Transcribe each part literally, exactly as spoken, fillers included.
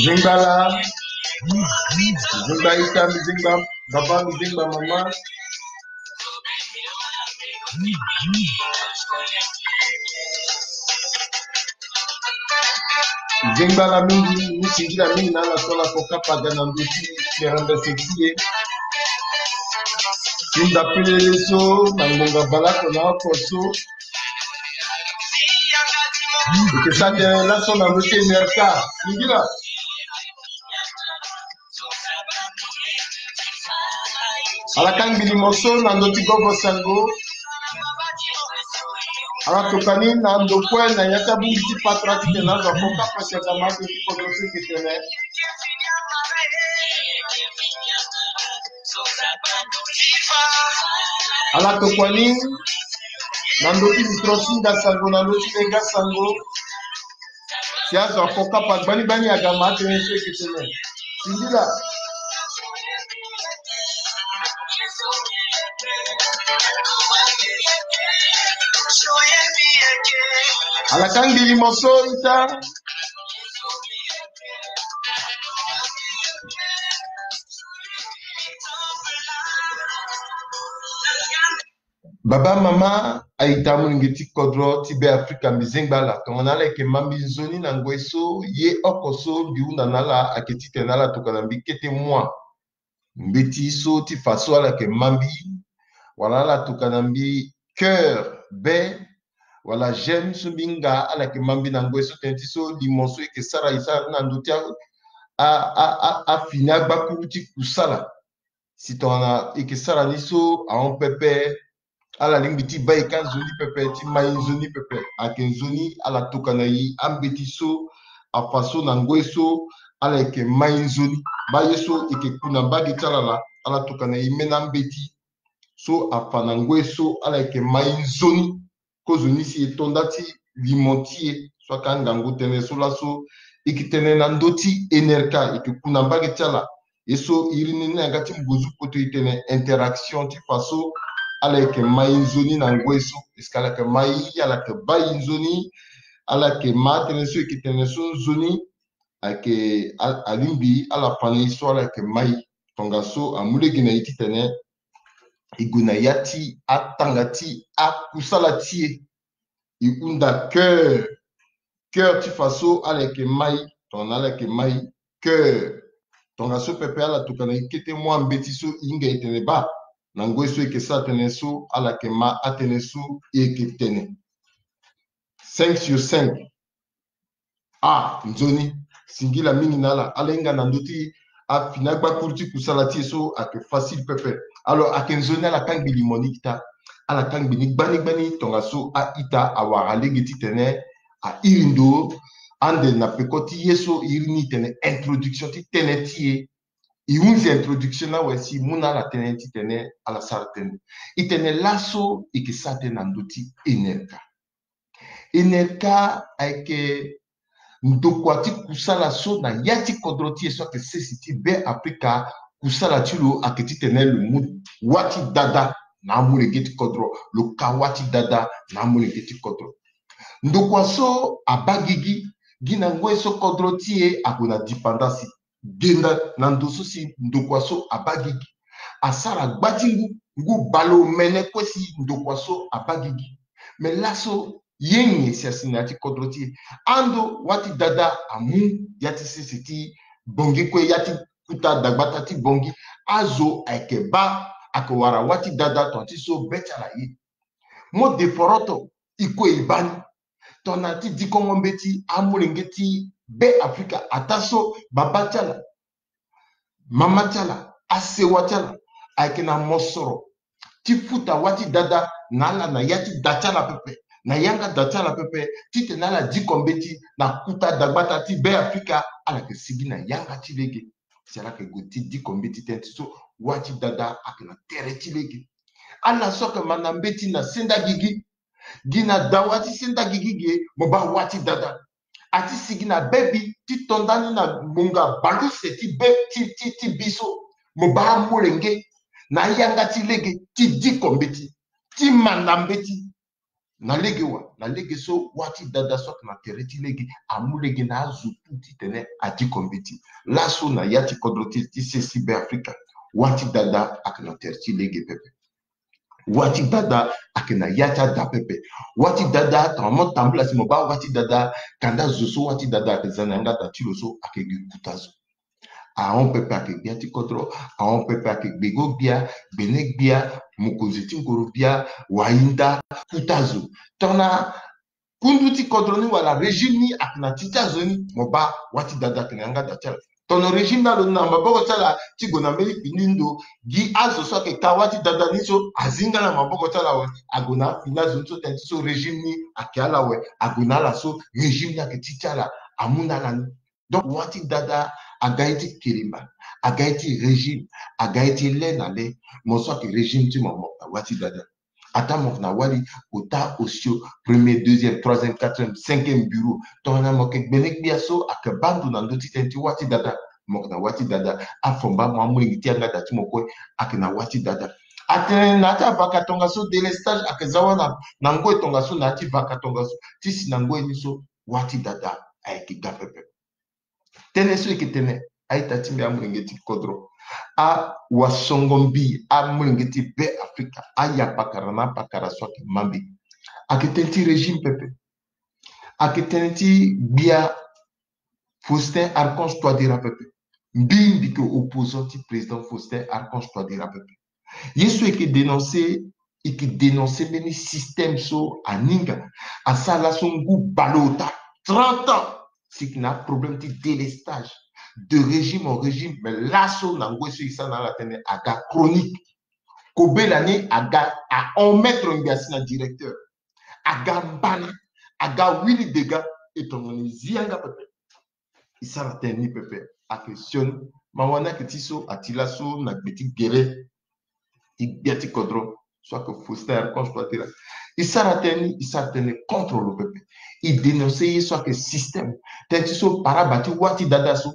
Zingba la. Zingba ita, mi zingba baba, mi zingba mama. Zingba la mingi, mi singila mingi na ala so ala kokapa ga na ndö ti merembe seki ye. Ti nda pelele so na ngbonga bale oko na oko so. Eke sara tënë laso na ndö ti N R K. Singila. Ala kangbi limo so na ndö ti gogo sango. Ala tokua ni na ndo kue na ya ti abongbi ti patara titene azo akokapa si aza ma ake ti kodro so eke tene. Ala tokua ni na ndö ti mitro ti nda sango, na ndö ti lenga sango. Si azo akokapa gbani gbani aga ma atënë so eke tene. Singila. Ala kangbi limo so ita. Baba, mama, a-ita, amolenge ti kodro ti Be Afrika, mbi zengba ala. Tongana ala yeke ma mbi nzoni na ngoi so, ye oko so mbi hunda na ala ayeke titene ala tokua na mbi kete mua mbeti so ti fa so ala yeke ma mbi, wala ala tokua na mbi cœur, be, wala j'aime so mbi hinga, ala yeke ma mbi na ngoi so tënë ti so limo so e yeke sara, e sara ni na ndö ti a, a, a, a, afini agbakuru ti kusala. Si tongana e yeke sara ni so ahon pepe, ala lingbi ti baa e ka nzoni pepe, ti ma e nzoni pepe. Ayeke nzoni ala tokua na e ambeti so afa so na ngoi so ala yeke ma e nzoni. Baa ye so e yeke ku na mbage ti ala laa, ala tokua na e mbeni ambeti so afa na ngoi so ala yeke ma e nzoni. Kozoni si e to nda ti limo ti e so ayeke angangu tënë so laso e yeke tene na ndö ti N R K, e yeke ku na mbage ti ala. Ye so e iri ni na yanga ti ngonzu poto e tene interaction ti fa so ala yeke ma e nzoni na ngoi so. Est-ce que ala yeke ma e, ala yeke baa e nzoni, ala yeke ma atënë so e yeke tene so nzoni, ayeke a, alingbi ala fa na e so ala yeke ma e. Tongaso amu lege na e titene e gue na ya ti atanga ti akusala ti e. E hunda cœur, cœur ti fa so ala yeke ma e. Tongana ala yeke ma e, cœur. Tongaso pepe ala tokua na e kete mua mbeti so e hinga e tene baa na ngoi so e yeke sara tënë so, ala yeke ma atënë so e yeke tene. Cinq sur cinq. Ah, nzoni, singila mingi na ala. Ala hinga na ndö ti afini agbakuru ti kusala ti e so ayeke facile pepe. Alors, ayeke nzoni ala kangbi limo ni kita. Ala kangbi ni gbani gbani tongaso a-ita awara lege titene a iri ndo ande na peko ti ye so e iri ni tene introduction ti tënë ti e. E hunzi introduction ni awe si e mu na ala tënë titene ala sara tënë. E tene laso e yeke sara tënë na ndö ti N R K. N R K ayeke ndokua ti kusala so na ya ti kodro ti e so ayeke sese ti Be Afrika. Kusala ti lo ayeke titene lo mu wâ ti dada na amolenge ti kodro, lo ka wâ ti dada na amolenge ti kodro. Ndokua so abaa gigi, gi na ngoi so kodro ti e ague na dipandasi. Genda na ndo so si ndokua so abaa gigi. Asara gba ti ngu, ngu baleomene kue si ndokua so abaa gigi. Me laso ye nyen si asi na ya ti kodro ti e? Ando wâ ti dada amu ya ti sese ti Bongi kue ya ti kuta dagbata ti Bongi. Azo ayeke baa, ayeke wara wâ ti dada tongana ti so be ti ala ye. Mo de foroto, e kue e baa ni. Tongana ti dikongo mbeti amolenge ti Be Afrika, ataa so babâ ti ala, mama ti ala, asewa ti ala ayeke na mosoro ti futa wâ ti dada na ala na ya ti da ti ala pepe, na yanga da ti ala pepe, titene ala diko mbeti na kuta dagbata ti Be Afrika, ala yeke sigi na yanga ti lege. Si ala yeke gue ti diko mbeti tënë ti so wâ ti dada ayeke na tere ti lege. Ala so ayeke manda mbeti na senda gigi, gi na dawa ti senda gigi ge, mo baa wâ ti dada. A ti sigi na bebi ti to ndani na ngonga baleuse ti be ti, ti, ti bi so, mo baa amolenge na yanga ti lege ti diko mbeti, ti manda mbeti. Na lege wa, na lege so wâ ti dada so ayeke na tere ti lege amu lege na azo tu titene adiko mbeti. Laso na ya ti kodro ti, ti sese Be Afrika, wâ ti dada ayeke na tere ti lege pepe. Wâ ti dada ayeke na ya ti ada pepe. Wâ ti dada, tongana mo tambula si mo baa wâ ti dada, kanda zo so wâ ti dada ayeke za na yanga da ti lo so ayeke gi kuta zo. Ahon pepe ayeke gbia ti kodro, ahon pepe ayeke gbego gbia, gbene gbia, mokonzi ti ngoro gbia, wahinda, kuta zo. Tongana kundu ti kodro ni wala régime ni ayeke na ti ti azo ni, mo baa wâ ti dada ayeke na yanga da ti ala. Tongana régime ni alo na maboko ti ala ti gue na mbeni kpindi ndo, gi azo so ayeke ka wâ ti dada ni so azi nga na maboko ti ala awe, ague na afini azo ni so tënë ti so régime ni ayeke ala awe, ague na ala so régime ni ayeke ti ti ala, amu na ala ni. Donc wâ ti dada aga ye ti kelemba, aga ye ti régime, aga ye ti le na le. Mo so ayeke régime ti mo, mo yeke na wâ ti dada. Ataa mo yeke na wali, ota, osio, premier, deuxième, troisième, quatrième, cinquième bureau. Tongana mo yeke gbene gbia so ayeke baa ndo na ndö ti tënë ti wâ ti dada, mo yeke na wâ ti dada. Afomba mo amolenge ti yanga da ti mo kue ayeke na wâ ti dada. Atene na ya ti avaka tongaso, délestage ayeke za wâ na, na ngoi tongaso, na ya ti vaka tongaso, ti si na ngoi ni so wâ ti dada ayeke ga pepe. Tënë so e yeke tene, a-ita ti mbi, amolenge ti kodro, awasongo mbi, amolenge ti Be Afrika, ayapakara na apakara so ayeke ma mbi, ayeke tënë ti régime pepe. Ayeke tënë ti gbia Faustin Archange Touadéra pepe. Mbi, mbi yeke opposant ti président Faustin Archange Touadéra pepe. Ye so e yeke dénoncer, e yeke dénoncer mbeni système so aninga asara laso ngu baleota, trente ans. Si e yeke na problème ti délestage de régime en régime, mais laso na ngoi so e sara na ala tënë aga chronique. Kobela ni aga ahon mètre ngbia si na directeur. Aga mbana, aga wili dega, e tongana e zi yanga pepe. E sara tënë ni pepe. Ayeke sioni, ma wani ayeke ti so ati laso na gbe ti gere ti gbia ti kodro so ayeke Faustin Archange Touadéra. E sara tënë ni, e sara tënë contre lo pepe. E dénoncer ye so ayeke système. Tënë ti so paraba ti wâ ti dada so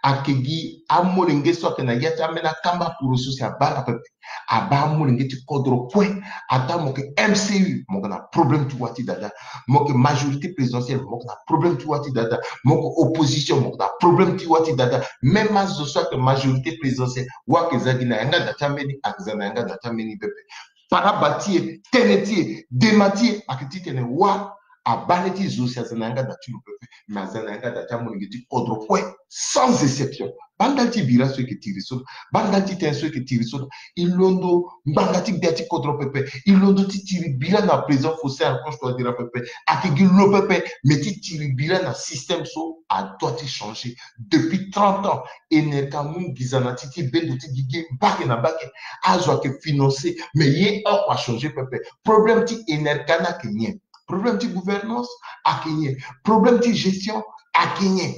ayeke gi amolenge so ayeke na ya ti ambeni akamba poro so si abaa ala pepe. Abaa amolenge ti kodro kue. Ataa mo yeke M C U, mo yeke na problème ti wâ ti dada. Mo yeke majorité présidentielle, mo yeke na problème ti wâ ti dada. Mo yeke opposition, mo yeke na problème ti wâ ti dada. Même azo so ayeke majorité présidentielle, wâ ayeke za gi na yanga da ti ambeni, ayeke za na yanga da ti ambeni pepe. Paraba ti e, tënë ti e, dema ti e ayeke titene wâ abaa ni ti zo si aza na yanga da ti lo pepe, mais aza na yanga da ti amolenge ti kodro kue, sans exception. Baa ndali ti bira so e yeke tiri so, baa ndali ti tënë so e yeke tiri so, e londo ngbanga ti gbia ti kodro pepe, e londo ti tiri bira na président Faustin Archange Touadéra pepe. Ayeke gi lo pepe, mais ti tiri bira na système so adoit ti changer. Depuis trente ans, E N R K amu nginza na ti ti bendo ti gigi mbage na mbage. Azo ayeke financer, mais ye oko achanger pepe. Problème ti E N R K ni ayeke nyen? Problème ti gouvernance ayeke nyen? Problème ti gestion ayeke nyen?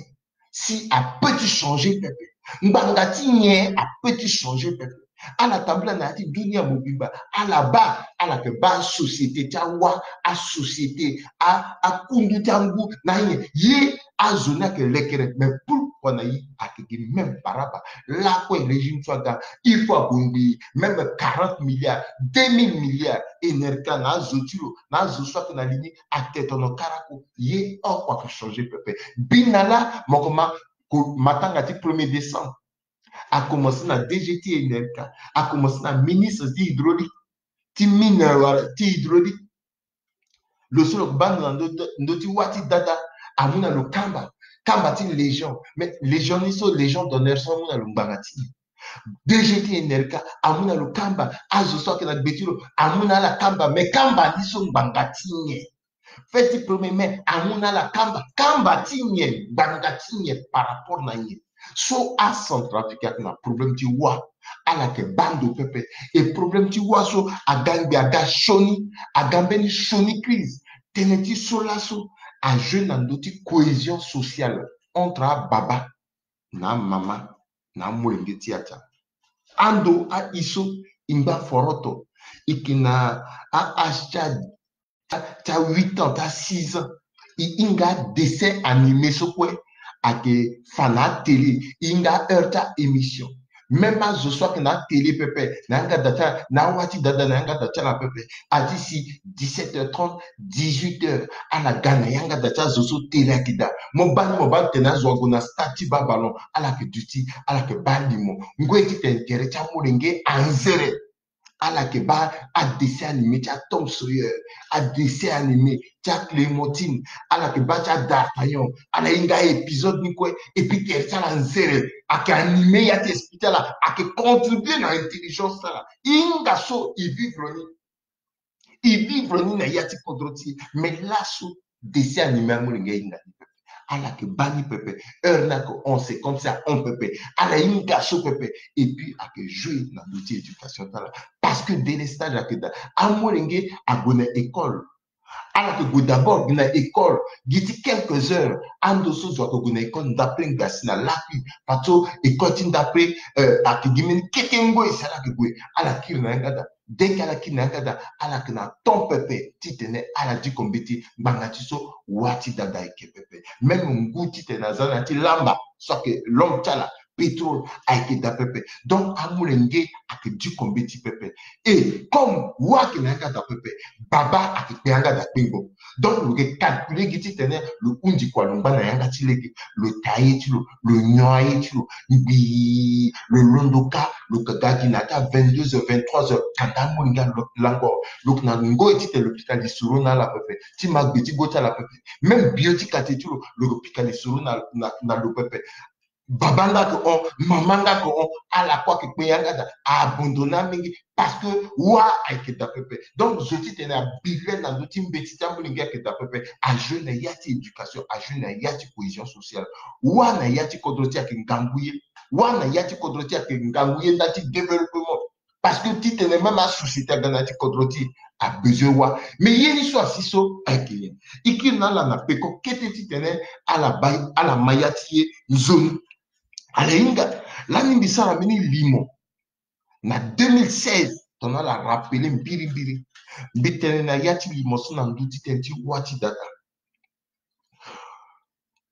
Si apeut ti changer pepe, ngbanga ti nyen apeut ti changer pepe? Ala tambula na ya ti dunia mobimba, ala baa, ala yeke baa asociété ti awâ, asociété, a, akundu ti angu na anyen. Ye azo ni ayeke lekere, mais pourquoi na ye ayeke gi même paraba? Lakue régime so aga, il faut abongbi même quarante milliards, deux mille milliards, E N R K na azo ti lo, na azo so ayeke na li ni, atetono karako. Ye oko ayeke changer pepe. Bina laa mo yeke ma, ko, matanga ti premier décembre. A commencé na D G ti E N R K, a commencé na ministre ti hydraulique, ti mine wala ti hydraulique. Lo so lo yeke baa ndo na ndö, ndö ti wâ ti dada, amu na lo kamba. kamba ti Légion. Mais Légion ni so, Légion d'honneur so amu na lo ngbanga ti nyen? D G ti Enelka amu na lo kamba. Azo so ayeke na gbe ti lo amu na ala kamba. Mais kamba ni so ngbanga ti nyen? Fête ti premier mai amu na ala kamba. Kamba ti nyen? Ngbanga ti nyen? Par rapport na nyen? So aCentrafrique ayeke na problème ti wâ, ala yeke baa ndo pepe. Et problème ti wâ so aga ngbi, aga sioni, aga mbeni sioni crise. Tënë ti so laso ajoué na ndö ti cohésion sociale entre ababa na amama na amolenge ti ya ti ala. Ando aye so e ngba foroto, e yeke na a-âge ti a, ti a huit ans, ti a six ans. E hinga adessin animé so kue ayeke fa na atélé, e hinga aheure ti a-émission. Même azo so ayeke na atélé pepe na yanga da ti ala, na awa ti dada na yanga da ti ala pepe, ati si dix-sept heures trente, dix-huit heures, ala ga na yanga da ti azo so télé ayeke daa. Mo baa ni, mo baa tene azo ague na stade ti baa ballon, ala yeke duti, ala yeke baa limo. Ngoi titene tere ti amolenge anzere, ala yeke baa adessin animé ti aTom Sawyer, adessin animé ti aClémentine, ala yeke baa ti aDartagnan, ala hinga épisode ni kue. Et puis tere ti ala nzere ayeke animé ya ti esprit ti ala, ayeke contribué na intelligence ti ala. E hinga so e vivre ni, e vivre ni na ya ti kodro ti e. Mais laso dessin animé amolenge ahinga ni pepe, ala yeke baa ni pepe. Heure ni ayeke hon, c'est comme si ahon pepe. Ala hinga so pepe. Et puis ayeke joué na ndö ti éducation ti ala. Parce que délestage ayeke daa. Amolenge ague na école. Ala yeke gue d'abord gi na école gi ti quelques heures. Ando so zo ayeke gue na école ndapre ngbasi na lakui. Parce que école ti ndapre, euh, ayeke gi mbeni kete ngoi si ala yeke gue. Ala kiri na yanga da. Dès que ala kiri na yanga da, ala yeke na temps pepe titene ala diko mbeti ngbanga ti so wâ ti dada ayeke pepe. Même ngu titene aza na ya ti lamba so ayeke langue ti ala, pétrole, ayeke daa pepe. Donc amolenge ayeke diko mbeti pepe. Et comme wâ ayeke na yanga da pepe, baba ayeke kpe yanga da kpengbo. Donc lo yeke calculer gi titene lo hundi kua, lo ngba na yanga ti lege, lo taa ye ti lo, lo nyon aye ti lo ngbii, lo londo kâ, lo yeke ga gi na ya ti a vingt-deux heures, vingt-trois heures, kanda amolenge alo-, lango. Lo yeke na ngoi titene lo pika lisoro na ala pepe, ti ma gbe ti gbo ti ala pepe. Même bio ti quartier ti lo, lo yeke pika lisoro na, na, na lo pepe. Baba nga ayeke hon, mama nga ayeke hon, ala kue ayeke kpe yanga da, a abandonné amenge, parce que wâ ayeke daa pepe. Donc zo titene abilen na ndö ti mbeti ti amolenge ayeke daa pepe. Ajoué na ya ti éducation, ajoué na ya ti cohésion sociale. Wâ na ya ti kodro ti e ayeke ngangu ye. Wâ na ya ti kodro ti e ayeke ngangu ye ndali ti développement. Parce que titene même asociété aga na ya ti kodro ti e, abezoin wâ. Mais ye ni so asi so ayeke nyen? E kiri na ala na peko kete titene ala bai, ala ma ya ti ye nzoni. Ala hinga lani mbi sara mbeni limo na deux mille seize, tongana ala rappelé mbirimbiri. Mbi tene na ya ti limo so na ndö ti tënë ti wâ ti dada.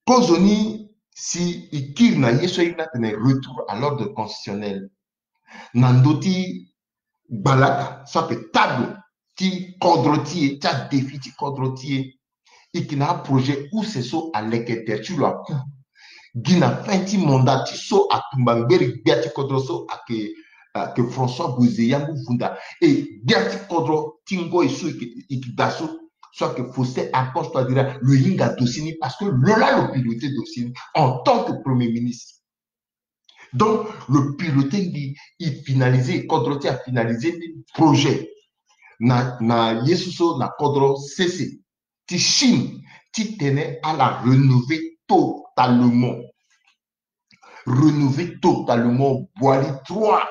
Kozoni si e kiri na ye so ahinga atene retour à l'ordre constitutionnel, na ndö ti gbalaka so ayeke table ti kodro ti e, ti adéfi ti kodro ti e. E yeke na aprojet use so aleke tere ti lo aku gi na fin ti mandat ti so atumba ngbere gbia ti kodro so ayeke, ayeke François Bozé Yangou Funda. E gbia ti kodro ti ngoi so e yeke, e yeke daa so, so ayeke Faustin Archange Touadéra, lo hinga dossier ni parce que lo laa lo piloté dossier ni en tant que premier ministre. Donc lo piloté ngi, e finalisé, kodro ti e afinalisé ni projet na, na ye so so na kodro sese ti Chine, titene ala rénover totalement. Rénover totalement Boali trois.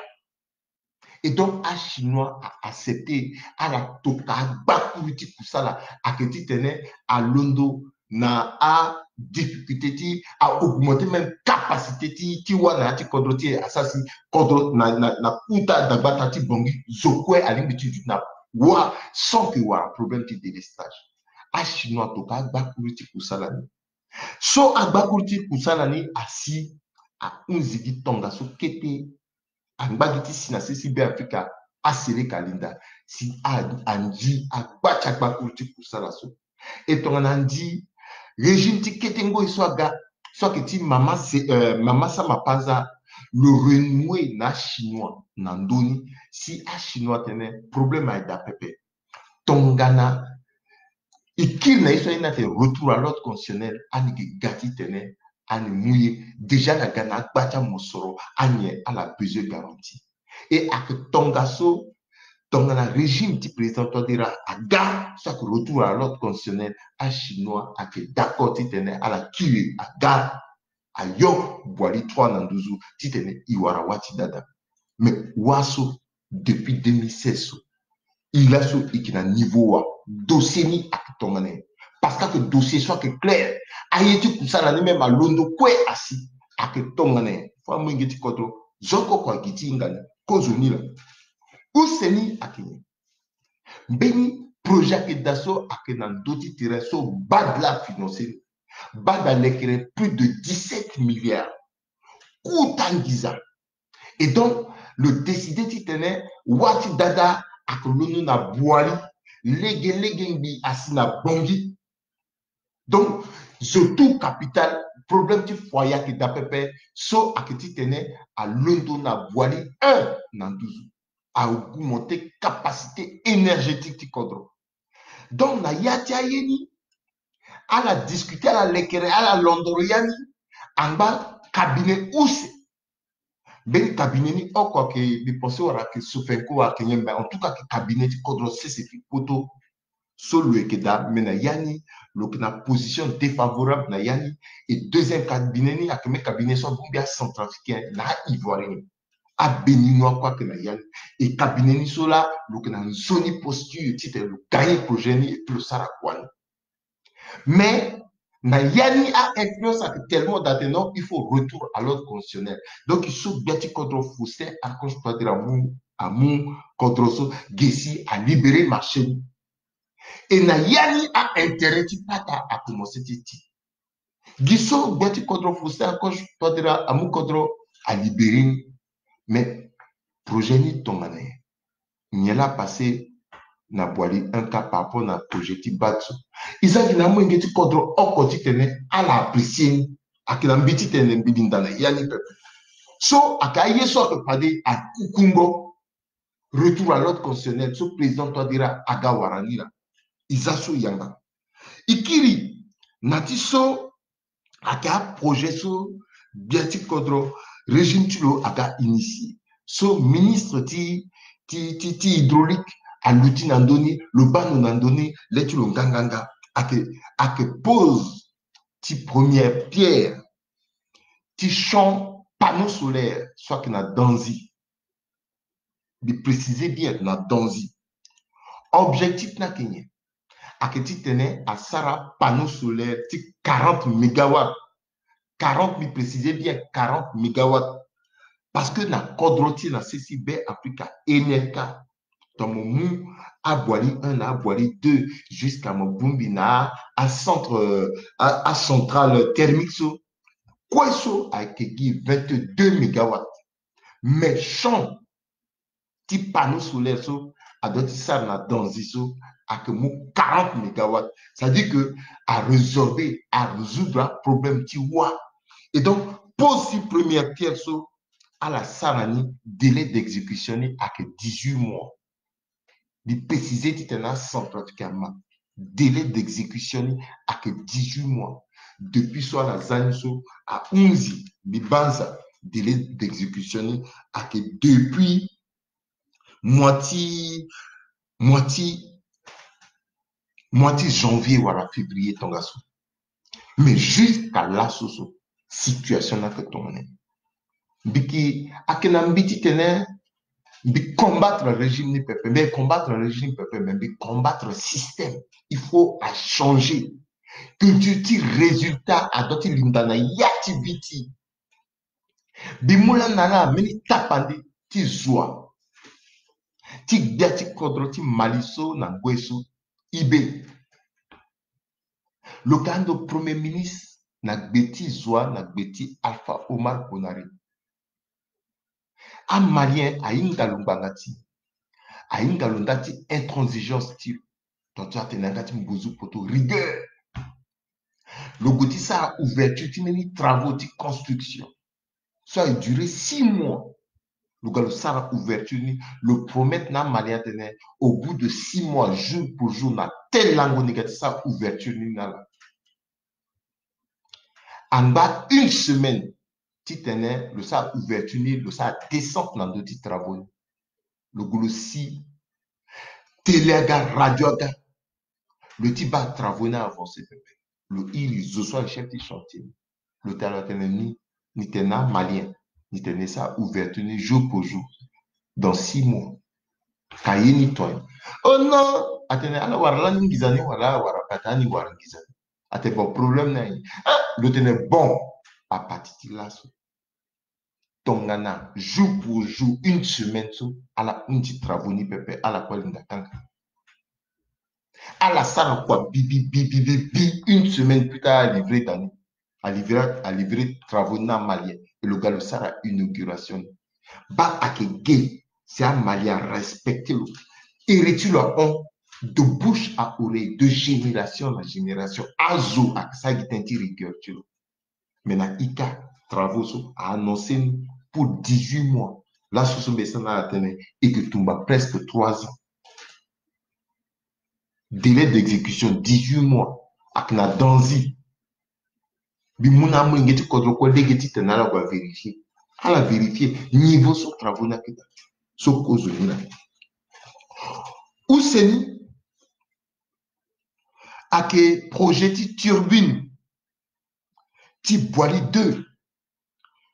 Et donc aChinois a accepté, ala toka agbakuru ti kusala, ayeke titene alondo na adifficulté ti a augmenter même capacité ti, ti wâ na ya ti kodro ti e, asara si kodro na, na, na kota dagbata ti Bangui, zo kue alingbi ti duti na wâ sans que wara problème ti délestage. AChinois atoka agbakuru ti kusala ni. So agbakuru ti kusala ni asi, ahunzi gi tongaso kete, angba gi ti si na sese Beafrika, asereka linda si a, anzi agba ti agbakuru ti kusala so. E tongana anzi régime ti kete ngoi so aga, so ayeke ti mama se, euh, mama Sama Panza, lo renouer na aChinois na ndö ni, si aChinois atene problème aye daa pepe. Tongana e kiri na ye so aye ni atene retour à l'ordre constitutionnel, ani yeke ga titene ani mu ye déjà na ga na agba ti amosoro, anyen ala besoin garantie. Et ayeke tongaso, tongana régime ti président Touadéra aga, so ayeke retour à l'ordre constitutionnel, achinois ayeke d'accord titene ala kiri aga, ayo Boili trois na nduzu titene e wara wâ ti dada. Mais wâ so, depuis deux mille seize so, e laso e yeke na niveau wâ? Dossier ni ayeke tongana nyen? Parce que ayeke dossier so ayeke clair. Aye ti kusala ni même alondo kue asi. Ayeke tongana nyen? Fo amolenge ti kodro, zo oko oko agi ti hinga ni. Kozo ni laa. Use ni ayeke nyen? Mbeni projet ayeke daa so ayeke na ndö ti terrain so BAD laa afinancer ni. BAD alekere plus de dix-sept milliards. Kota nginza. Et donc, lo décider titene wâ ti dada ayeke londo na Boili, lege lege ngbii asi na Bangui. Donc, surtout capital, problème ti foyer ayeke daa pepe, so ayeke titene alondo na Boili un na nduzu. A augmenter capacité énergétique ti kodro. Donc na yâ ti aye ni, ala discuter, ala lekere, ala londoro yâ ni, angba cabinet use. Mbeni cabinet ni oko ayeke, mbi pense wala ayeke Sofenco, wala ayeke nyen, mais en tout cas ayeke cabinet ti kodro sese ti poto. So lo yeke daa, mais na yâ ni lo yeke na position défavorable na yâ ni. Et deuxième cabinet ni ayeke même cabinet so abongbi acentrafricain na aivoirien, abéninois kue ayeke na yâ ni. Et cabinet ni so laa lo yeke na nzoni posture titene lo gagner projet ni et puis lo sara kua ni. Mais na yâ ni a-influence ayeke tellement daa tene non, il faut retour à l'ordre constitutionnel. Donc e so gbia ti kodro Faustin Archange Touadéra amu, amu kodro so, ge si alibérer marché ni. Et na yâ ni a-intérêt ti pata akomencer ti ti. Gi so gbia ti kodro Faustin Archange Touadéra amu kodro, alibérer ni. Mais projet ni tongana nyen? Nyen laa apasser na Boili un kâ par rapport na projet ti BAD so? E za gi na amolenge ti kodro oko titene ala apprécier ni. Ayeke na mbi titene mbi linda na yâ ni pepe. So ayeke aye so ayeke fade akukungo, retour à l'ordre constitutionnel so président Touadéra aga wara ni laa. E za so e yanga. E kiri na ti so ayeke aprojet so gbia ti kodro, régime ti lo aga initier. So ministre ti, ti, ti, ti hydraulique aluti na ndö ni, lo baa lo na ndö ni, le ti lo nganganga. Ayeke, ayeke pose ti première pierre ti champ panneau solaire so ayeke na Danzi. Mbi préciser bien, na Danzi. Objectif ni ayeke nyen? Ayeke titene asara panneau solaire ti quarante mégawatts. Quarante, mbi préciser bien, quarante mégawatts. Parce que na kodro ti e na sese Be Afrika, E N L K, tongana mo mu a Boili un na a Boili deux, jusqu'à mo bongbi na a centre, euh, a, a centrale thermique so, kue so ayeke gi vingt-deux mégawatts. Mais champ ti panneau solaire so adoit ti sara na Danzi so ayeke mu quarante mégawatts. C'est-à-dire que a résorber, a résoudre aproblème ti wâ. Et donc, pose ti première pierre so ala sara ni, délai d'exécution ni ayeke dix-huit mois. Mbi préciser titene acentrafricain ama, délai d'exécution ni ayeke dix-huit mois. Depuis so ala za ni so ahunzi, mbi banza, délai d'exécution ni ayeke depuis mois ti, mois ti, mois ti janvier wala février tongaso. Mais jusqu'à laso so, situation ni ayeke tongana nyen? Mbi yeke, ayeke na mbi titene mbi combattre régime ni pepe, mbi combattre régime pepe, mais mbi combattre système. Il faut achanger. Culture ti résultat adoit ti linda na ya ti vie ti e. Mbi mu lani na ala mbeni tapande ti zo wa ti gbia ti kodro ti Mali so na ngoi so, I B. Lo ka ando premier ministre na gbe ti zo wa, na gbe ti Alpha Omar Konaré. Amalien ahinga lo ngbanga ti, ahinga lo nda ti intransigeance ti lo. Donc ti atene na yanga ti mbuzu poto, rigueur. Lo gue ti sara ouverture ti mbeni travaux ti construction so a duré six mois. Lo ga lo sara ouverture ni, lo promettre na amalien atene au bout de six mois, jour pour jour, na tel lango ni ga ti sara ouverture ni na ala. Angba une semaine titene lo sara ouverture ni, lo sara descente na ndö ti travaux ni. Lo gue lo si télé aga, radio aga. Lo ti baa travaux ni avancer pepe. Lo iri zo so aye chef ti chantier ni. Lo tene, lo atene ni, ni tene na amalien, ni tene e sara ouverture ni jour pour jour dans six mois. Ka ye ni ton. Oh non, atene ala wara lani nginza ni wala ala wara pata ni wara nginza ni. Atene bon, problème ni aye. Ah, lo tene bon. À partir ti laso, tongana jour pour jour, une semaine so, ala hundi travaux ni pepe, ala kue alinda kanga. Ala sara kua bi, bi, bi, une semaine plus tard, alivré da ni. Alivré, alivré travaux ni na amalien. E lo ga lo sara inauguration ni. Baa ayeke ge si amalien arespecté lo. Iri ti lo ahon de bouche à oreille, de génération na génération. Azo ayeke sara gi tënë ti rigueur ti lo. Mais na ika, travaux so a annoncé ni pour dix-huit mois. Laso so mbi sara na ala tënë, e yeke tumba presque trois ans. Délai d'exécution, dix-huit mois. Ayeke na danzi. Mbi mu na amolenge ti kodro kue lege titene ala gue avérifier. Ala vérifier niveau so travaux ni ayeke daa. So kozo ni na use ni, ayeke projet ti turbine ti Boali deux.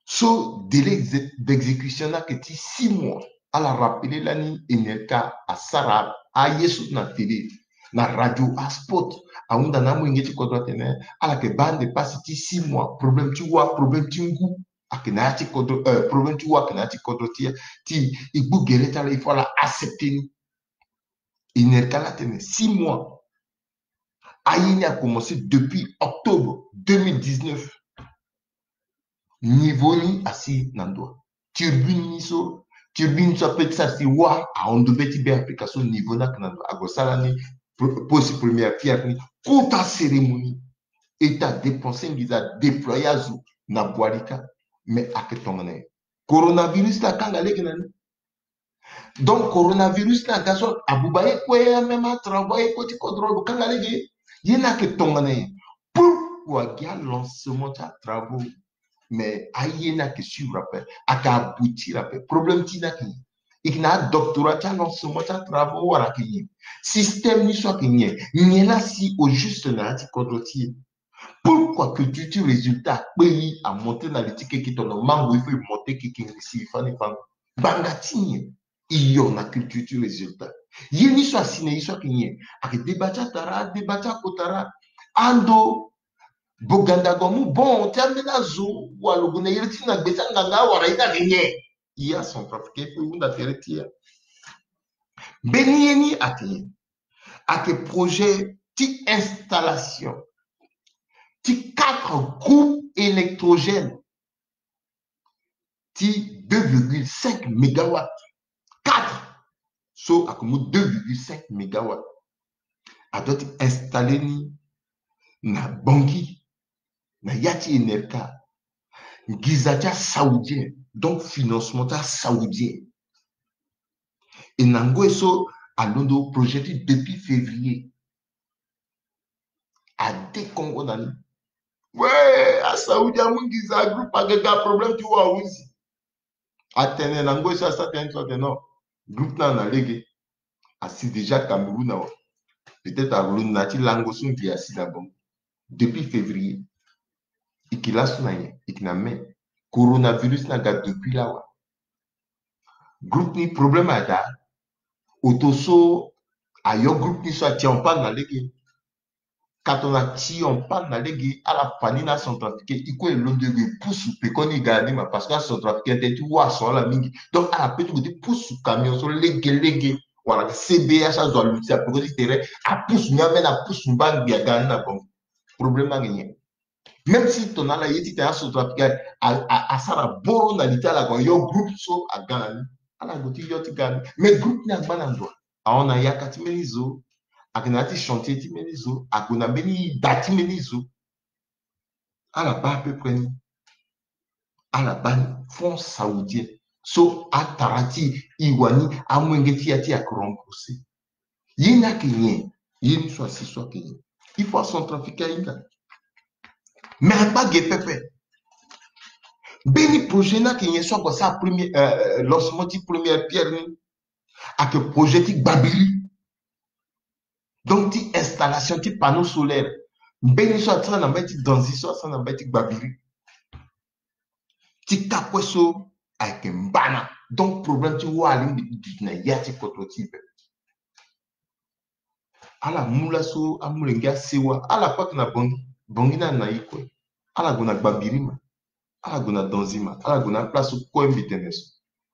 So délai d'exé-, d'exécution ni ayeke ti six mois. Ala rappeler lani Enerca asara aye so na télé, na radio, aspot. Ahunda na amolenge ti kodro atene ala yeke baa ande pasi ti six mois. Problème ti wâ, problème ti ngu ayeke na ya ti kodro, euh, problème ti wâ ayeke na ya ti kodro ti, ti e gbu gere ti ala, il faut ala accepter ni. Enerca laa atene six mois. Aye ni a commencé depuis octobre deux mille dix-neuf. Niveau ni asi na ndo. Turbine ni so, turbine so ape ti sara si wâ ahon ndo be ti Beafrika so, niveau ni ayeke na ndo. Ague asara ni pro-, poste première pierre ni, kota cérémonie. État dépenser nginza, déployer azo na Boali kâ. Mais ayeke tongana nyen? Coronavirus ni akanga lege na ni. Donc coronavirus ni aga so abuba ye kue, même atravail ye kue ti kodro lo kanga lege. Ye ni ayeke tongana nyen? Pourquoi gi alancement ti atravail? Mais aye ni ayeke suivre ape, ayeke aboutir ape. Problème ti ni ayeke nyen? E yeke na adoctorat ti alancement ti atravail wala ayeke nyen? Système ni so ayeke nyen? Nyen la si au juste na ya ti kodro ti e? Pourquoi culture ti résultat akpe e amonté na li ti keke, tongana mango il faut e monté keke ngbisi e fâ ni fango? Ngbanga ti nyen? E yo na culture ti résultat. Ye ni so asi na e so ayeke nyen? Ayeke débat ti atara, débat ti akotara. Ando boganda gue amu bon ti ambeni azo wala lo gue na iri ti na gbe ti anganga wala ye ni ayeke nyen? E ya Centrafricain e pe e hunda tere ti e ya. Mbeni ye ni ayeke nyen? Ayeke projet ti installation ti quatre groupes électrogènes ti deux virgule cinq mégawatts. Quatre. So ayeke mu deux virgule cinq mégawatts. A doit ti installer ni na Bangui, na ya ti Enerca. Nginza ti asaoudien, donc financement ti asaoudien. E na ngoi so alondo projet ti depuis février. Adekongo na ni. We, asaoudi amu nginza, groupe aga ga, problème ti wâ ahunzi. Atene na ngoi so asara tënë so atene non, groupe ni ayeke na lege. Asi déjà Cameroun awe. Peut-être alondo na ya ti lango so ngi asi na bango. Depuis février. E yeke laso na nyen? E yeke na mai. Coronavirus ni aga depuis lawa. Groupe ni problème aga. Oto so ayo groupe ni so ati en panne na lege. Ka tongana ati en panne na lege, ala fa ni na acentrafricain, e kue e londo e gue e pusu peko ni e ga na ni ma, parce que acentrafricain tënë ti wâ ason ala mingi. Donc ala pe ti gue ti pusu camion so lege lege. Wala C B A so azo aluti apeko ti tere, apusu ni ambeni, apusu mbangbi aga na ni na bango. Problème ni ayeke nyen? Même si tongana ala ye titene acentrafricain a, a, asara boro na li ti ala gue ayo groupe so aga na ni, ala gue ti yo ti ga na ni. Mais groupe ni angba na ndo. Ahon na yaka ti mbeni zo. Ayeke na ya ti chantier ti mbeni zo. Ague na mbeni da ti mbeni zo. Ala baa à peu près ni. Ala baa ni franc saoudien. So atara ti e wani amolenge ti e ayeke remboursé. Ye ni ayeke nyen? Ye ni so asi so ayeke nyen? Il faut acentrafricain ahinga. Mais angba ge pepe. Mbeni projet ni ayeke nyen so ague asara premier, euh, lancement ti première pierre ni? Ayeke projet ti gbabiri. Donc ti installation ti panneau solaire. Mbeni so atira na mbage ti Danzi so asara na mbage ti gbabiri. Ti ka kue so ayeke mbana. Donc problème ti wâ alingbi duti na ya ti kodro ti e pepe. Ala mu laso amolenge asewa, ala kue ayeke na Bangui. Bangui ni ayeke na ye kue. Ala gue na gbabiri ma, ala gue na Danzi ma, ala gue na aplace so kue mbi tene so.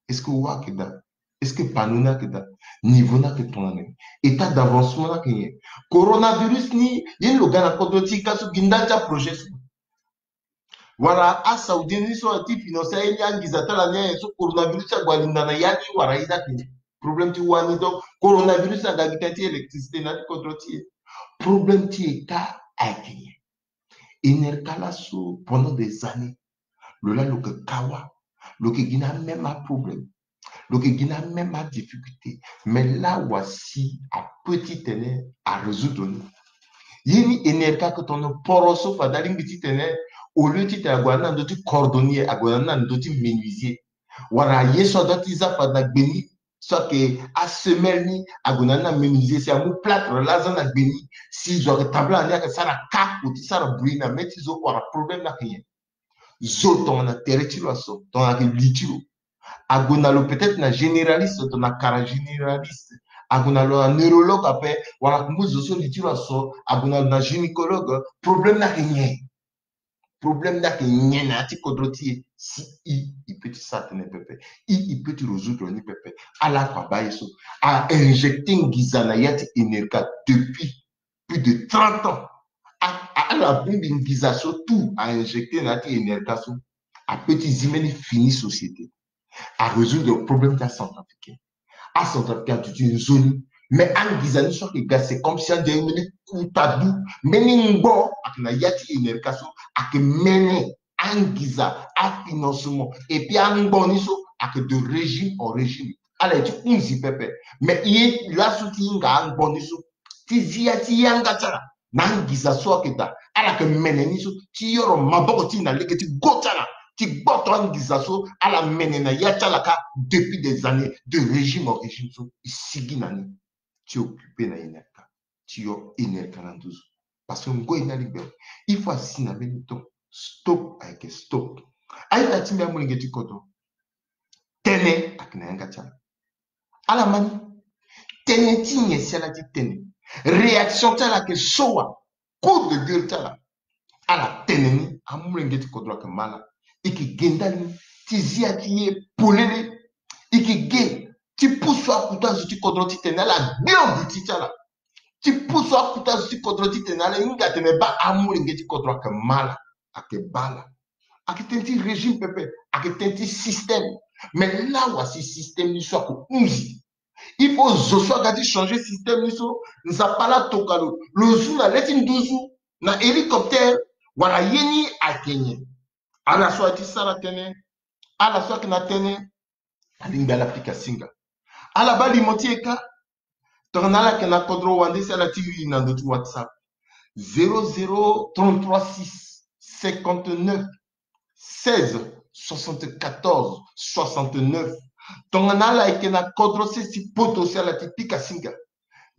Est-ce que wâ ayeke daa? Est-ce que panneau ni ayeke daa? Niveau ni ayeke tongana nyen? État d'avancement ni ayeke nyen? Coronavirus ni, ye ni lo ga na kodro ti e ka so gi ndali ti aprojet so. Wala asaoudien ni so ti financer aye ni angiza ti ala ni aye so coronavirus ti ague alinda na ya ni wala ye ni ayeke nyen? Problème ti wâ ni. Donc coronavirus aga gi tënë ti électricité na ya ti kodro ti e. Problème ti État ayeke nyen? Enerca laso pendant des années, lo laa lo yeke ka wâ, lo yeke gi na amême aproblème, lo yeke gi na amême adifficulté. Mais là wasi apeut titene arésoudre ni. Ye ni Enerca ayeke tongana poro so fade alingbi titene, au lieu titene ague na ndö ti cordonnier, ague na ndö ti menuisier. Wala ye so adoit ti za fade na gbe ni, so ayeke asemelle ni, ague na ni na menuisier si amu plâtre laa aza na gbe ni, si zo ayeke tabla na ni ayeke sara ka, akoti sara bruit na mê ti zo, wala problème ni ayeke nyen? Zo tongana tere ti lo aso, tongana ayeke li ti lo, ague na lo peut-être na généraliste, tongana kara généraliste, ague na lo na neurologue ape, wala akumbu zo so li ti lo aso, ague na lo na gynécologue, problème ni ayeke nyen? Problème ni ayeke nyen na ya ti kodro ti e? Si i, i peut ti sara tënë pepe. I, i peut ti résoudre ni pepe. Ala kue abaa ye so. A injecter ngiza na ya ti Enerca depuis plus de trente ans. A, a, ala bongbi ngiza so tout a injecter na ya ti Enerca so. Apeut ti zi mbeni fini société. Arésoudre problème ti acentrafricain. Acentrafricain aduti nzoni. Mais angiza ni so ayeke ga, c'est comme si ande mbeni kuta du, mbeni ngbo ayeke na ya ti Enerca so, ayeke mene angiza, afinancement, et puis angbo ni so ayeke de régime en régime. Ala ye ti hunzi pepe. Mais ye laso ti hinga angbo ni so, ti zi ya ti yanga ti ala na angiza so ayeke daa, ala yeke mene ni so ti yoro maboko ti e na lege ti go ti ala, ti gboto angiza so ala mene na ya ti ala kâ depuis des années, de régime en régime so e sigi na ni ti occuper na Enerca, ti yo Enerca na nduzu. Parce que ngoi ni alingbi awe. Il faut asi na mbeni temps. Stop ayeke stop. Aita ti mbi amolenge ti kodro. Tënë ayeke na yanga ti ala. Ala ma ni. Tënë ti nyen si ala ti tene? Réaction ti ala ayeke so wa? Coup de gueule ti ala. Ala tene ni, amolenge ti kodro ayeke ma ala. E yeke ge ndali ni ti zi ya ti ye polele. E yeke ge ti pusu akuta zo ti kodro titene ala gbio duti ti ala. Ti pusu akuta zo ti kodro titene ala hinga atene baa amolenge ti kodro ayeke ma ala, ayeke baa ala. Ayeke tënë ti régime pepe, ayeke tënë ti système. Mais lawa si système ni so ayeke hunzi. Il faut zo so aga ti changer système ni so, Nzapa la atoka lo, lo zu na le ti nduzu na hélicoptère, wala ye ni ayeke nyen? Ala so aye ti sara tënë, ala so ayeke na tënë, alingbi ala pika singa. Ala baa limo ti e kâ. Tongana ala yeke na kodro wande si ala ti iri na ndö ti WhatsApp, zéro zéro trente-trois six cinquante-neuf seize soixante-quatorze soixante-neuf. Tongana ala yeke na kodro sese ti poto si ala ti pika singa,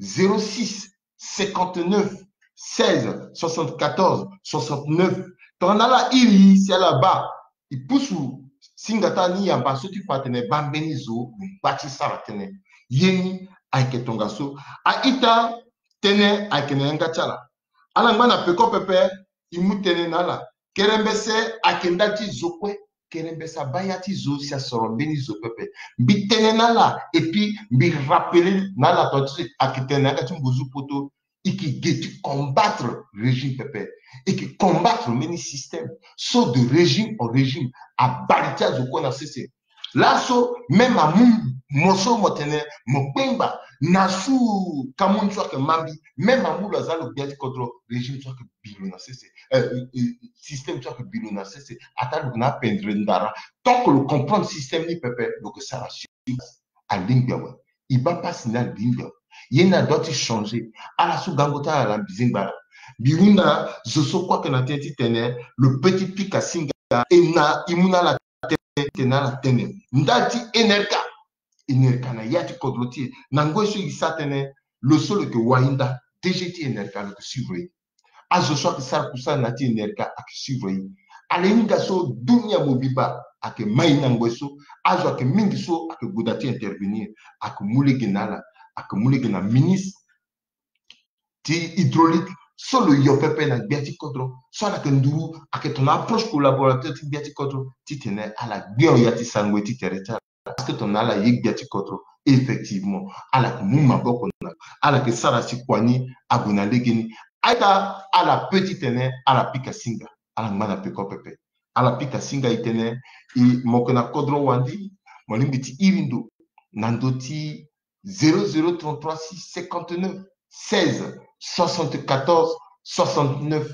zéro six cinquante-neuf seize soixante-quatorze soixante-neuf. Tongana ala iri si ala baa, e pusu singa ti ala ni yamba so ti fa atene baa mbeni zo lo ngba ti sara tënë. Ye ni ayeke tongaso. A-ita, tënë ayeke na yanga ti ala. Ala ngba na peko pepe, e mu tënë na ala. Kerembese ayeke ndali ti zo kue. Kerembese abaa ya ti zo si asoro mbeni zo pepe. Mbi tene na ala, et puis mbi rappeler na ala tonga ti so ayeke tene na yanga ti mbuzu poto. E yeke ge ti combattre régime pepe. E yeke combattre mbeni système so de régime en régime. Abali ti azo kue na sese. Laso même amu mo so mo tene mo kpengba na su kamu ni so ayeke ma mbi, même amu lo aza lo gbia ti kodro, régime so ayeke bi lo na sese. Euh, euh, euh, système so ayeke bi lo na sese. Ataa lo yeke na apendre ndara. Tant que lo comprendre système ni pepe, lo yeke sara sur place. Alingbi awe. E baa pasi ni alingbi awe. Ye ni adoit ti changer. Ala so gango ti ala na mbi zingba ala. Mbi hunda zo so kue ayeke na tënë ti tene lo pe ti pika singa e na e mu na ala tënë ti tene ala tene. Ndali ti Enerca, Enerca na ya ti kodro ti e na ngoi so e sa tënë, lo so lo yeke wahinda D G ti Enerca lo yeke suivre e. Azo so ayeke sara kusala na ya ti Enerca ayeke suivre e. Ala hinga so dunia mobimba ayeke ma e na ngoi so. Azo ayeke mingi so ayeke gue daa ti intervenir. Ayeke mu lege na ala, ayeke mu lege na ministre ti hydraulique so lo yo pepe na gbia ti kodro, so ala yeke nduru, ayeke tongana approche collaborateur ti gbia ti kodro ti tene ala gbe en ya ti sara ngoi ti tere ti ala. Parce que tongana ala ye gbia ti kodro, effectivement ala yeke mu maboko na lo, ala yeke sara si kua ni ague na legeni. A-ita, ala pe ti tene ala pika singa, ala ngba na peko pepe. Ala pika singa e tene, e, mo yeke na kodro wande, mo lingbi ti iri ndo na ndö ti zéro zéro trente-trois six cinquante-neuf seize soixante-quatorze soixante-neuf.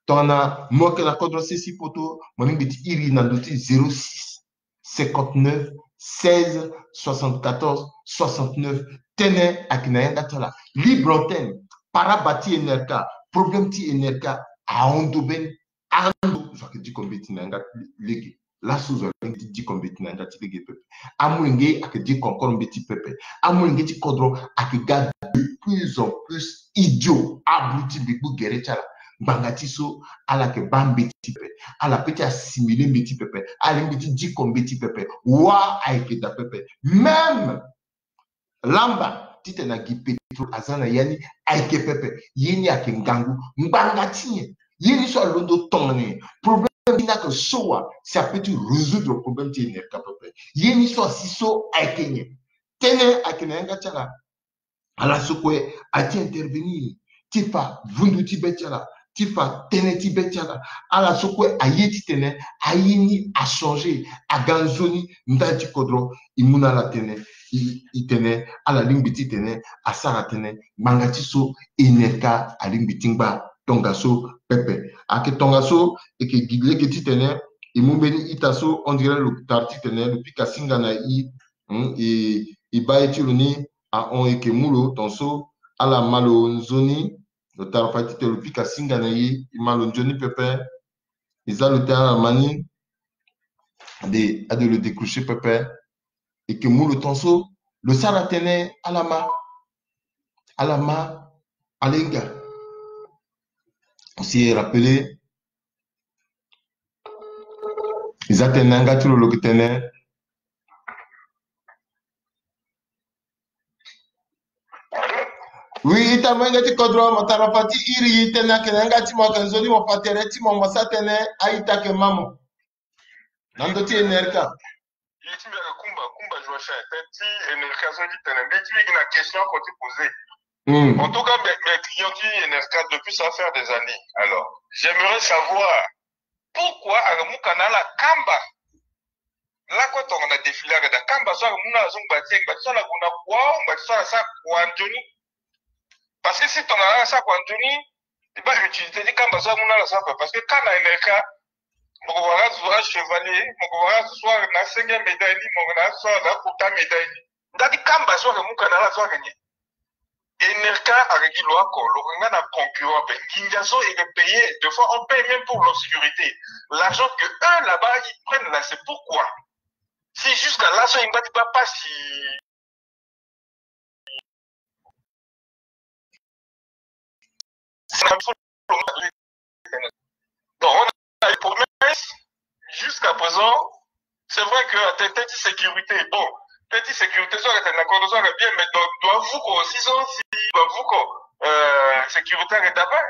Tongana mo yeke na kodro sese poto, mo lingbi ti iri na ndö ti zéro six cinquante-neuf seize soixante-quatorze soixante-neuf. Tënë ayeke na yanga ti ala. Libre antenne. Paraba ti Enerca, problème ti Enerca ahon ndo mbeni. Ando so ayeke diko mbeti na yanga ti lege. Laso zo alingbi ti diko mbeti na yanga ti lege pepe. Amolenge ayeke diko encore mbeti pepe. Amolenge ti kodro ayeke ga de plus en plus idiot. Abruti, mbi gbu gere ti ala. Ngbanga ti so ala yeke baa mbeti pepe. Ala pe ti assimile mbeti pepe. Ala lingbi ti diko mbeti pepe. Wa ayeke daa pepe. Même lamba titene na gi pétrole aza na ya ni ayeke pepe. Ye ni ayeke ngangu. Ngbanga ti nyen? Ye ni so alondo tongana nyen? Problème ni ayeke so wa si ape ti résoudre problème ti Enerca pepe? Ye ni so asi so ayeke nyen? Tënë ayeke na yanga ti ala. Ala so kue aye ti intervenir ti fa vundu ti be ti ala, ti fa tënë ti be ti ala. Ala so kue aye titene aye ni achanger, aga nzoni ndali ti kodro. E mu na ala tënë, e, e tene ala lingbi titene asara tënë. Ngbanga ti so Enerca alingbi ti ngba tongaso pepe. Ayeke tongaso e yeke gi lege titene e mu mbeni ita so on dirait lo tara titene lo pika singa na e. Hmm, e, e baa ye ti lo ni ahon, e yeke mu lo tongaso. Ala ma lo nzoni, lo tara fade titene lo pika singa na e, e ma lo nzoni pepe. E za lo tënë, ala ma ni. Ade, ade lo décrocher pepe. E yeke mu lo tongaso, lo sara tënë, ala ma. Ala ma, ala hinga. Si e rappeler, e za tënë na yanga ti lo, lo yeke tene. Oui, ita, molenge ti kodro, mo tara fade ti iri tënë ayeke na yanga ti mo, ayeke nzoni mo fa tere ti mo, mo sa tënë, a-ita, ayeke ma mo. Na ndö ti Enerca. Ye ti mbi ayeke Kumba, Kumba Joachim, tënë ti Enerca so ti tene, mbi ti mbi gi na question oko ti poser. Hmm. En tout cas, mes, mes clients ti Enerca depuis ça fait des années. Alors, j'aimerais savoir pourquoi ayeke mu ka na ala kamba. Lakue tongana défilé ayeke daa, kamba so ayeke mu na ala so ngba ti e, ngba ti so ala gue na kua, ngba ti so ala sara kua nzoni. Parce que si tongana ala sara kua nzoni, e baa utilité ti kamba so amu na ala so ape. Parce que ka na Enerca, mo ko wara azo achevalier, mo ko wara azo so ayeke na cinquième médaille ni, mo yeke na azo so ayeke na quota médaille ni. Ndali ti kamba so ayeke mu ka na ala so ayeke nyen? Enerca ayeke gi lo oko, lo yeke nga na concurrent ape. Nginza so e yeke payer, des fois on paye même pour l'obscurité. L'argent que eux là-bas ils prennent là, c'est pourquoi? Si jusqu'à là so e ngba ti baa pasi. Donc, on a des promesses. Jusqu'à présent, c'est vrai que tënë ti sécurité, bon, tënë ti sécurité so ayeke tene na kodro so ayeke bien, mais donc, doit vuko aussi so si doit vuko, euh, sécurité ayeke daa ape.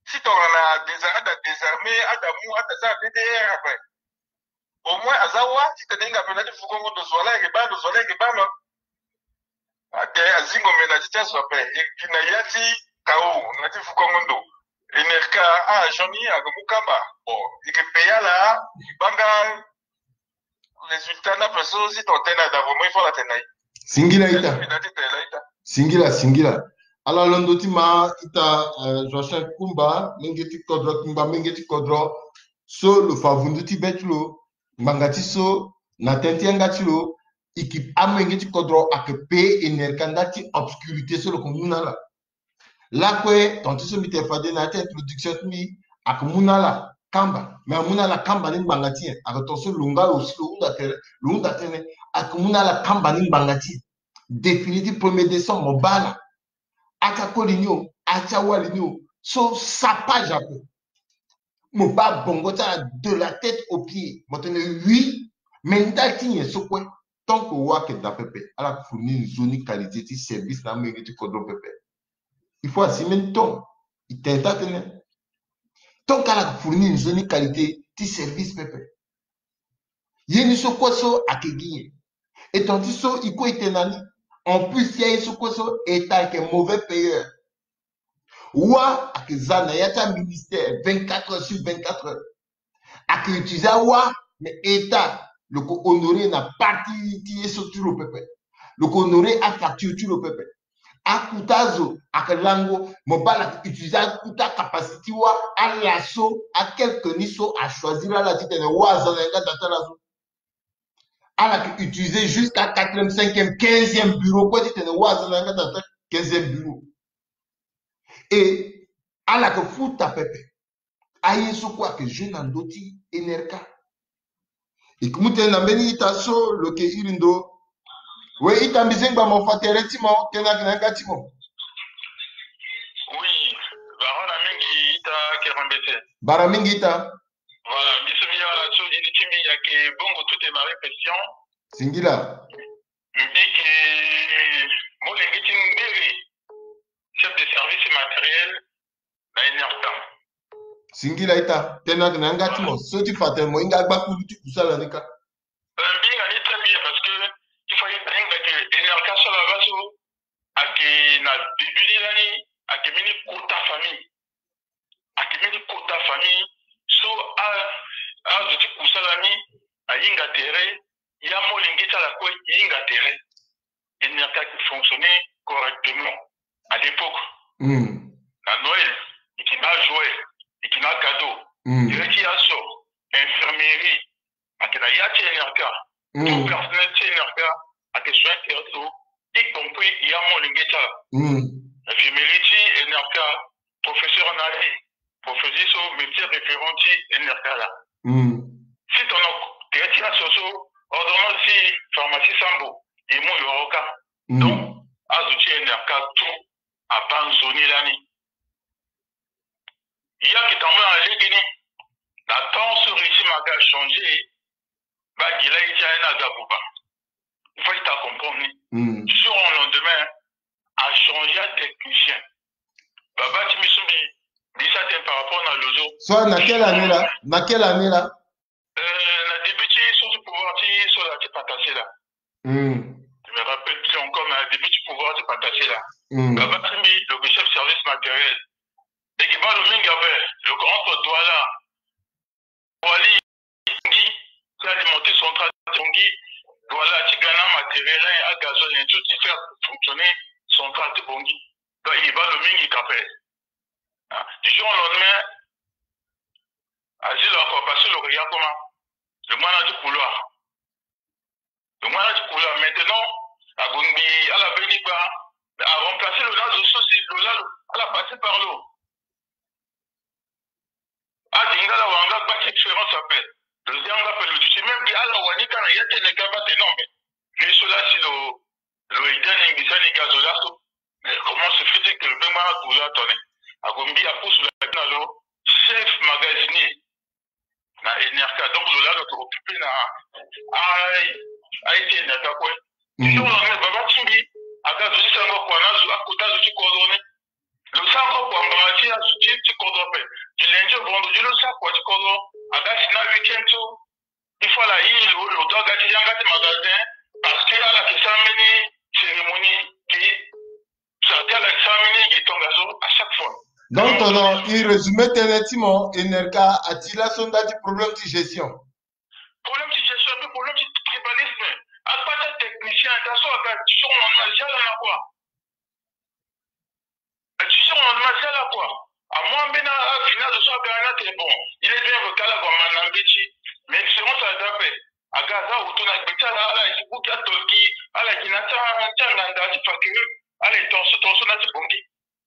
Si tongana désar-, ada désarmé, ada mu, ada sara D D R ape. Au moins aza wâ titene e hinga ape na ya ti vukongo ndo, zo wa la ayeke baa lo, zo wa la ayeke baa lo. Ake azingo me na ya ti ti azo ape, e gi na ya ti K O na ya ti vukongo ndo. Enerca a-agent ni ayeke mu kamba. Bon, e yeke payer ala, e baa nga résultat ni ape so si tongana tënë ada vraiment il faut ala tene na e. Singila ita. Singila, singila. Ala londo ti ma ita, euh, Joachim Kumba, menge ti kodro, Kumba menge ti kodro. So lo fa vundu ti be ti lo, ngbanga ti so, na tënë ti yanga ti lo, e yeke amolenge ti kodro ayeke payer Enerca ndali ti obscurité so lo yeke mu na ala. Lakue, ton ti so mbi tene fade na ya ti introduction ti mbi, ayeke mu na ala kamba. Mais amu na ala kamba ni ngbanga ti nyen? Ayeke ton so lo nga lo si lo hunda tere, lo hunda tënë, ayeke mu na ala kamba ni ngbanga ti nyen? Défilé ti premier décembre, mo baa ala. Atia koli ni o, atia wali ni o, so sapage ape. Mo baa bongo ti ala de la tête au pied. Mo tene oui, mais ndali ti nyen so kue? Tant que wa ayeke daa pepe, ala yeke fournir nzoni qualité ti service na amolenge ti kodro pepe. Il faut assumer ni ton. E tene taa tënë. Tant que ala yeke fournir nzoni qualité ti service pepe. Ye ni so kue so ayeke gi nyen? E ton ti so e kue e tene na ni. En plus, ya ye so kue so, État ayeke mauvais payeur. Wa ayeke za na ya ti aministère vingt-quatre heures sur vingt-quatre heures. Ayeke utiliser awa, mais État lo yeke honorer na partie ti ye so ti lo pepe. Lo yeke honorer afacture ti lo pepe. Akuta azo ayeke lango, mo baa ala yeke utiliser akuta capacité ti wa, ala so, a quelque ni so achoisir ala titene wa aza na yanga daa ti ala so. Ala yeke utiliser jusqu'à quatrième, cinquième, quinzième bureau kue titene wa aza na yanga daa ti ala, quinzième bureau. Et ala yeke futa pepe. Aye so kue ayeke jeu na ndö ti N R K. E ke mu tënë na mbeni ita so lo yeke iri ndo. We ita, mbi zengba mo fa tere ti mo, tënë ayeke na yanga ti mo. Oui, bara na mingi ita Kerembese. Bara mingi ita. Voilà, mbi so mbi ya ala so didi ti mbi ayeke Bongo Tout Marie Christian. Singila. Mbi yeke molenge ti ngbere, chef de service matériel na N R K. Singila ita, tënë ayeke na yanga ti mo, so ti fa tene mo hinga agbakulu ti kusala ni kâ. Euh, mbi hinga ni très bien parce que il faut ahinga que N R K so ala baa so ayeke na début ni lani, ayeke mbeni kota famille. Ayeke mbeni kota famille so a, azo ti kusala ni ahinga tere, ya molenge ti ala kue e hinga tere. N R K ayeke fonctionner correctement à l'époque. Hmm. Na Noël, e yeke na ajoie, e yeke na acadeau. Hmm. Tere ti aso, infirmerie, ayeke na ya ti N R K. Hmm. Tout personnel ti N R K ayeke soigner tere ti lo, y compris ya molenge ti ala. Hmm. Infirmerie ti N R K, professeur na ali, professeur so médecin référent ti N R K laa. Hmm. Si tongana tere ti aso so, ordonnance ti pharmacie Sambo e mu yoro kâ. Hmm. Donc azo ti N R K tout abaa nzoni lani. Ya ayeke tambula na legeni, na temps so régime aga changé, baa gi laa ye ti aye ni aga buba. Il faut ita acomprendre ni. Hmm. Du jour au lendemain, achangé atechnicien. Baba ti mbi so mbi, mbi sara tënë par rapport na Lozo. So na quelle année là? Na quelle année là? Euh, na début ti so ti pouvoir ti so laa ti Patassé laa. Hmm. Je me rappelle plus encore, mais na début ti pouvoir ti Patassé laa. Hmm. Baba ti mbi lo yeke chef service matériel. E yeke baa lo mingi ape, lo yeke entre Douala, Boali, Bangui, ti alimenter centrale ti Bangui, Douala ti ga na matériel, agazole, tout ti faire fonctionner centrale ti Bangui. Donc e baa lo mingi ka ape. Ah, du jour au lendemain, azi lo akua parce que lo yeke ya comment? Lo mu na ya ti couloir. Donc, voilà, du coup, là, maintenant, abongbi ala mbeni gba, a remplacer lo na zo so si lo laa lo, ala passer par lo. Adinga la wanga gba ti expérience ape. Lo zia nga ape lo duti même gi ala wani ka na ya ti N R K ba te non, mais lui so laa si lo, lo aide ni ngbisa ni ga zo laso. Mais comment se fait-il que lo bengba na zo la tone? Abongbi apusu la na lo chef magasinier na N R K. Donc lo laa lo yeke occupé na aye ti N R K kue. Ti so lo na baba ti mbi aga zo ti sara kua na azo, akota azo ti kodro ni. Lo sara kua ngbanga ti azo ti, ti kodro ape. Du lundi au vendredi lo sara kua ti kodro. Aga si na week-end so, il faut ala iri lo, lo doit ga ti yanga ti magasin. Parce que ala yeke sara mbeni cérémonie ti, so ala yeke sara mbeni gi tongaso à chaque fois. Donc, tongana e résumé tënë ti mo, N R K ati laso nda ti problème ti gestion. Problème ti gestion, pe problème ti tribalisme. Akpata technicien, ta so aga ti so na zia la na kua. Ti so na zia la kua. Amu ambeni afini azo so aga na tene bon, il est bien que ala gue ma na mbeti. Mais expérience aza ape. Aga aza auto na gbe ti ala, ala yeke buki atolki, ala yeke na ti anganda ti fakiri, ala yeke tongaso tongaso na ti bongi.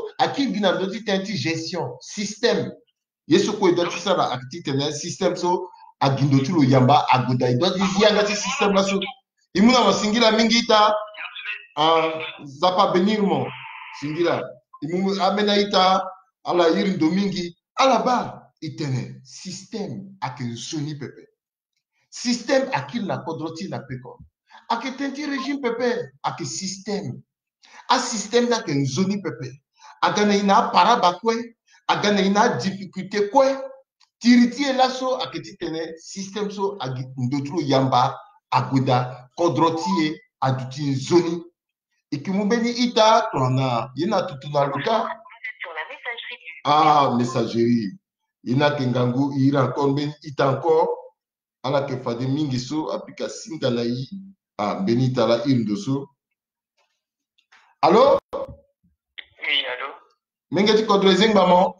so, aki gi na ndö ti tënë ti gestion, système. Ye so kue e doit ti sara ayeke titene système so agi ndo ti lo yamba ague daa. E doit ti zi yanga ti système laso. E mu na mo singila mingi ita. Ah, Nzapa abénir mo. Singila. E mu ambeni a-ita, ala iri ndo mingi. Ala baa e tene système ayeke nzoni pepe. Système akiri na kodro ti e na peko. Ayeke tënë ti régime pepe, ayeke système. Asystème ni ayeke nzoni pepe. Aga na e na aparaba kue, aga na e na adifficulté kue. Tiri ti e laso ayeke titene système so agi ndo ti lo yamba ague daa, kodro ti e aduti nzoni. E ke mu mbeni ita tongana ye na tutu na lo kâ. Ah, messagerie. Ye ni ayeke ngangu, e iri encore mbeni ita encore. Ala yeke fade mingi so apika singa na e. Ah, mbeni ita laa iri ndo so. Allô? Oui, allô? Menge ti kodro e zengba mo.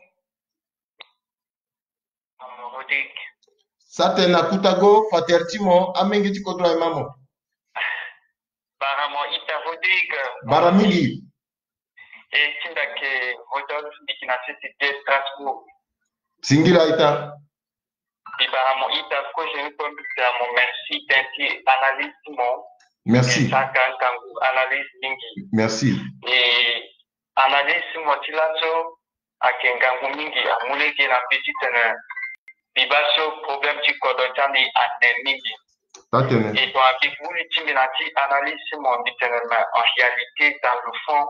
Maman Rodrigue. Sa tene na kuta go, fa tere ti mo, amenge ti kodro aye ma mo. Bara mo ita Rodrigue. Bara mingi. E ti mbi ayeke Rodolphe, mbi yeke na sese de Strasbourg. Singila ita. Mbi bara mo ita, kozo ni kue mbi tene mo merci tënë ti analyse ti mo. Merci. E saka ngangu analyse mingi. Merci. E analyse ti mo ti laso ayeke ngangu mingi, amu lege na mbi titene mbi baa so problème ti kodro ti ande ane mingi. Taa tene. E tongana mbi vuli ti mbi na ti analyse ti mo, mbi tene mais en réalité, dans le fond,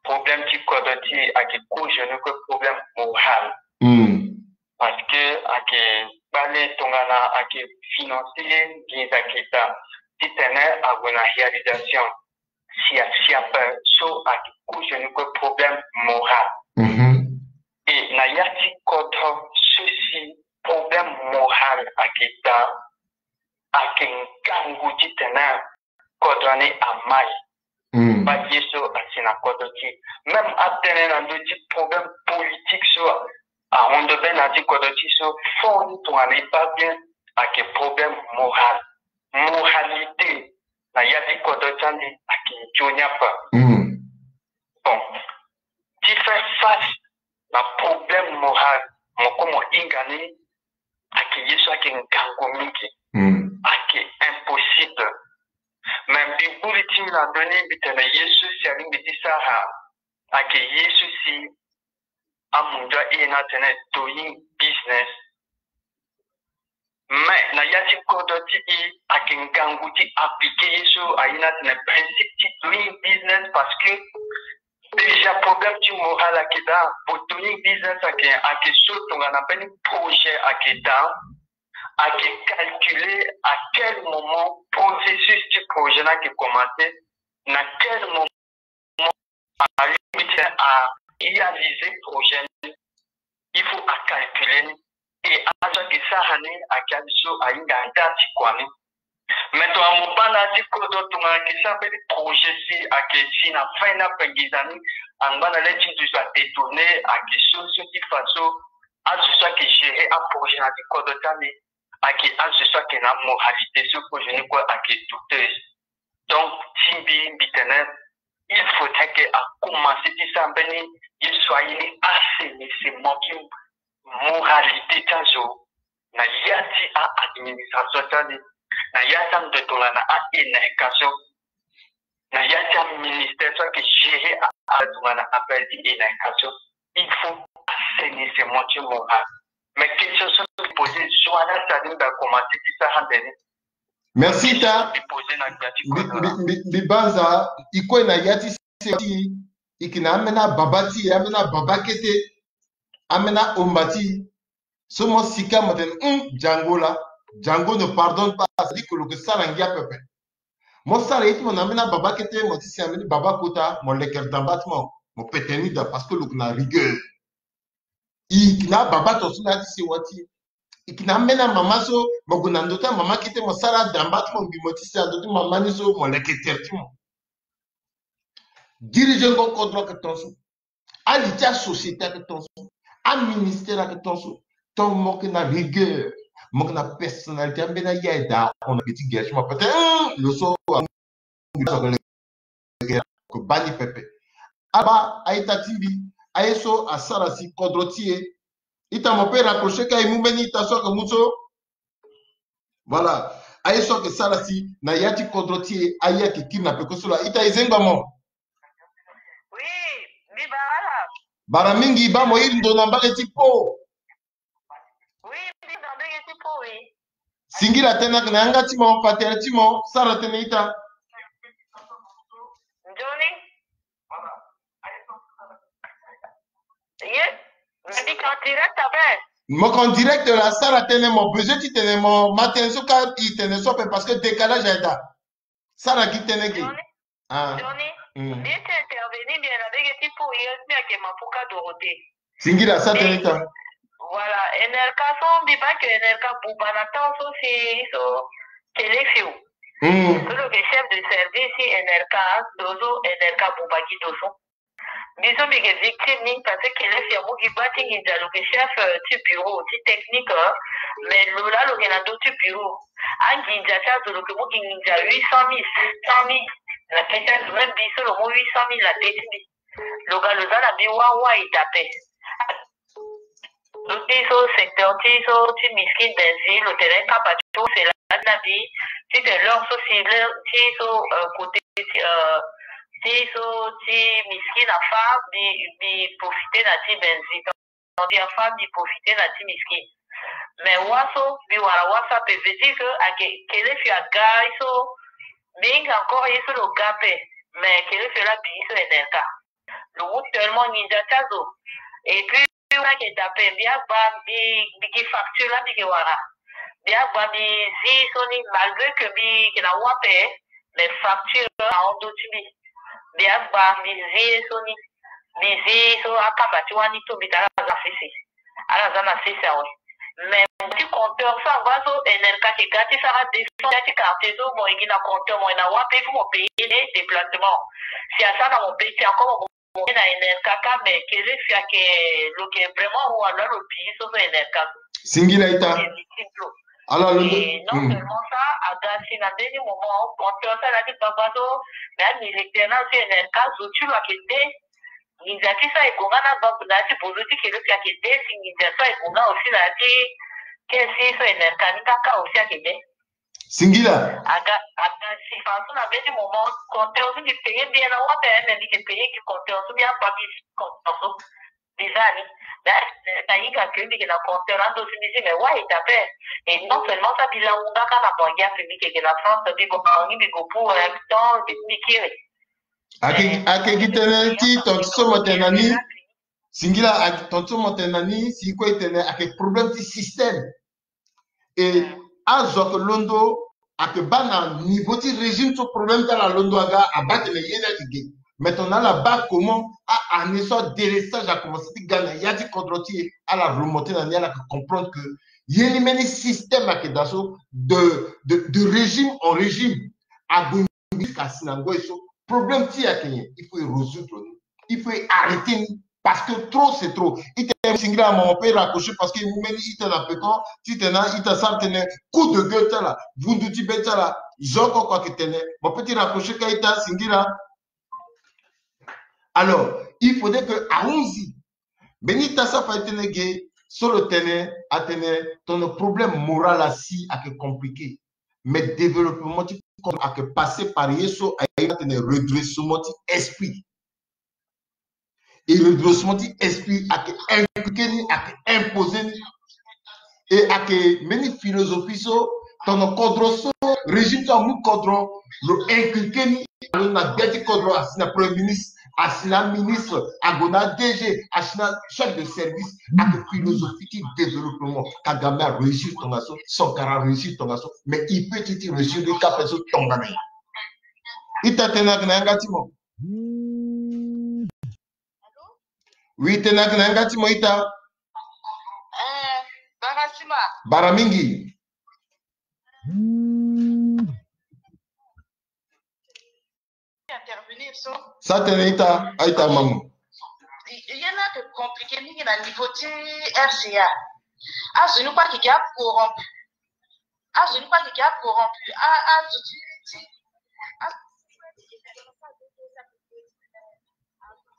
problème ti kodro ti e ayeke kozo ni kue problème moral. Hmm. Parce que ayeke kpale tongana ayeke financer nginza ayeke daa titene ague na réalisation. Si a si ape so ayeke kozo ni kue problème moral. Mhm. E na ya ti kodro so si problème moral ayeke daa, ayeke ngangu titene kodro ni amai. Mm. Baa ye so asi na kodro ti e. Même atënë na ndö ti problème politique so ahon ndo be na ya ti kodro ti e so, fort ni tongana e baa bien ayeke problème moral. Moralité na ya ti kodro ti ande ayeke nzoni ape. Mm. Bon, ti faire face na problème moral, mo kue mo hinga ni, ayeke ye so ayeke ngangu mingi. Mm. Ayeke impossible. Mais mbi vuli ti mbi na ndö ni, mbi tene ye so si alingbi ti sara ayeke ye so si amundu aye ni atene doing business. Mais na ya ti kodro ti e ayeke ngangu ti appliquer ye so aye ni atene principe ti doing business, parce que déjà problème ti moral ayeke daa. Pour doing business ayeke, ayeke so tongana mbeni projet ayeke daa, ayeke calculer à quel moment processus ti projet ni ayeke commencer, na quel moment alingbi ti a réaliser projet ni. Il faut a calculer ni. E azo ayeke sara ni ayeke azo so ahinga nda ti kua ni. Mais tongana mo baa na ya ti kodro tongana ayeke sara mbeni projet si ayeke si na fin ni apenginza ni, angba na le ti nduzu adétourner, ayeke so so ti fa so azo so ayeke gérer aprojet na ya ti kodro ti ande ayeke azo so ayeke na moralité so kozo ni kue ayeke douteuse. Donc ti mbi, mbi tene il faudrait que a commencer ti sara mbeni ye so aye ni assainissement ti moralité ti azo. na ya ti a-administration ti ande, na ya ti ande tongana a-éducation, na ya ti aministère so ayeke gérer a-, a-, tongana affaire ti éducation, il faut assainissement ti moral. Mais question so mbi poser zo ala tali mbi akomanse ti sara ande ni. Merci ta. Mbi poser na gbia ti mbi, mbi, mbi, mbi banza, e kue na ya ti se ti e, e yeke na ambeni ababa ti e, ambeni ababa kete, ambeni aomba ti e. So mo sika mo tene, hum, Django la, Django ne pardonne pas, c'est-à-dire que lo yeke sara ngia pepe. Mo sara ye ti mo na ambeni ababa kete, mo ti si ambeni baba kota, mo leke damba ti mo, mo pete ni daa parce que lo yeke na rigueur. E yeke na ababa tongaso na ya ti sewa ti e. E yeke na ambeni amama so mo gue na ndö ti amama kete, mo sara damba ti mo, mbi mo ti si na ndö ti mama ni so, mo leke tere ti mo. Diriger ngo kodro ayeke tongaso. Ali ti asociété ayeke tongaso. Aministère ayeke tongaso. Tant mo yeke na rigueur, mo yeke na personnalité, ambeni aya aye daa, on a petit gage, mo peut-être, hum, lo so, ko baa ni pepe. Abaa, a-ita ti mbi, aye so asara si kodro ti e. Ita, mo peut raccrocher ka e mu mbeni ita so ayeke mu so. Voilà. Aye so ayeke sara si na ya ti kodro ti e, aye ayeke kiri na peko so laa. Ita, e zengba mo. Oui, mbi bara ala. Bara mingi, baa mo iri ndo na mbage ti Po. Oui, mbi iri ndo na mbage ti Po, oui. Singila tënë, ayeke na yanga ti mo, patere ti mo, sara tënë, ita. Nzoni. Ye, mbi yeke en direct ape. Mo yeke en direct laa, sara tënë, mo besoin ti tene mo ma tënë so ka, e tene so ape parce que décalage aye daa. Sara gi tënë ge. Nzoni. Ah. Nzoni. Mm. Mbi ye ti intervenir, mbi yeke na mbage ti Po, ye so mbi ayeke Mapuka Dorothée. Singila, sara tënë, ita. Voilà, N R K so mbi baa que N R K buba na temps so si so Kelefio. Mm. So lo yeke chef de service ti N R K, ndo so N R K buba gi ndo so. Mbi so mbi yeke victime ni, parce que Kelefio amu gi baa ti nginza, lo yeke chef, euh, ti bureau ti technique, euh, mais lo laa lo yeke na ndö ti bureau. Anginza ti azo lo yeke mu gi nginza huit cent mille, sept cent mille na tënë ti azo, même mbi so lo mu huit cent mille na tënë ti mbi. Lo ga lo za na mbi wâ wâ, e daa ape. Lo ti so secteur ti so ti miskin Benzile, lo tene kapa ti use lani na mbi, ti tene l'heure so si l'heure ti so, euh, côté ti, euh, ti so ti miskin afa, mbi, mbi profiter na ti Benzile. Mbi afa, mbi profiter na ti miskin. Mais wâ so mbi wara wâ so ape, veut dire que ayeke Kelefio aga ye so, mbi hinga encore ye so lo ga ape. Mais Kelefio laa abi ye so N R K. Lo mu tellement nginza ti azo. Et puis, wala ayeke daa ape, mbi agba, mbi, mbi gi facture laa mbi yeke wara. Mbi agba, mbi zi so ni, malgré que mbi yeke na wâ ape, mais facture ahon ndö ti mbi. Mbi agba, mbi zi ye so ni. Mbi zi so akamba ti wâ ni tumbi daa, ala za na sese. Ala za na sese awe. Mais ti compteur so angba so, N R K ayeke ga ti sara descente ti quartier so, mo yeke gi na compteur, mo yeke na wâ ape, il faut mo payer déplacement. Si asara na mo payer, si encore mo na N R K ka, mais Kelefio ayeke, lo yeke vraiment roi, lo lo bi so so N R K. Singila, ita. Ala lo. Et non seulement ça, aga si na mbeni moment, compteur so ala ti gbagba so, mais amilitaire na so N R K, zo ti lo ayeke de. Nginza ti so aye gonga na gbagba na ya ti bozo ti Kelefio ayeke de, si nginza so aye gonga aussi na ya ti kesi so N R K ni kaka aussi ayeke de. Singila. Aga, aga si façon na mbeni moment, compteur so mbi payer mbi na wâ ape, mais mbi yeke payer gi compteur so, mbi akpa mbi compteur so. Mbi za ni. Mais na hinga que mbi yeke na compteur ando so mbi zi, mais wâ e daa ape. Et non seulement ça, mbi langu nga ka na Bangui ape, mbi yeke na France, mbi gue na Bangui, mbi gue pour un temps, mbi, mbi kiri. Ayeke, ayeke gi tënë ti tongaso so mo tene na ni. Singila, ayeke tongaso so mo tene na ni, si kue e tene ayeke problème ti système. Et azo ayeke londo, ayeke baa na niveau ti régime so problème ti ala londo aga, abaa tene ye ni ayeke ge. Mais tongana ala baa comment a-année so adélestage akomanse ti ga na ya ti kodro ti e, ala remonter na ni, ala yeke comprendre que ye ni mbeni système ayeke daa so, de, de, de régime en régime. Ague jusqu'à si na ngoi so problème ti e ayeke nyen, il faut e résoudre ni, il faut e arrêter ni, parce que trop c'est trop. Ita, singila, mo peut raccrocher parce que e mu mbeni ita na peko, titene ita sara tënë, coup de gueule ti ala, vundu ti be ti ala, zo oko oko ayeke tene, mo peut ti raccrocher ka, ita, singila. Alors, il faudrait que ahunzi mbeni ita so afa ti tënë ge, So lo tene atene, ton problème moral asi ayeke compliqué. Mais développement ti kodro ayeke passé par ye so aye atene redressement ti esprit. Et redressement ti esprit ayeke inculqué ni, ayeke imposé ni. Et ayeke mbeni philosophie so, ton kodro so, régime so amu kodro, lo inculqué ni. Alo na gbia ti kodro, asi na premier ministre, asi na ministre, ague na D G, asi na chef de service. Ayeke philosophie ti développement. Kagame aréussir tongaso, Sankara aréussir tongaso, mais i peut ti réussir ni kapa so tongana ye. Ita, tene ayeke na yanga ti mo. Oui, tene ayeke na yanga ti mo, ita. Eh, bara sima. Bara mingi. Intervenir so. Sa tene, ita, a ita mamu. Ye ni ayeke compliqué mingi na niveau ti R C A. Azo ni kue ayeke acorrompu. Azo ni kue ayeke acorrompu. A, azo ti, ti, a,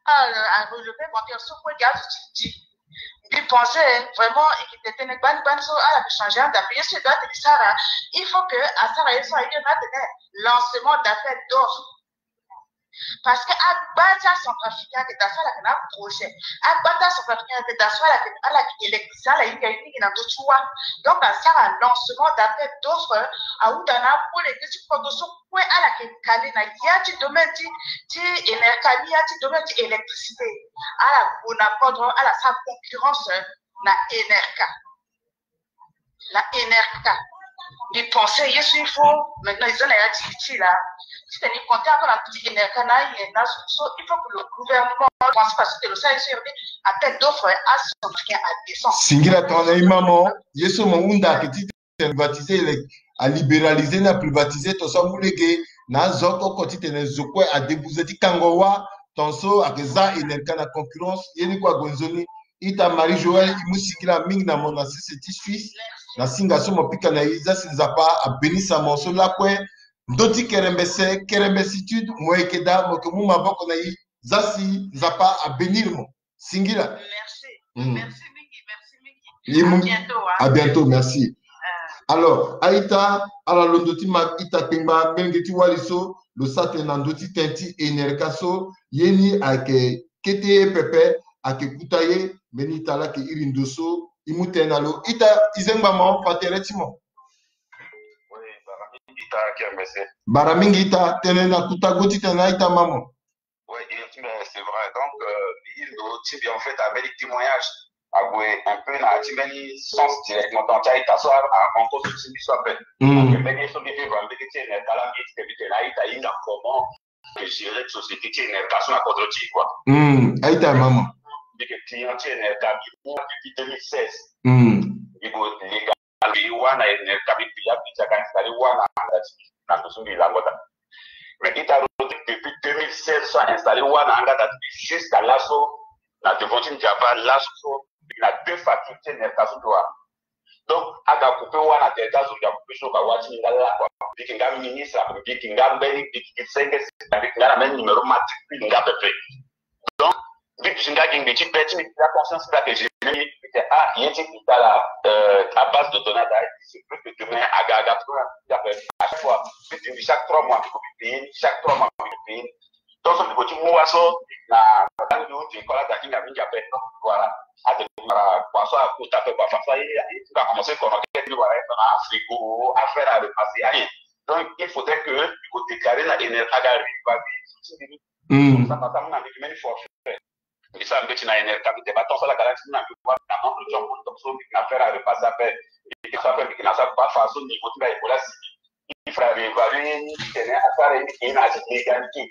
a, a relevé bancaire so kue gi azo ti, ti. Mbi pensé vraiment e yeke tene gbani gbani so ala yeke changé anda. Mbi ye so e doit tene sara, il faut que asara ye so aye na atene lancement d'appel d'offre. Parce que agba ti acentrafricain ayeke daa so ala yeke na projet. Agba ti acentrafricain ayeke daa so ala yeke, ala yeke électricien, ala hinga ye mingi na ndö ti wâ. Donc asara lancement d'appel d'offre, ahunda na apoleke ti kodro so kue ala yeke kale na ya ti domaine ti, ti Enerca ni, ya ti domaine ti électricité. Ala gue na kodro, ala sara concurrence na Enerca. Na Enerca. Mbi pensé ye so il faut maintenant e za na ya ti ti la. Titene e compté encore na ndö ti Enerca na aye na so, so il faut que le gouvernement pense parce que lo sara ye so e appel d'offre acentrafricain à deux cents. Singila tongana e ma mo, ye so mo hunda ayeke ti titene privatiser, a libéraliser ni, a privatiser ton so amu lege na azo oko oko titene zo kue a débuter ti kango wâ, ton so ayeke za Enerca na concurrence, ye ni kue ague nzoni. Ita Marie Joëlle, e mu singila mingi na mo na sese ti Suisse. Na singa so mo pika na e, za si Nzapa a bénir sa mo so lakue. Ndö ti kerembese, kerembesitude, mo yeke daa, mo yeke mu maboko na e, za si Nzapa a bénir mo. Singila. Merci. Mm. Merci mingi, merci mingi. Ye mu, à bientôt, hein. À bientôt, merci. Euh. Alors, a-ita, ala londo ti ma ita kpengba, mbeni ge ti wali so lo sara tënë na ndö ti tënë ti Enerca so, ye ni ayeke kete ye pepe, ayeke kuta ye. Mbeni ita laa ayeke iri ndo so e mu tënë na lo. Ita, e zengba mo, fa tere ti mo. Oui, bara mingi ita, kerembese. Bara mingi ita, tene na kuta go ti tene na a-ita ma mo. Ouais, et, mais c'est vrai. Donc, euh, mbi iri ndo ti mbi, en fait, avec les témoignages, ague un peu na ti mbeni sens directement, donc ti a-ita so a, a rencontre ti mbi so ape. Mm. Ague mbeni ye so mbi vivre mbeni ti Enerca laa, mbi ye ti tene mbi tene a-ita ahinga comment gérer société ti Enerca so na kodro ti e, quoi. Mm. A-ita ma mo. Mbi yeke client ti Enerca, mbi mu depuis deux mille seize. Mm. Mbi gue légal. Mbi wâ na Enerca, mbi paya, mbi ti aga installé wâ na anga ti mbi na ndo so mbi lango daa. Mais ita Rodrigue, depuis deux mille seize so a installé wâ na anga daa ti mbi jusqu'à laso, na devant ti Nzapa laso so, mbi na deux factures ti Enerca so mbi wara. Donc aga coupé wâ na tere ti azo, mbi a coupé so, aga wâ ti mbi nga laa, quoi. Mbi yeke nga ministre, mbi yeke nga mbeni, mbi yeke senge, mbi yeke nga na mbeni numéro matricule nga pepe. Donc mbi duti nga gi ngbii ti be ti mbi, ti la conscience ti la que je mbi tene ah, ye ti mbi ta la, euh, à base de données, il se peut que demain aga aga à chaque fois mbi duti chaque trois mois mbi ko mbi paye, chaque trois mois mbi paye. Donc so mbi ko ti mu wâ so na ndali ti école aga ti mbi mingi ape. Donc voilà, ade mara kua so akota ape kua, fa so aye aye ti mbi a commencé kono kete mbi wara ye na frigo, affaire à repasser aye. Donc il faudrait que mbi ko déclarer na Enerca aga riva mbi. Mm. Sa na sa mu na mbi meni forfait. Mbi sara mbeti na Enerca, mbi tene ba ton so ala ga la ti mu na mbi wâ na entre John Paul, donc so mbi na faire à repasser ape. Mbi ke na sa ape, mbi ke na sa ba fa so niveau ti mbi a évolue asi. Mbi fa réévaluer ni, mbi tene asara ye mbi ke na asi légalité.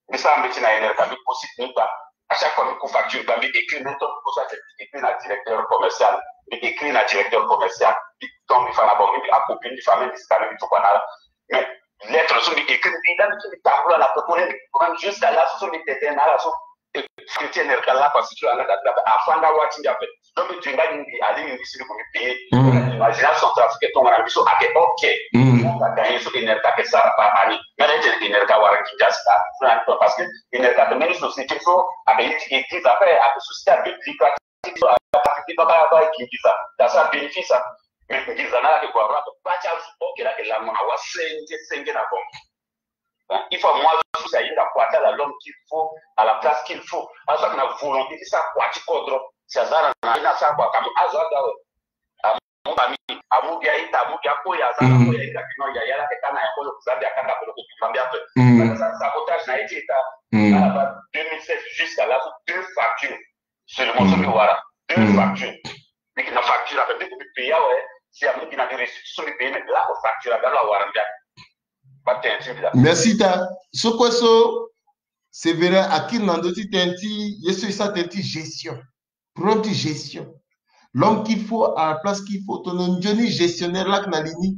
Mbi sara mbeti na Enerca, mbi ko site ni ba. À chaque fois mbi ku facture ba, mbi écrit même ton ko sa, mbi écrit na directeur commercial. Mbi écrit na directeur commercial. Mbi ton mbi fa na bango, mbi a copie, mbi fa même mbi scanner, mbi tukua na ala. Mais lettre so mbi écrit, mbi la mbi ti mbi tambula na pekoni, mbi jusqu'à là so mbi tene na ala so. Ti Enerca laa, parce que ala ga ti la afa nga wâ ti mbi ape. Donc mbi duti nga gi mbi, alingbi mbi si mbi ko mbi payer. Mm. Imagination centrafricain tongana mbi so ayeke ok. Mm. Mo ga gagner so Enerca ayeke sara par année. Nga na ye ti Enerca wara nginza si la. Parce que Enerca ayeke mbeni société so ayeke ye ti église ape, ayeke société à but lucratif. ti so attaque ti baba aba eke nginza ta sara bénéfice a. Mais nginza na ala eke kua roi ake ba ti azo, ok, la eke lango na wa senge senge na bango. Il faut amu azo si ahinga kua ti ala l'homme qu'il faut à la place qu'il faut. Azo ake na volonté ti sara kua ti kodro. Si aza na na ni asara kua ka amu azo aga awe. Amu famille, amu gi a-ita, amu gi akoya, aza na koya ahinga kino yaya la ake ka na ya kolo ku Zambia, akanga kolo ku Zambia ape. Aza sabotage na ye ti ita. Ala ba deux mille seize jusqu'à laso deux factures. Seulement so mbi wara deux factures. Mbi yeke na facture ape, mbi ko mbi paye awe. Si amu gi na mbi reçu ti so mbi paye, mais lako facture aga lo awara mbi ape. Ba tene ti mbi la. Merci ta. So kue so, c'est vrai, akiri na ndö ti tene ti ye so e sara tene ti gestion. Problème ti gestion. L'homme qu'il faut à la place qu'il faut. Tongana nzoni gestionnaire lake na li ni,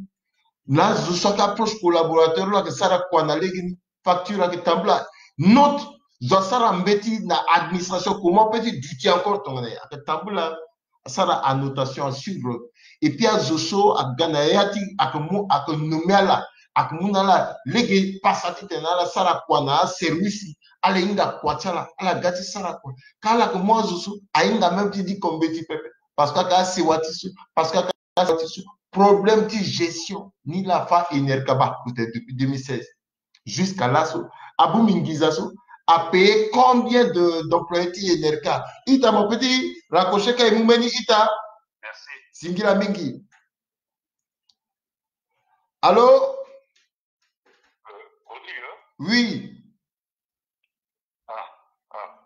na azo so ake approche collaborateur lo ake sara kua na lege ni. Facture ake tambula. Note, zo asara mbeti na administration, comment peut ti duti encore tongana ye ake tambula. Asara annotation, asuivre. Et puis azo so aga na ya ti ake mu, ake nommé ala, ake mu na ala lege pasa titene ala sara kua na aservice, ala hinga kua ti ala, ala ga ti sara kua. Ka ala ake mu azo so ahinga même ti diko mbeti pepe. Parce que ake asewa ti so, parce que ake asewa ti so. Problème ti gestion ni la fa Enerca ba kute depuis deux mille seize. Jusqu'à laso. Abongbi nginza so, a payé combien de, d'employés ti Enerca? Ita, mo peut ti raccrocher ka e mu mbeni ita. Merci. Singila mingi. Allô? Euh, Rodrigue, hein? Oui. Ah, ah.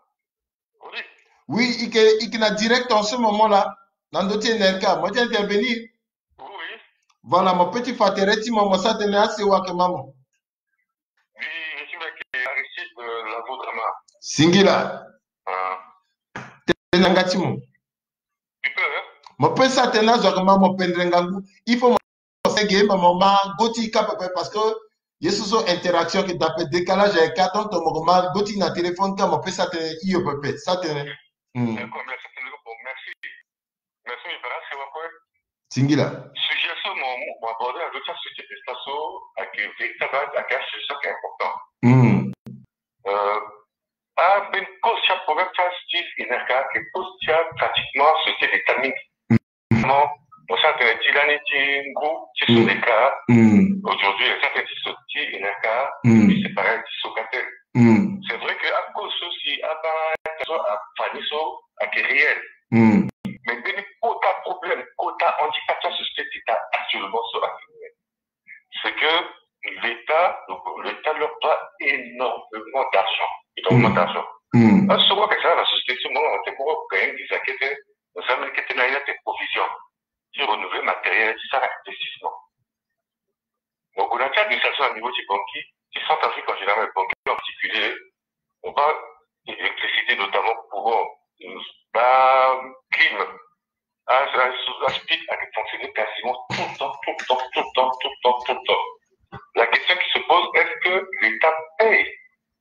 Rodrigue. Oui, i yeke, i yeke na direct en ce moment là. Na ndö ti Enerca, mo ti intervenir. Oui, oui. Voilà, mo peut ti fa tere ti mo, mo sara tënë asewa ake ma mo. Oui, je suis avec Aristide, euh, Lavo Drama. Singila. Ah. Tene na yanga ti mo. Tu peux, hein? Mo peut sara tënë azo ake ma mo pendere ngangu. Il faut mo sege, mais mo ma go ti ka pepe parce que ye so so interaction ake daa ape, décalage ayeke ka, donc mo ma go ti na téléphone ka, mo peut sara tënë hio pepe, sara tënë. Hmm. D'accord, merci. Bon, merci. Merci, mi bara sewa kue. Singila. Sujet so mo, mo aborder na ndö ti asujet ti ita so ayeke véritable, ayeke asujet so ayeke important. Hmm. Euh, ambeni cause ti aproblème ti asujet ti Enerca ayeke cause ti a pratiquement société d'État mingi. Non, mo sara tënë ti lani ti ngu ti Sodeca. Hmm. Aujourd'hui, mo sara tënë ti so ti Enerca, hmm, puis c'est pareil ti Socatel. Hmm. C'est vrai que a cause so si abaa so afani so ayeke réel. Hmm. Mais mbeni kota problème, kota handicap ti asociété d'État actuellement so ayeke réel, c'est que l'État, donc l'État leur doit énormément d'argent. Énormément d'argent. Hmm. Parce que so kue ayeke sara na société so, mo na moto moko gagner visa kete, mo sara mbeni kete na ye ate provision ti renouveler matériel ti sara investissement. Donc, on a déjà administration à niveau du banquier, du centre Afrique en général, mais banquier en particulier, on parle d'électricité, notamment courant, euh, bah, clim. Ah, ça, ça, ça, ça, ça fonctionne quasiment tout le temps, tout le temps, tout le temps, tout le temps, tout le temps. La question qui se pose, est-ce que l'État paye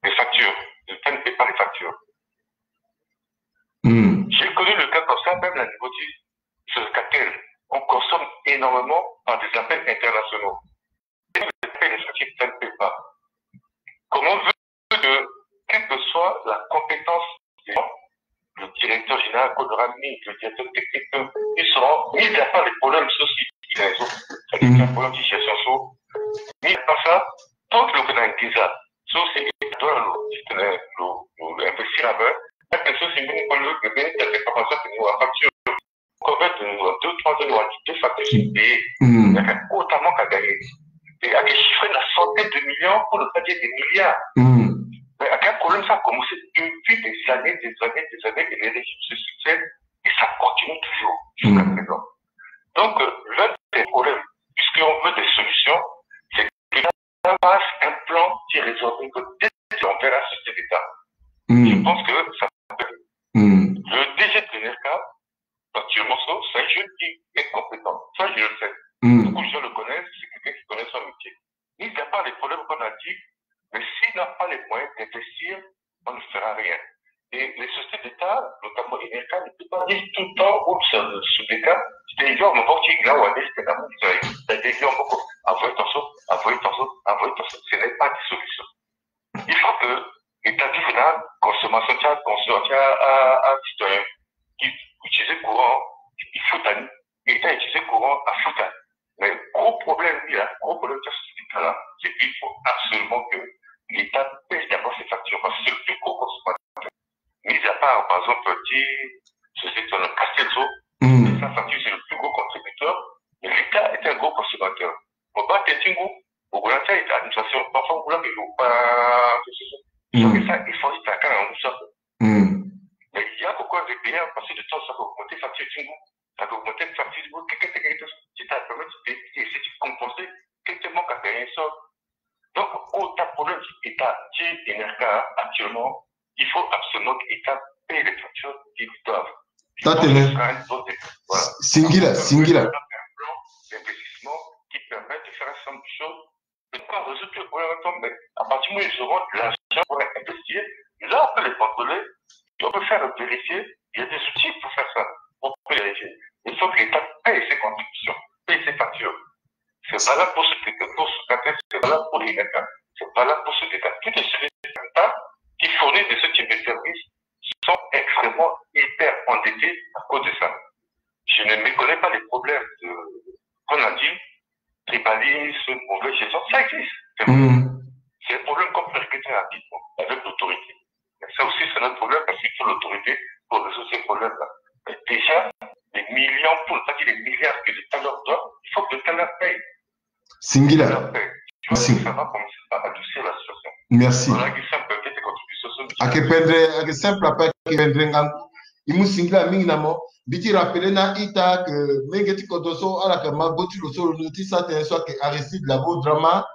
les factures? L'État ne paye pas les factures. Hmm. J'ai connu le cas comme ça, même à niveau du Socatel. On consomme énormément par des appels internationaux. Et les appels internationaux ne paient pas. Comment veut que, quelle que soit la compétence des gens, le directeur général, Kodorami, le directeur technique, ils seront mis à part les problèmes sociaux, ils ont. C'est-à-dire qu'il y a un problème de gestion, so. Mis à part ça, tant que le Canada, so, c'est, il doit le, le, le, le investir avec, quelque chose, c'est une bonne, le, le, le, le, le, la facture. Combien de, deux, trois ans, on a dit deux factures sont payées. Hmm. Il y a qu'un compte à manque à gagner. Et à des chiffres, la centaine de millions, pour ne pas dire des milliards. Hmm. Mais à quel problème ça a commencé depuis des années, des années, des années, et les régimes se succèdent, et ça continue toujours jusqu'à présent. Donc, euh, l'un des problèmes, puisqu'on veut des solutions, c'est que ça passe un plan qui résout une dette envers la société d'État. Hmm. Je pense que ça peut. Hmm. Le D G de l'Enerca, actuellement, ça, c'est un jeune qui est compétent. Ça, je le sais. Hmm. Beaucoup de gens le connaissent, c'est quelqu'un qui connaît son métier. Mis à part les problèmes qu'on a dit, mais s'il n'a pas les moyens d'investir, on ne fera rien. Et les sociétés d'État, notamment Enerca, ne peut pas vivre tout le temps où ça, sous des cas, c'est-à-dire, on va dire, là, on va dire, c'est un amour, c'est-à-dire, on va dire, envoyer ton saut, envoyer ton saut, envoyer ton saut. Ce n'est pas des solutions. Il faut que l'État vive la consommation, tu as consommation, tu as, à, à citoyen, qui, qui afuta. Mais gros problème ni la, gros problème ti asociété ti ala, c'est qu'il faut absolument que l'État paye d'abord ses factures, parce que c'est le plus gros consommateur. Mis à part, par exemple, ti sociéti ti Castel so, sa facture, c'est le plus gros contributeur, mais l'État est un gros consommateur. Mo baa tënë ti ngu, mo gue na ti a-ita, administration, parfois mo laa ke yo pa so ke sa, il faut ti taka na ngu so. Mais il y a pourquoi de payer, parce que de temps ça peut augmenter facture ti ngu, ça peut augmenter facture ti ngu, kekete kekete, ti ta permettre de essayer de compenser kekete manque à gagner so. Donc, au ta problème ti État ti Enerca actuellement, il faut absolument que l'État paye les factures qui lui doivent. Tatene. Singila, singila. Un plan d'investissement qui permet de faire un certain nombre de choses. Je ne peux pas résoudre tout le problème ensemble, mais à partir du moment où ils auront de l'argent pour investir, là, on peut les contrôler, et on peut faire vérifier. Il y a des outils pour faire ça. On peut vérifier. Il faut que l'État paye ses contributions, paye ses factures. C'est valable pour ce que pour ce quartier, c'est valable pour les États. C'est valable pour ce État. Tous les services d'État qui fournissent de ce type de services sont extrêmement hyper endettés à cause de ça. Je ne méconnais pas les problèmes de, qu'on a dit, tribalisme, mauvaise gestion. Ça existe. C'est vrai. C'est un problème qu'on peut régler très rapidement avec l'autorité. Mais ça aussi, c'est notre problème parce qu'il faut l'autorité pour résoudre ces problèmes-là. Mais déjà, les millions, pour ne pas dire les milliards que l'État leur doit, il faut que l'État leur paye. Singila. Merci. Merci. Voilà, c'est simple, petite contribution. Ake pendre, ake simple, apa ake pendre ngangu. I mu singila mingi na mo. Mbi ti rappeler na ita ke menge ti kodro so, ala ke ma go ti lo so, lo ti sa tënë so ake Aristide Lavo Drama,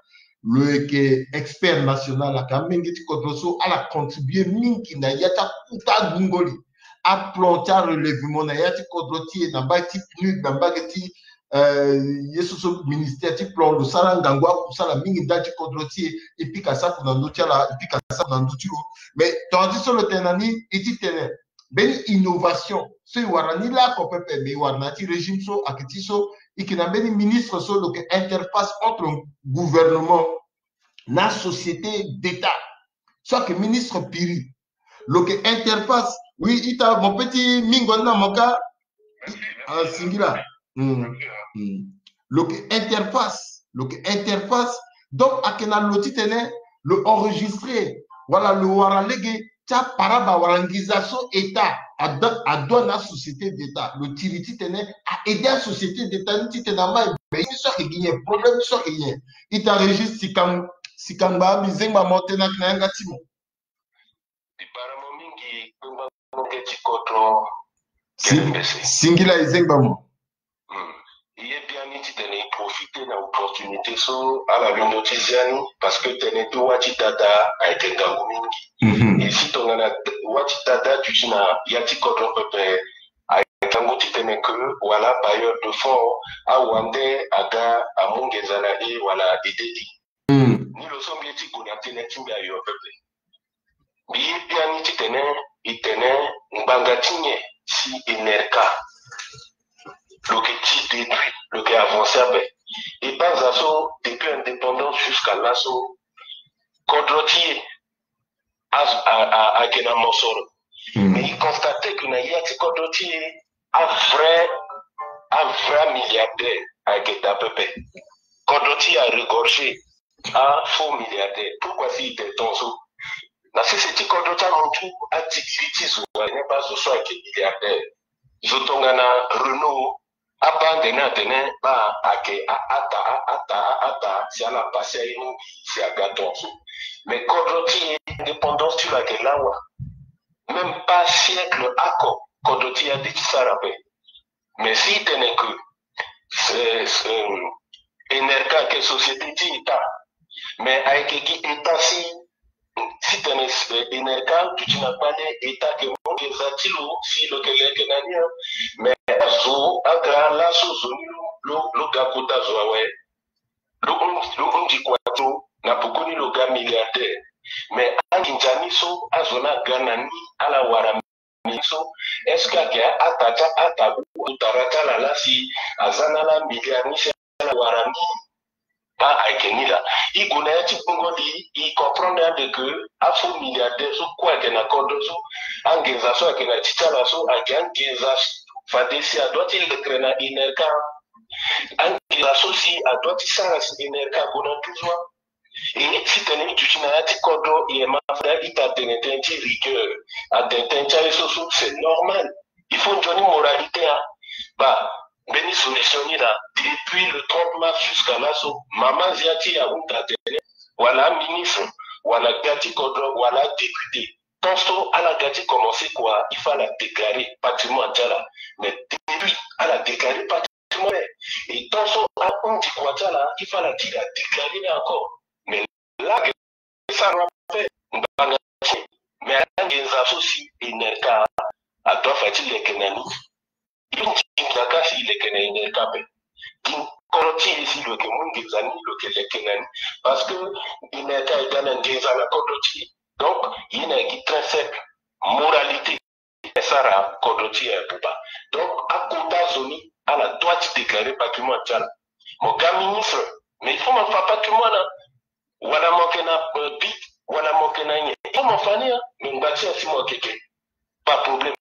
lo yeke expert national, ake amenge ti kodro so, ala contribuer mingi na ya ti akuta gungoli. Aplan ti arelèvement na ya ti kodro ti e, na mbage ti PNUD, na mbage ti, euh, ye so so ministère ti plan, lo sara ngangu akusala mingi ndali ti kodro ti e. E pika sako na ndö ti ala, e pika sako na ndö ti lo. Mais tongana ti so lo tene na ni, e ti tene mbeni innovation so e wara ni laoko pepe, mais e wara na ya ti régime so ake ti so, e yeke na mbeni ministre so lo yeke interface entre gouvernement na société d'État. So ake ministre Piri. Lo yeke interface. Oui, ita, mo pe ti mingo ni na mo ka. Ah, singila. Lo yeke interface. Lo yeke interface. Donc, ake na lo ti tene lo enregistrer, wala lo wara lege ti aparaba wala nginza so État a doit, a doit na société d'État. Lo tiri ti tene a aider asociété d'État ni ti tene ama e be ni so ake gi nyen, problème ni so ake gi nyen. Ita Régis, si kang-, si kangba mbi zengba mo tene ake na yanga ti mo. Mbi bara mo mingi, kpengba mo nge ti kodro. Si-, kerembese. Singila, e zengba mo. Hmm. E ye biani ti tene e profiter na opportunité so ala londo ti zia ni, parce que tene ti wâ ti dada ayeke ngangu mingi. Mhm. E si tongana wâ ti dada duti na ya ti kodro pepe, ayeke ngangu ti tene que wala bailleur de fonds awande aga amu nginza na e wala aide e. Hmm. Ni lo so mbi ye ti gue na tënë ti mbi ayo pepe. Mbi ye biani ti tene e tene ngbanga ti nyen si Enerca lo yeke ti détruit, lo yeke avancer ape. E banza so depuis indépendance jusqu'à laso, kodro ti e a, a, a, ayeke na mosoro. Hmm. Mais e constater que na ya ti kodro ti e, a vrai, a vrai milliardaire ayeke daa pepe. Kodro ti e a regorger a faux milliardaire. Pourquoi si e tene tongaso? Na sese ti kodro ti amutu, atikiri ti zo atene baa zo so ayeke milliardaire. Zo tongana Renault, abaa ande ni atene baa ayeke a-ata, a-ata, a-ata, si ala pase aye mingi si aga tongaso. Mais kodro ti e, indépendance ti lo ayeke lawa. Même pas siècle oko, kodro ti e ade ti sara ape. Mais si e tene que, euh, euh, Enerca ayeke société ti État, mais ayeke gi État si, si tene, euh, Enerca aduti na kpale, État ayeke mu nginza ti lo si lo yeke leke na ni, hein. Mais azo aga laso zo ni lo, lo, lo ga kota zo awe. Lo hon-, lo hon-, hunzi kua ti lo, na pekoni lo ga milliardaire. Mais anginza ni so azo ni aga na ni, ala wara ni so, est-ce que ayeke a-ata ti a-ata, ou tara ti ala laa si aza na ala milliard ni si ala wara ni? Baa ayeke ni laa. E gue na ya ti gbungo li, e comprendre ande que afaux milliardaire so kue ayeke na kodro so, anginza so ayeke na ti ti ala so ayeke anginza fade si adoit ti leke na Enerca. Anginza so si adoit ti sara si Enerca ague na douze mois. E ti tene e duti na ya ti kodro, e ma fade ita atene tënë ti rigueur, atene tënë ti aye so so, c'est normal. Il faut nzoni moralité, hein. Bah, mbeni solution ni laa, depuis le trente mars jusqu'à laso, mama nzia ti ahunda atene, wala aministre, wala ga ti kodro, wala adéputé, tant so ala ga ti commencer kua, il faut ala déclarer patrimoine ti ala. Mais depuis ala déclarer patrimoine, et tant so ahunzi kua ti ala, il faut ala ti ga déclarer ni encore. Mais là, ça rappelle ngbanga ti e. Mais ala nginza so si Enerca adoit fa ti leke na ni. Nginza ka si leke na Enerca ape. Gi kodro ti e si lo yeke mu nginza ni, lo yeke leke na ni. Parce que Enerca e ga na nginza na kodro ti e. Donc ye na gi principe, moralité, e sara kodro ti e abuba. Donc akota zo ni ala doit ti déclarer patrimoine ti ala. Mo ga ministre, mais il faut mo fa patrimoine, hein. Wala mo yeke na, euh, bit, wala mo yeke na nyen, il faut mo fa ni, hein. Mais ngba ti e si mo yeke ke, pas problème.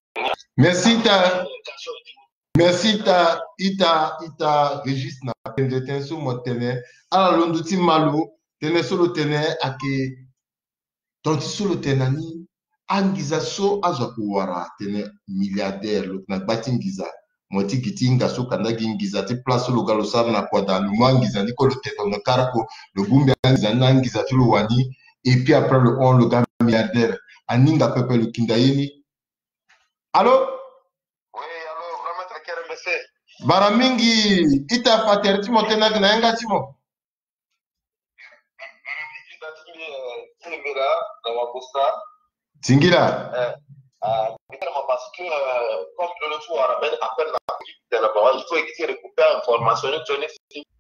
Merci ita. Merci ita, ita, ita Régis, na pende tënë so mo tene. Ala londo ti ma lo, tënë so lo tene ayeke tonga ti so lo tene na ni. Anginza so azo ako wara atene milliardaire, lo yeke na gba ti nginza. Mo ti gi ti hinga so kanda gi nginza ti place so lo ga lo sara na kua daa, lo mu anginza ni kue lo te tongana kara ko, lo bongbi anginza ni na anginza ti lo wani. Et puis après lo hon lo ga milliardaire. Aninga pepe, lo kinda ye ni. Allô? Oui, allô, grand maître Kerembese. Bara mingi, ita fa tere ti mo tene ayeke na yanga ti mo. Singila. Eh, ah, parce que, euh, comme le retour à la appel, il faut récupérer information, une journée.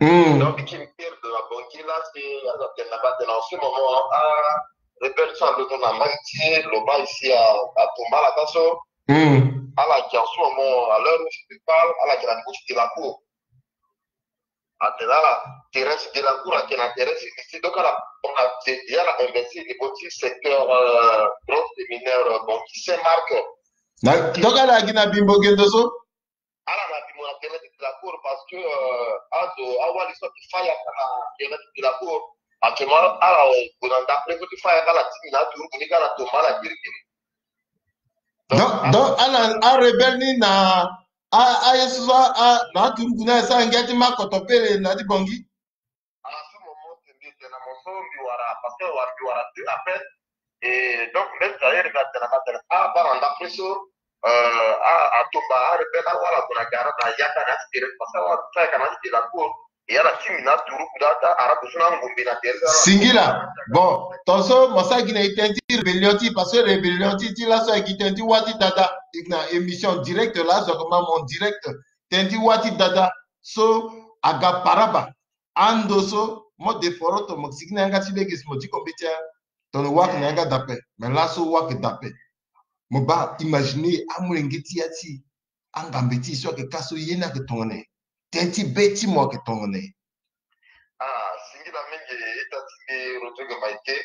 Hmm. Donc, qui me perd de la banquille là, c'est, alors qu'elle n'a pas de, en ce moment, ah, répète ça, le nom n'a pas été, le bas ici à, à Tombala, Kasso. Hmm. Alors qu'en ce moment, à l'heure où je te parle, alors qu'elle a de la cour. Atene ala terrain ti Delacour ayeke na terrain ti lycée, donc ala, on a, c'est, ala investi niveau ti secteur, euh, bronze et mineur, euh, bon, ti Saint-Marc. Na, donc ala gi na bimbo gendo so? Ala na bimbo na terrain ti Delacour parce que, euh, azo awali so ti faya na terrain ti Delacour. Actuellement ala gue na ndapre so ti faya, ala ti mi na aturugu ni ka na Tombala kirikiri. Donc, donc, donc, ala, arebelle ni na, a, aye so so, a, na aturugu ni aye so ala ngia ti ma koto pele na ti Bangui. À ce moment, c'est bien, c'est na mo so mbi wara, parce que wara, mbi wara deux appels. Et donc, même d'ailleurs, mbi atene na ma tene, a, bara ndapre so, euh, a, atomba, arebelle, awara gue na gara na yaka na ti tere, parce que awara faya ka na ti Delacour. E ala ti mi na turugu dada, ara gue so na ngombe na tere. Singila. Bon, tonso mo sara gi na e tënë ti rébellion ti, parce que rébellion ti, ti laso ayeke gi tënë ti wâ ti dada. E yeke na émission direct laso, comment, mon direct. Tënë ti wâ ti dada so aga paraba. Ando so mo de foroto, mo sigi na yanga ti lege si mo diko mbeti a. Tongana wâ ayeke na yanga dape, mais laso wâ ayeke dape. Mo baa imaginer amolenge ti ya ti e, angambe ti e so ayeke ka so, ye ni ayeke tongana nyen? Tënë ti be ti mo ayeke tongana nyen? Ah, singila mingi, ita ti mbi Rodrigue Maike.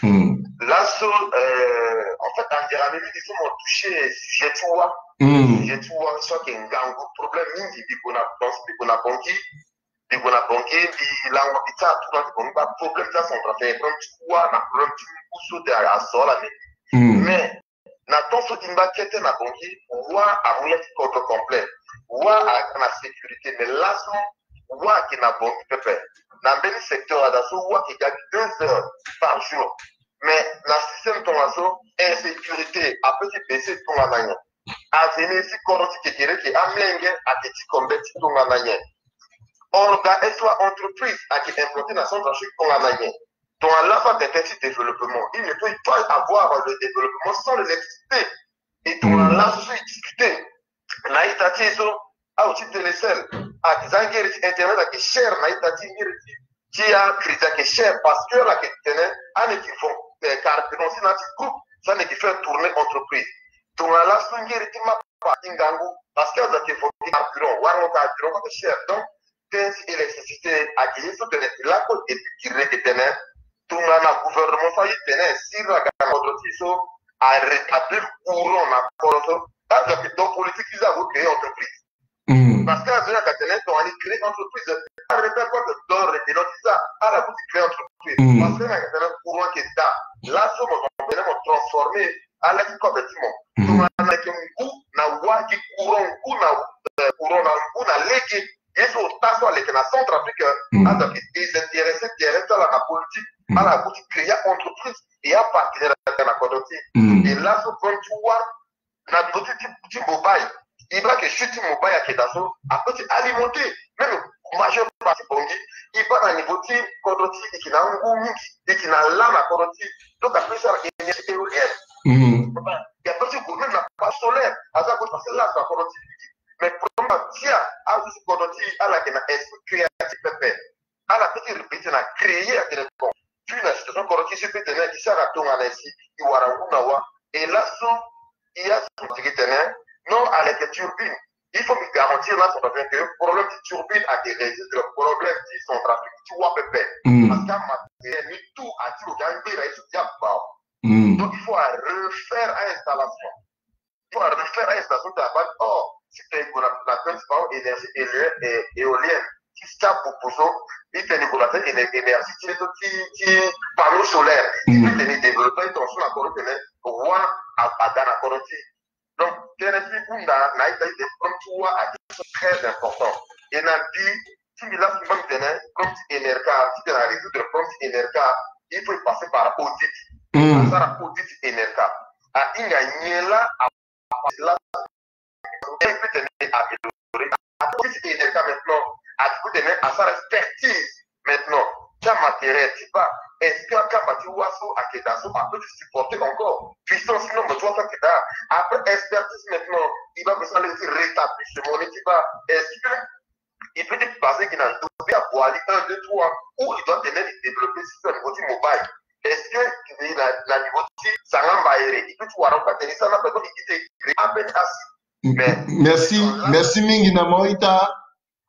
Hmm. Laso, euh, en fait, anzere mingi so mo toucher sujet ti wâ. Hmm. Sujet ti wâ so ayeke ngangu, problème mingi. Mbi gue na, mbi gue na Bangui, mbi gue na Bangui, mbi lango mbi ti atour na ti Bangui, ba problème ti acentrafricain, problème ti wâ na problème ti ngu so de azo ala mingi. Hmm. Mais na temps so e ngba kete na Bangui, wâ amu ya ti kodro complet. Wâ aga na sécurité, mais laso wâ ayeke na Bangui pepe. Na mbeni secteur ada so wâ ayeke ga deux heures par jour. Mais na système tongaso, insécurité apeut ti baisser tongana nyen? Avenir ti kodro ti kekereke, amolenge ayeke ti combien ti tongana nyen? Orga, est-ce que entreprise ayeke implanté na Centrafrique tongana nyen? Donc, laso atene ti développement. Il ne peut pas avoir le développement sans l'électricité. Et donc, hmm, laso so e discuter na ita ti e so, awe ti Telecel, ake za ngeri ti internet ayeke cher na ita ti ngeri ti, ti acrédit ayeke cher, parce que ala yeke tene ane yeke fo, eh, carburant si na ti groupe, si ane yeke faire tourner entreprise. Tongana laso ngeri ti mapa ti ngangu, parce que azo ayeke fo carburant, warango carburant so ayeke cher. Donc, tënë ti électricité ayeke ye so tene e lakue depuis kiri lege tene tongana gouvernement so aye tene si ala ga na kodro ti e so arétablir courant na kodro so, azo ayeke donc politique ti so ague créer entreprise. Hmm. Parce que azo yaka tene tongana ni créer entreprise, arrêter quoi que d'or et de l'autre ça, ala kuti créer entreprise. Parce que na tene courant ke da. Laso mo tene mo transformer ala ki kobe ti mo. Tongana ke ngu na wa ki courant, ngu na courant na ngu na lege. Ye so ota so aleke na Centrafrique, azo ke désintéressé terrain ti ala na politique. Ala kuti créer entreprise et apartenir na kodro ti. Et laso comme tu vois na niveau ti ti mobile, e baa ke chute ti mobile ayeke daa so apeut ti alimenter même majeure partie Bangui. E baa na niveau ti kodro ti e yeke na angu mingi, e yeke na lâ na kodro ti e. Donc apeut ti sara énergie éolienne. E apeut ti gue même na panneau solaire. Aza gue ti passer lâ na kodro ti e mingi. Mais problème atia azo ti kodro ti e ala yeke na esprit créatif pepe. Ala peut ti répéter na créer atene bon, tu na situation kodro ti e so e peut tene e sara tongana si e wara ngu na wa. Et laso e azo teke tene non, aleke turbine. Il faut mi garantir na Centrafrique que problème ti turbine ayeke résoudre, problème ti Centrafrique ti wa pepe. Parce que amatériel ni tout ati lo ke angbera ye so ti abao. Donc il faut a refaire a installation. Il faut refaire a station ti abâ. Or si tene e gue na principal énergie éolienne ti tia pupu so, e tene e gue na tene énergie ti ti ti panneau solaire, e peut tene e développer ton so na kodro tene wa aga na kodro ti. Donc tënë ti hunda na ita ti tene problème ti wa ayeke so très important. Et na mbi ti mbi laso mbi baa mbi tene problème ti enerca, ti tene a résoudre problème ti enerca, il faut e passer par audit. Asara audit ti enerca, ahinga nyen laa a passer laa. E peut tene amélioré. Apeut ti enerca maintenant, apeut tene asara expertise maintenant. Ti amatériel ti baa, est-ce que akamba ti wa so ayeke daa so apeut ti supporter encore? Puissance ti nombre ti wa so ayeke daa. Après expertise maintenant, e baa besoin lege ti rétablissement ni ti baa. Est-ce que e peut ti passer gi na ndo be aboali un deux trois, ou e doit tene e développer surtout na niveau ti mobile? Est-ce que e na na niveau ti sanga mbayere e peut ti wara ngo atene e sara na pepe e te créer ambeni asi? Mais merci, merci mingi na mo ita.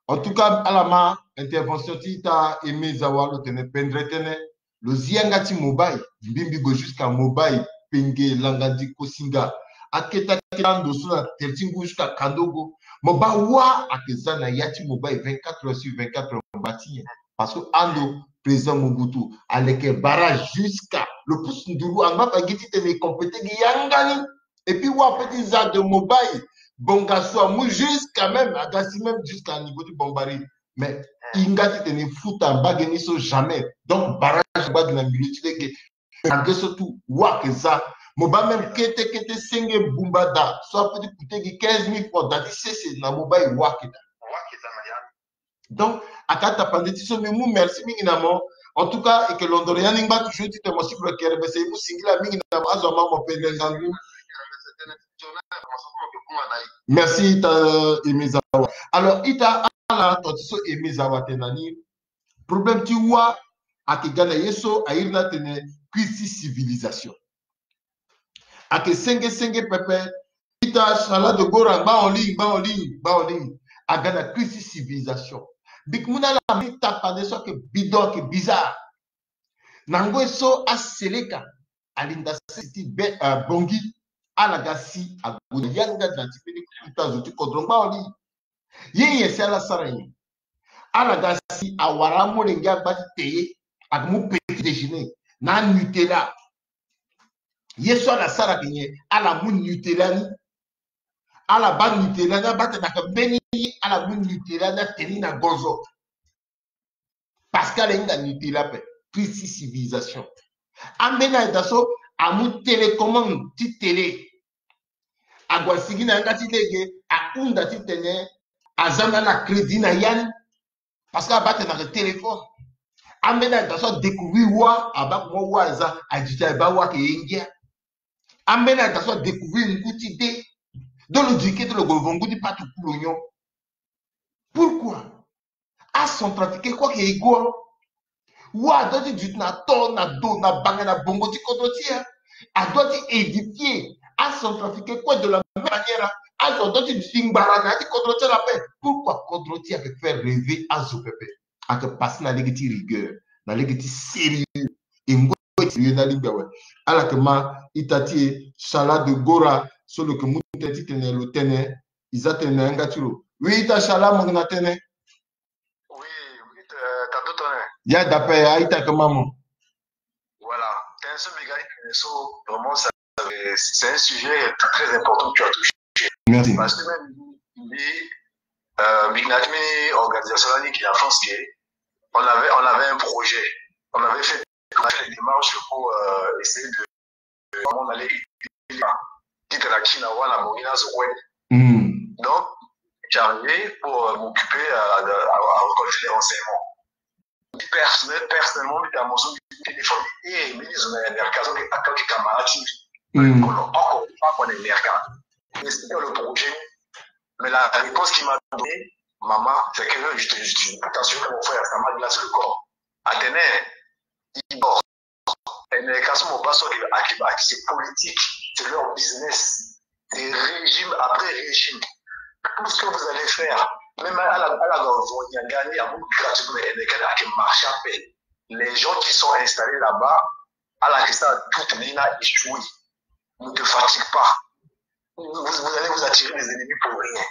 En tout cas ala ma intervention ti ita Aimé Zawa lo tene pendere tënë. Lo zi yanga ti mobile, mbi mbi gue jusqu'à mobile, penge, langandi, kosinga, aketa keta ndo so na tere ti ngu jusqu'à kandogo. Mo baa wa ayeke za na ya ti mobile vingt-quatre heures sur vingt-quatre heures mo baa ti nyen? Parce que ando président Mobutu aleke barrage jusqu'à lo pusu nduru angba fa gi ti tene e compléter gi yanga ni. Et puis wa apeut ti za de mobile, bonga so amu jusqu'à même aga si même jusqu'à niveau ti Bombari. Mais hinga ti tene e futa mbage ni so jamais. Donc barrage angba gi na milieu ti lege. Malgré so tout wa ayeke za. Mo baa même kete kete senge bumba daa so apeut ti coûter gi quinze mille francs daa ti sese na mobile wa ayeke daa. Donc aka tapande ti so mbi mu merci mingi na mo. En tout cas e yeke londoro ya ni ngba toujours ti tene mo si lo yeke rebese e mu singila mingi na mo. Azo ama mo pende ngangu. Merci ita Aimé Zawa. Alors ita ala ton ti so Aimé Zawa tene na ni problème ti wa ayeke ga na ye so a iri ni atene crise ti civilisation. Ayeke senge senge pepe. Ita Shala de Gora ngba oli ngba oli ngba oli aga na crise ti civilisation. Bik mu na ala mbi tapande so ayeke bidon ayeke bizarre. Na ngoi so aseleka alinda sese ti be Bongi ala ga si ague na yanga na ti mbeni kuta zo ti kodro ngba oli. Ye nyen si ala sara nyen? Ala ga si awara amolenge agba ti te ye ayeke mu petit déjeuner na Nutella. Ye so ala sara ayeke nyen? Ala mu Nutella ni. Ala baa Nutella ni abaa tene ayeke mbeni ye ala mu Nutella ni atene ni na gonzo. Parce que ala hinga Nutella ape. Crise ti civilisation. Ambeni ayeke daa so amu télécommande ti télé. Ague asigi na yanga ti lege ahunda ti tene aza na ala crédit na ya ni. Parce que abaa tene ayeke téléphone. Ambeni ayeke daa so adécouvrir wa abaa comment wa aza, aduti abaa wa ayeke ye ngia. Ambeni ayeke daa so adécouvrir ngu ti de. Donc lo duti kete lo gue lo vo ngu ti patuku lo nyon. Pourquoi? Acentrafricain kue ayeke égaux. Wa adoit ti duti na to na do na bange na bongo ti kodro ti e. Adoit ti édifier acentrafricain kue de la même manière. Azo adoit ti duti ngbara na ya ti kodro ti ala ape. Pourquoi kodro ti e ayeke faire rêver azo pepe? Ayeke passer na lege ti rigueur, na lege ti sérieux. E ngoi ti sérieux ni alingbi awe. Ala yeke ma ita ti e Shala de Gora so lo yeke mu tënë ti tene lo tene. E za tënë na yanga ti lo. Oui, ita shala mo na tene. Oui, oui, euh, t'as tout, hein. Ya dape, a ita kama mo. Voilà. Tene so mbi ga ita so, vraiment, ça, c'est un sujet très important que tu as touché. Merci. Parce que même, euh, mbi na ti mini organisation là, ni qui la France, qui on avait, on avait un projet. On avait fait, on a fait des démarches pour, euh, essayer de, on allait, qui était la Kina, voilà, bon, il a ce, ouais. Hmm. Donc, j'arrivais pour, euh, m'occuper à, à, à récolter les renseignements. Personnel-, personnellement, mbi ta moso, mbi téléphone, eh, mbi ni zo na Amerika, zo ke attaque camarade, hmm, kolo oko, pas qu'on est Amerika. Explique le projet. Mais la réponse qu'il m'a donnée, maman, c'est que je te, je te, attention que mon frère, ça m'a glacé le corps. Atene, il dort. Et mais quand mon bas sur les, c'est politique, c'est leur business. C'est régime après régime. Tout ce que vous allez faire, même à la, à la, vous gagnez à vous gratuitement, et les gars qui marchent à peine. Les gens qui sont installés là-bas, à la question, tout le monde a échoué. Ne te fatigue pas. Vous, vous allez vous attirer des ennemis pour rien.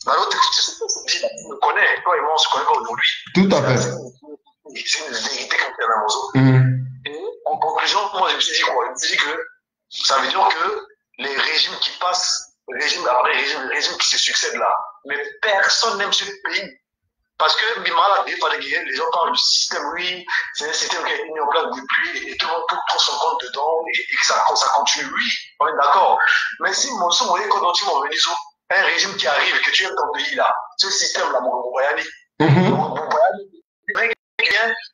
Bah, l'autre, tu sais, tu me connais, toi et moi, on se connaît pas aujourd'hui. Tout à fait. C'est une vérité comme tu as, Mazo. Mhm. Et en conclusion, moi, je me suis dit quoi ? Je me suis dit que ça veut dire que les régimes qui passent, régime après régime, régime qui se succèdent là, mais personne n'aime ce pays. Parce que, mbi ma la défendre, les gens parlent du système, oui, c'est un système qui a été mis en place depuis, et tout le monde trouve son compte dedans, et, et que ça, ça continue, oui, on est d'accord. Mais si mon, si mon école dont tu m'as venu, un régime qui arrive, que tu aimes ton pays là, ce système-là, mon, mon, mon, mon, mon,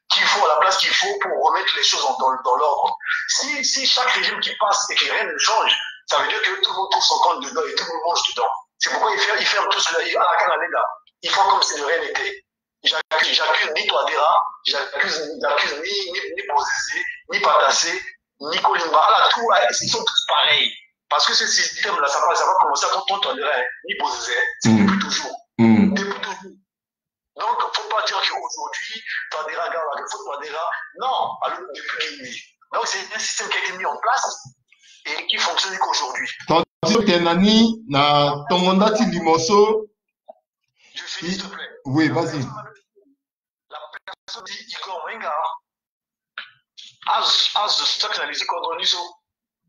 qu'il faut, à la place qu'il faut pour remettre les choses en, dans, dans l'ordre. Si, si chaque régime qui passe et que rien ne change, ça veut dire que tout le monde trouve son compte dedans et tout le monde mange dedans. C'est pourquoi ils ferment, ils ferment tout cela. Ils, à la canne, là, ils font comme si de rien n'était. J'accuse, j'accuse ni Touadéra, j'accuse, j'accuse ni, ni, ni Bozizé, ni Patassé, ni Kolimba. Là, tout, là, ils sont tous pareils. Parce que ce système-là, ça va, ça va commencer à contre Touadéra, hein, ni Bozizé, hein. C'est, mm, depuis toujours. Mm. Depuis toujours. Donc, faut pas dire qu'aujourd'hui, Touadéra, regarde, il faut Touadéra. Non, alors, depuis qu'il est. Donc, c'est un système qui a été mis en place et qui fonctionne qu'aujourd'hui. Tandis que Tenani, na tongo nda ti limo so. Je finis, s'il te plaît. Oui, vas-y. La personne dit, Igor Mwenga, as, as de stock dans les économies,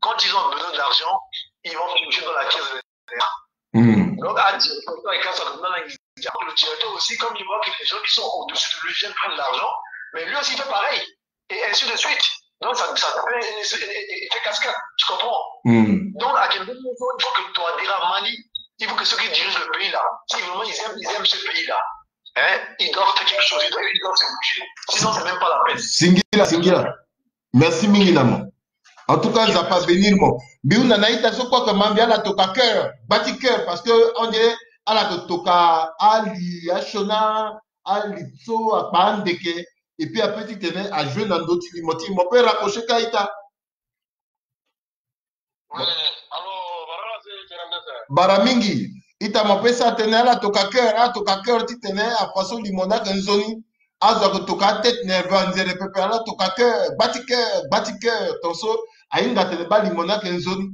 quand ils ont besoin d'argent, ils vont piocher dans la caisse de l'État. Hmm. Donc, à dire, quand ça donne un, le directeur aussi, comme il voit que les gens qui sont au-dessus de lui viennent prendre l'argent, mais lui aussi fait pareil. Et ainsi de suite. Donc, ça, ça fait, et, et, et, et fait cascade, tu comprends ? Hmm. Donc, à quel moment il faut que Touadéra, Mali, il faut que ceux qui dirigent le pays là, si vraiment ils aiment, ils aiment ce pays là, hein, ils doivent faire quelque chose, ils doivent, ils doivent se bouger. Sinon, c'est même pas la peine. Singila, singila. Merci mingi na mo. En tout cas, Nzapa bénir mo. Mbi hunda na ita so kue ake ma mbi ala toka cœur, gba ti cœur, parce que on dirait ala toka ali, asioni, ali so akpa andeke, et puis après titene ajouer na ndö ti limo ti mo pe raccrocher ka ita. Oui, alors, voilà, c'est, c'est la même chose. Bara mingi. Ita mo pe sa tene ala toka cœur, ala toka cœur titene afa so limo ni ake nzoni. Azo ake toka atête nerveux, anzere pepe, ala toka cœur, gba ti cœur, gba ti cœur, ton so ahinga tene baa limo ni ake nzoni.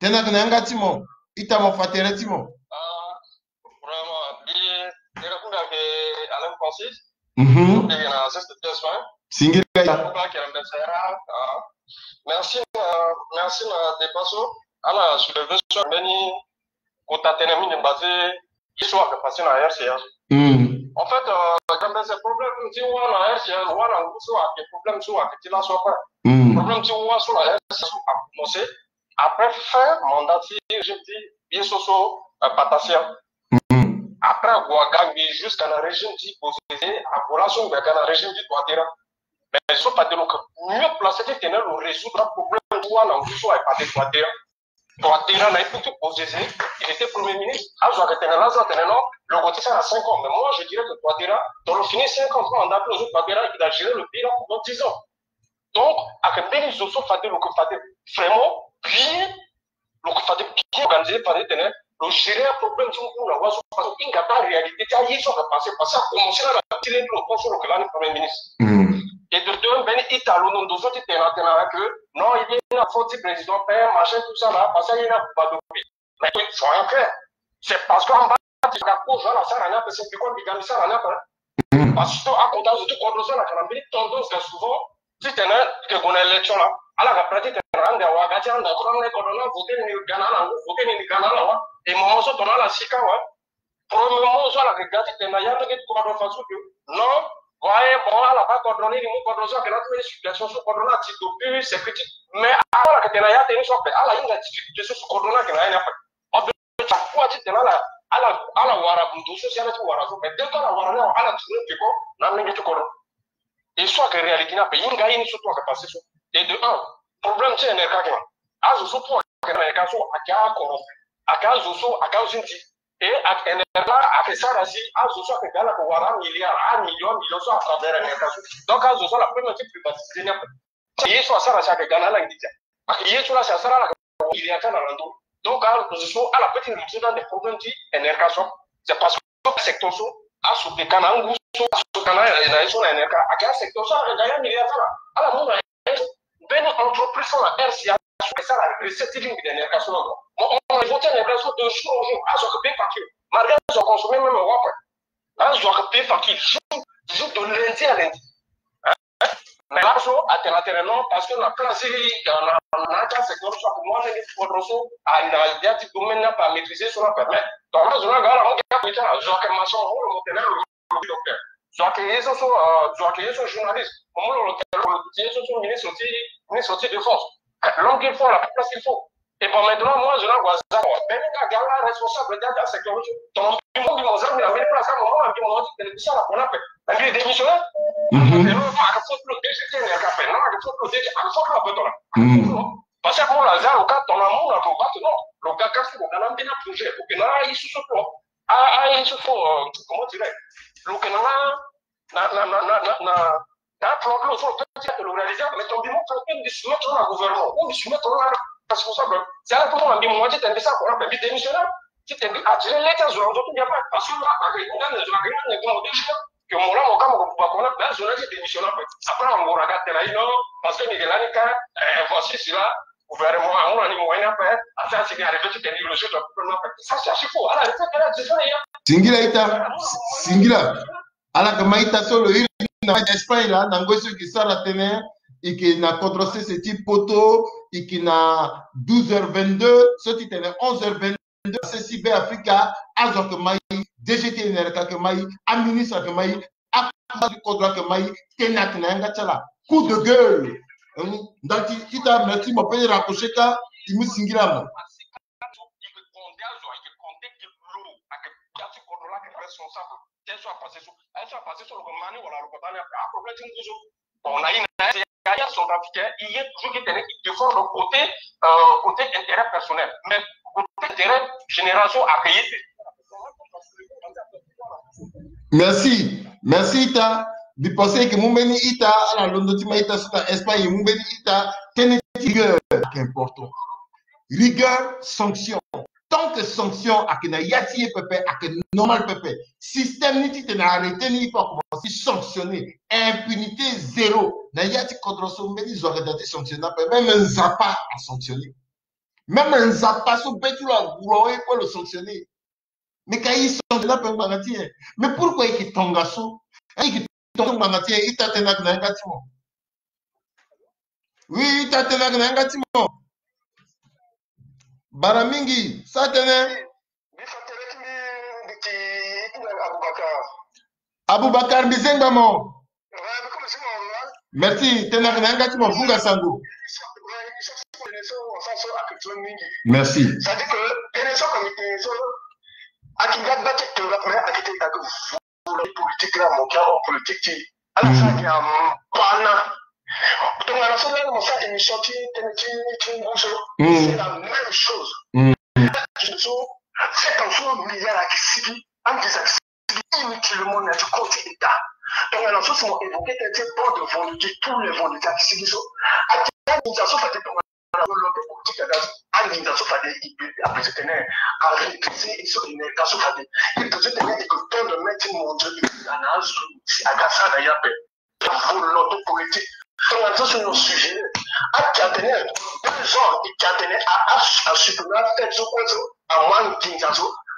Tene ake na yanga ti mo, ita mo fa tere ti mo. Ah, vraiment, mbi, mbi répondre ake Alain Francis. Mhm. Mbi na zeste de soin. Singila ya. Pourquoi que la message, ah, merci, euh, merci na débat so. Ala soulever so mbeni kota tënë mingi mba ti ye so ayeke passé na R C A. Mm. En fait, euh, Gambese, problème ti wâ na R C A, wâ na ngu so ayeke problème so ayeke ti laso ape. Mm. Problème ti wâ so na R C A so akomense après fin mandat ti régime ti ye so so, euh, Patassé. Mm. Après ague aga ngbii jusqu'à na régime ti Bozizé, ague laso ngbii aga na régime ti Touadéra. Mais so fade lo yeke mieux placé titene lo résoudre aproblème ti wâ na ngu so ayeke fade Touadéra. Touadéra na epokh ti Bozizé, il était premier ministre. Azo ayeke tene laso atene non, lo gue ti sara cinq ans. Mais moi, je dirais que Touadéra, dans le fini cinq ans, mandat ti lo so Touadéra, il a géré le pays là pendant dix ans. Donc, ayeke mbeni zo so fade lo yeke fade vraiment bien, lo yeke fade bien organisé, fade titene lo gérer aproblème ti ngu na wâ so, parce que ahinga baa réalité ti aye so ayeke passé, parce que akomense lani na ti lê ti lo tant so lo yeke lani premier ministre. Mm. Et de deux, mbeni ita lo na ndo so ti tene atene que non, il est na faute ti président, père, machin, tout ça là, parce que aye ni abuba dopi. Mais soyons clairs, c'est parce que amba Ga kozo ala sara ni ape, c'est pourquoi mbi ga mbi sara ni ape. Parce que akota zo ti kodro so ala yeke na mbeni tendance ga souvent titene eke gue na élection laa, ala ga prêt titene ande awa ga ti ande akota mbeni kodro ni avote ni ga na ala ngu, vote ni ga na ala wa. Et moment so tongana ala sika wa, premièrement so ala yeke ga titene na ya ndenge ti kodro façon que non, wa ye bon ala baa kodro ni, ni mu kodro so ayeke na ya ti mbeni situation so kodro ni ati depuis sécurité. Mais ala yeke tene na ya tënë so ape, ala hinga difficulté so so kodro ni ayeke na ya ni ape. Chaque fois titene ala ala ala wara ndo so si ala ti wara so, mais dès que ala wara ni awe ala tourner peko na ndenge ti kodro. Et so ayeke réalité ni ape, hinga ye ni so tout ayeke passé so. Et de un, problème ti N R K ayeke na azo so tout ayeke na N R K so ayeke acorrompu, ayeke azo so ayeke azo ti nzi. Et ayeke N R K ayeke sara si azo so ayeke ga ala yeke wara amilliard, amillion amillion so à travers N R K so. Donc azo so ala peut même ti privatiser ni ape. Ye so asara si ayeke ga na ala nginza. Ayeke ye so la si asara ala yeke wara milliard ti ala na ndo. Donc azo so ala peut ti lutter dans des problèmes ti N R K so. C'est parce que secteur so aso yeke ka na angu so aso yeke ka na ye so na N R K. Ayeke asecteur so ala yeke ga ya milliard ti ala, ala mu na ye so. Mbeni entreprise so na R C A so ayeke sara recette ti lingbi na N R K so na ndo. Mo on a voté N R K so de jour au jour azo yeke payé facture. Malgré azo ayeke consommer même wa ape. Azo ayeke payé facture jour, jour de lundi à lundi. Mais laso atene atene non, parce que na place ti na na ti asecteur so ayeke mu ande ni ti kodro so, na ya ti domaine ni ape amaîtriser so ni ape. Mais tongana zo ni aga ala mu ga comité ala, zo ayeke maçon, mo mu lo mo tene lo docteur. Zo ayeke ye so so, zo ayeke ye so journaliste, mo mu lo lo tene lo ye so so ministre ti, ministre ti défense. L'homme qu'il faut à la place qu'il faut. Et bon, maintenant, moi, je n'en vois ça. Mais les gars, gars, là, responsable de ta sécurité. Donc, du monde, ils m'ont jamais amené place à un moment, ils m'ont dit que ça, la, on a fait. Mais il démissionne. Mhm. Parce que moi, la zone, quand on a mon avocat, non. Le gars, quand on a un projet, ok, là, il se sauve. Ah, ah, il se faut, euh, comment dirais-je, le gars, na, na, na, na, na, na, na problème, so, peut-être, le réaliser, mais ton bureau, peut-être, de se mettre dans le gouvernement, ou de se mettre dans la responsable. C'est là pour moi, mais moi, j'étais un peu ça, quoi, mais démissionnaire, j'étais un peu attiré, les gens, ils ont tout bien fait, parce que là, avec une année, ils ont rien, ils ont déjà, que mon là, mon gars, mon gars, mon gars, ben, je l'ai dit démissionnaire, après, on me regarde, là, non, parce que Miguel Anika, euh, voici cela, gouvernement, on a dit, moyen, après, à ça, c'est arrivé, tu t'es dit, le jeu, tu peux pas faire. Ça, c'est assez faux. Alors, il faut que là, tu sois, il y a Singila ita, singila. Ala yeke ma ita so lo iri na Espagne la, na ngoi so e yeke sara tënë, e yeke na kodro sese ti poto, e yeke na douze heures vingt-deux, so ti tene onze heures vingt-deux, sesi Be Afrika, azo ayeke ma e, D G ti N R K ayeke ma e, aministre ayeke ma e, akuma ti kodro ayeke ma e, tënë ayeke na yanga ti ala. Coup de gueule. Hum, ndali ti ita, merci, mo peut raccrocher ka, e mu singila mo. Tel soit passé sur, tel soit passé sur le Mali, voilà, le Kotane, ah, problème, tu nous dis, bon, on a une, il y a son africain, il est toujours qui tenait, il défend le côté, euh, côté intérêt personnel. Mais côté intérêt génération à payer. Merci. Merci, ita. Mbi pense que mu mbeni ita, ala londo ti ma ita so na Espagne, mu mbeni ita, tënë ti rigueur, c'est important. Rigueur, sanction. Tant que sanction ayeke na ya ti ye pepe, ayeke normal pepe. Système ni titene arrêter ni, il faut commencer sanctionner. Impunité zéro. Na ya ti kodro so mbeni zo ayeke daa ti sanctionner ape. Même Nzapa asanctionner. Même Nzapa so be ti lo ague na ye kue lo sanctionner. Mais ka e sanctionner ape ngbanga ti nyen? Mais pourquoi e yeke tongaso? E yeke tongaso ngbanga ti nyen? Ita tënë ayeke na yanga ti mo. Oui, ita tënë ayeke na yanga ti mo. Bara mingi, sa tënë. Aboubacar, mbi zengba mo. Merci, tënë ayeke na yanga ti mo, vunga sango. Merci. Politique la, mo kia homme politique ti ala sara ngia mbana. Tongana so lani mo sara émission ti tënë ti ti ngu so, c'est la même chose. Ti so sept ans so milliard ayeke sigi, anginza ayeke sigi inutilement na ti compte état. Tongana so si mo évoquer tënë ti bande de vendredi, tous les vendredis ayeke sigi so. Ayeke anginza so fade tongana volonté politique aga so, anginza so fade i peut appeler tene a réduire et so i ne ka so fade i peut tene i peut tendre main ti mondial i na azo si aga sara na ye ape. Volonté politique. Tongana so si no sujet ake atene deux ans i ke atene a a a supprimer affaire so kue so. Amu anginza so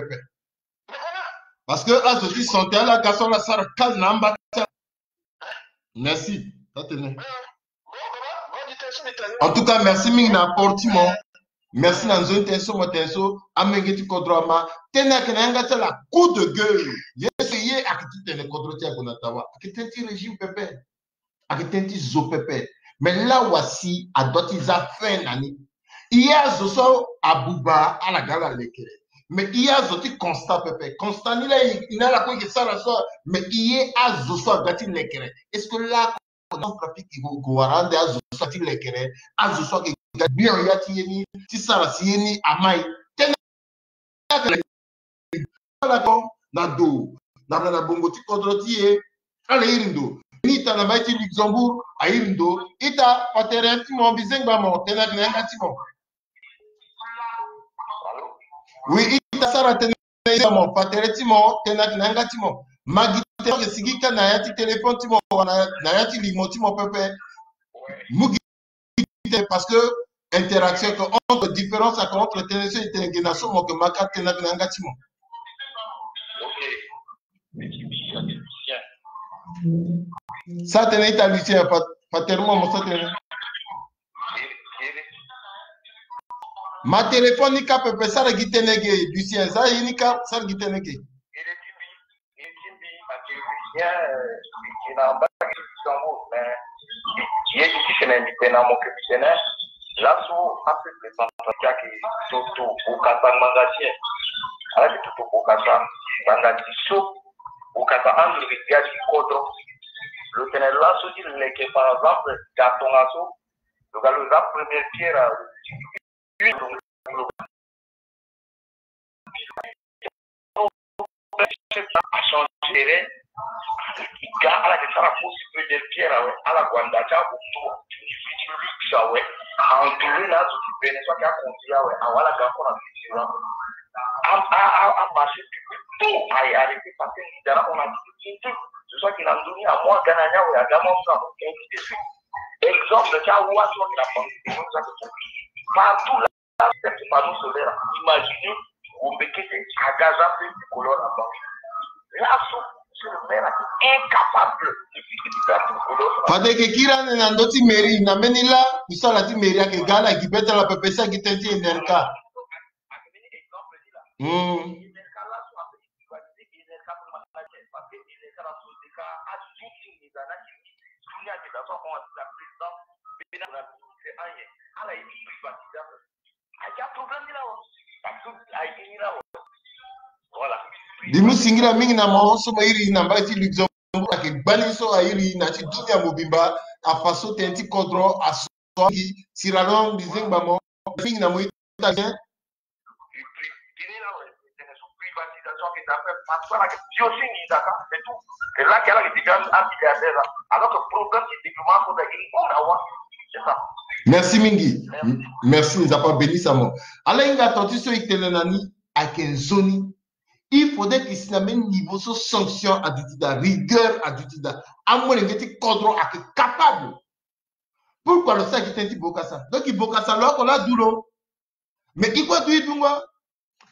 pepe. Parce que azo ti santé ala ga so ala sara kal na amba ti ala. Merci. Atene. En tout cas, merci mingi na apport ti mo. Merci na nzoni tënë so mo tene so, amenge ti kodro ama. Tënë ayeke na yanga ti ala coup de gueule. Ye so ye ayeke ti tene kodro ti aye ague na tawa. Ayeke tënë ti régime pepe. Ayeke tënë ti zo pepe. Mais là aussi, adoit ti za fin na ni. Ye azo so abuba ala ga ala lekere. Mais ye azo ti constat pepe. Constat ni la, i na ala kue yeke sara so, mais ye azo so aga ti lekere. Est-ce que là, trafic eke wara ande azo so ati lekere, azo so ake ga gbia ya ti ye ni ti sara si ye ni amai. Tënë ala ko na do na na bongo ti kodro ti e. Ala iri ndo ni ita na mai ti Luxembourg airi ndo. Ita patere ti mo bizengba mo tënë ake na yanga ti mo. Oui, ita sara tënë ti mo, patere ti mo, tënë ake na yanga ti mo. Ma gi tënë ake sigi ka na ya ti téléphone ti mo, wala na ya ti limo ti mo pepe. Mu gi tënë parce que interaction ake entre, différence ake entre tënë so e tene gi na so mo ke ma ka tënë ake na yanga ti mo. Sa tënë ita Lucien, pa-, patere mo mo sa tënë. Ma téléphone ni ka pepe, sara gi tënë ge, Lucien, sara ye ni ka, sara gi tënë ge. Ye ti tene mbi tene mo ke mbi tene. Laso apeuple centrafricain ayeke toto bokasa ngbanga ti e. Ala yeke toto bokasa ngbanga ti so, bokasa ando leke gbia ti kodro. Lo tene laso ti leke par exemple ga tongaso, lo ga lo za première pierre. A changé terrain. Ga ala yeke sara fosi première pierre awe, ala gue anda ti abutu ti luxe awe. Entouré na azo ti bene so ayeke aconduit awe, awe ala ga encore na futur. A, a, a, amarché public tout aye arrêté parce que leader ahon na ti ti ti zo so ayeke na ndö ni amu aga na ni awe, aga mu amu na mo. Ainsi de suite. Exemple ti awa so ayeke na banque, partout là. Panneau solaire, imagine, gombe kete aga za pe tricolore na banque. Laso, monsieur le maire ayeke incapable de fixer za tricolore. Fade yeke kiri ande na ndö ti mairie, na mbeni laa musala ti mairie ayeke ga ala gi be ti ala pepe, si agi tënë ti Enerca. Hmm. Voilà. Mbi mu singila mingi na mo so mo iri na mbai ti Luxembourg, ayeke gbani so airi na ya ti dunia mobimba, afa so tënë ti kodro aso. Sierra Leone, bizengba mo. Mingi na mo italien. Merci mingi. Merci, Nzapa abénisse mo. Ala hinga tonti so itene na ni ayeke nzoni. Il faudrait que si na même niveau so sanction aduti daa, rigueur aduti daa, amolenge ti kodro ayeke capable. Pourquoi lo sara gi tënë ti Bokassa? Donc Bokassa lo oko laa du lo. Mais i kue atu i dungo.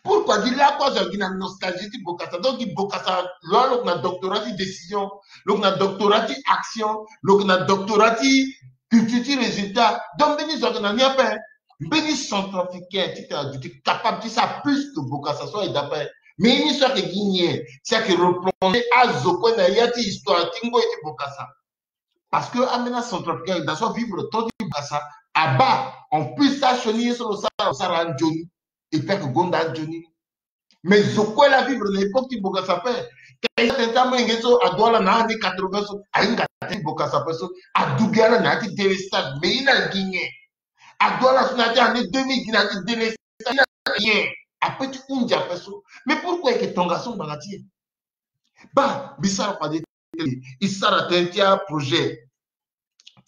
Pourquoi gi lakue azo agi na nostalgie ti Bokassa? Donc gi Bokassa lo alo na doctorat ti décision, lo na doctorat ti action, lo na doctorat ti culture ti résultat. Donc mbeni zo ake na ni ape. Mbeni centrafricain ti tena aduti capable ti sara plus que Bokassa so aye daa ape. Mais ye ni so ake gi nyen? Si ake reprendre azo kue na ya ti histoire ti ngoi ti Bokassa. Parce que ambeni acentrafricain daa so avivre temps ti Bokassa abaa. En plus asioni ye so lo sara, lo sara anzoni. Et puis ake gonda anzoni. Mais zo kue laa avivre na époque ti Bokassa ape. Ka e sa tene ti amolenge so adu ala na année quatre-vingts so ahinga tënë ti Bokassa ape so adu gi ala na ya ti délestage. Mais ye ni agi nyen? Adu ala so na ya ti année deux mille gi na ya ti délestage, ye ni agi nyen? Ape ti hunzi ape so. Mais pourquoi eke tongaso ngbanga ti e? Baa mbi sara fade tënë. I sara tënë ti aprojet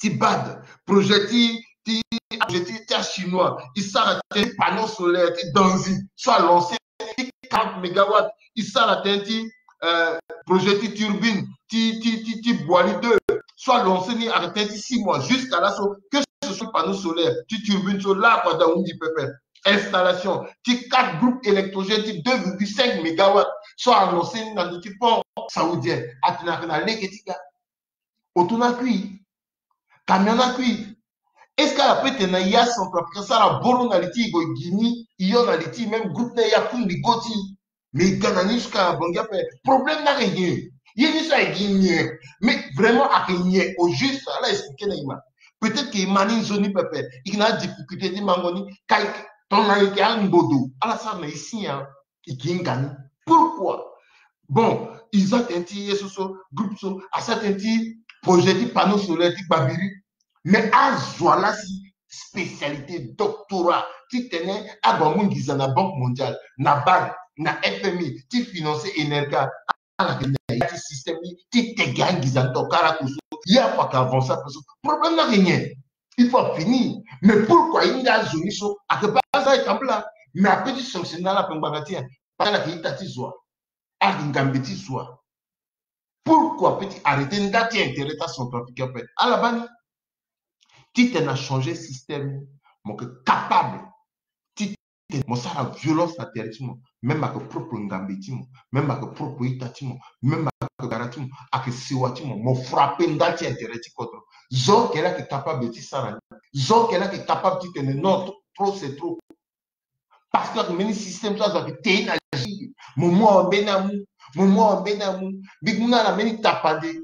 ti bad, projet ti ti projet ti ti achinois. I sara tënë ti panneau solaire ti Danzi so alancer ti quarante mégawatts. I sara tënë ti euh, projet ti turbine ti ti ti ti Boali deux so alancer ni ayeke tënë ti six mois. Jusqu'à laso que ce soit panneau solaire ti turbine so lakue daa ahundi pepe. Installation ti quatre groupes électrogènes ti deux virgule cinq mégawatts so alancer ni na ndö ti pont saoudien. Atene ayeke na lege ti ga. Oto ni akui. Camion ni akui. Est-ce que ala peut tene na ya centrafricain so ala boro na li ti e, gue gi ni, e yo na li ti e, même groupe ni aye akundu e go ti e? Mais e ga na ni jusqu'à Bangui ape. Problème ni ayeke nyen? Ye ni so ayeke gi nyen? Mais vraiment ayeke nyen au juste? Ala expliquer na e ma. Peut-être que e ma ni nzoni pepe. E yeke na adifficulté ti mango ni. Ka e tongana e yeke angodo, ala sara na e si nyen? E yeke hinga ni. Pourquoi? Bon, e za tënë ti ye so so, groupe so asara tënë ti projet ti panneau solaire ti Gbabiri. Mais azo ala si spécialité, doctorat, titene ague amu nginza na Banque Mondiale, na BAD, na FMI, ti financer Energa. Ala yeke na ya ti système ni ti tege anginza tongana ala ko so. Ye afa ayeke avancer ape so. Problème ni ayeke nyen? Il faut afini. Mais pourquoi ahinga azo ni so? Ayeke baa azo ayeke tambula. Mais ape ti sanctionner ala ape ngbanga ti nyen? Parce que ala yeke ita ti zo wa. Ala yeke ngambe ti zo wa. Pourquoi peut ti arrêter nda ti intérêt ti acentrafricain ape? Ala baa ni. Titene achanger système ni, mo yeke capable titene mo sara violence na tere ti mo. Même ayeke propre ngambe ti mo, même ayeke propre ita ti mo, même ayeke gara ti mo, ayeke sewa ti mo, mo frapper nda ti intérêt ti kodro. Zo ake laa ayeke capable ti sara ni. Zo ake laa ayeke capable titene non, trop c'est trop. Parce que ayeke mbeni système so azo ayeke te na jeu. Mo mu awe mbeni amu, mo mu awe mbeni amu. Mbi mu na ala mbeni tapande.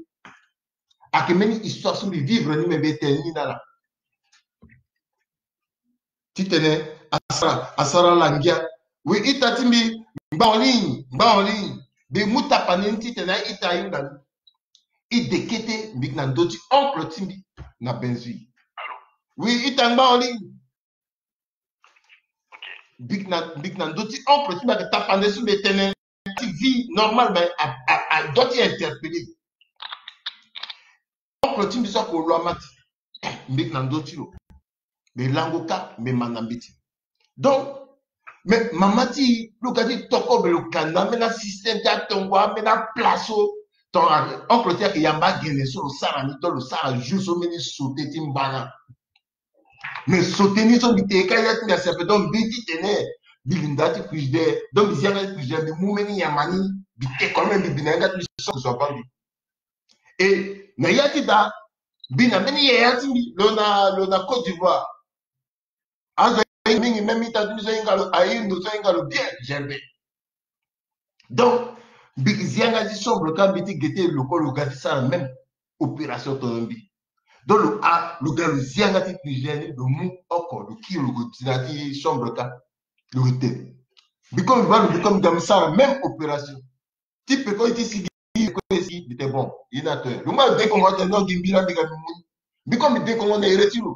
Ayeke mbeni histoire so mbi vivre ni, me mbi tene ni na ala. Titene asara, asara ala ngia. Oui, ita ti mbi, ngba en ligne, ngba en ligne. Mbi mu tapande ni titene a-ita ahinga ni. E de kete, mbi yeke na ndö ti oncle ti mbi na Benzui. Oui, ita ngba en ligne. Mbi yeke na, mbi yeke na ndö ti oncle ti mbi ayeke tapande so mbi tene ti vie normale, mais a, a, a doit ti interpeller. Oncle ti mbi so ako lo ama ti. Mbi yeke na ndö ti lo. Mbi lango kâ, mbi ma na mbeti. Donc, mais mama ti lo ga ti toko be lo ka na ambeni asystème ti atongo, ambeni aplace so. Donc, oncle ti ayeke yamba agene so lo sara ni, donc lo sara jour so mbeni sauté ti mbana. Mais sauté ni so mbi tene kâ ya ti mbi asi ape, donc mbi titene mbi linda ti frigidaire, donc mbi zi yanga ti frigidaire, mbi mu mbeni nyama ni, mbi te quand même, mbi bi na yanga ti mbi so zo abaa mbi. E na ya ti da, mbi na mbeni yaya ti mbi lo na, lo na Côte d'Ivoire. Azo ahinga mingi, même ita ti mbi so ahinga lo, aye ndo so ahinga lo bien, Gervais. Donc mbi zi yanga ti chambre kâ, mbi ti gete lokolo lo ga ti sara même opération tono mbi. Donc lo a, lo ga lo zi yanga ti frigidaire ni, lo mu oko, lo kiri, lo gue ti na ti chambre kâ. Lo gue te. Mbi comme mbi baa lo, mbi comme mbi ga mbi sara même opération. Ti peko ye ti sigi, peko ye sigi, mbi te bon, ye ni ato nyen? Lo ngba lo dekongo atene non, gi mbi laa mbi ga mbi mu ni. Mbi comme mbi dekongo na ere ti lo.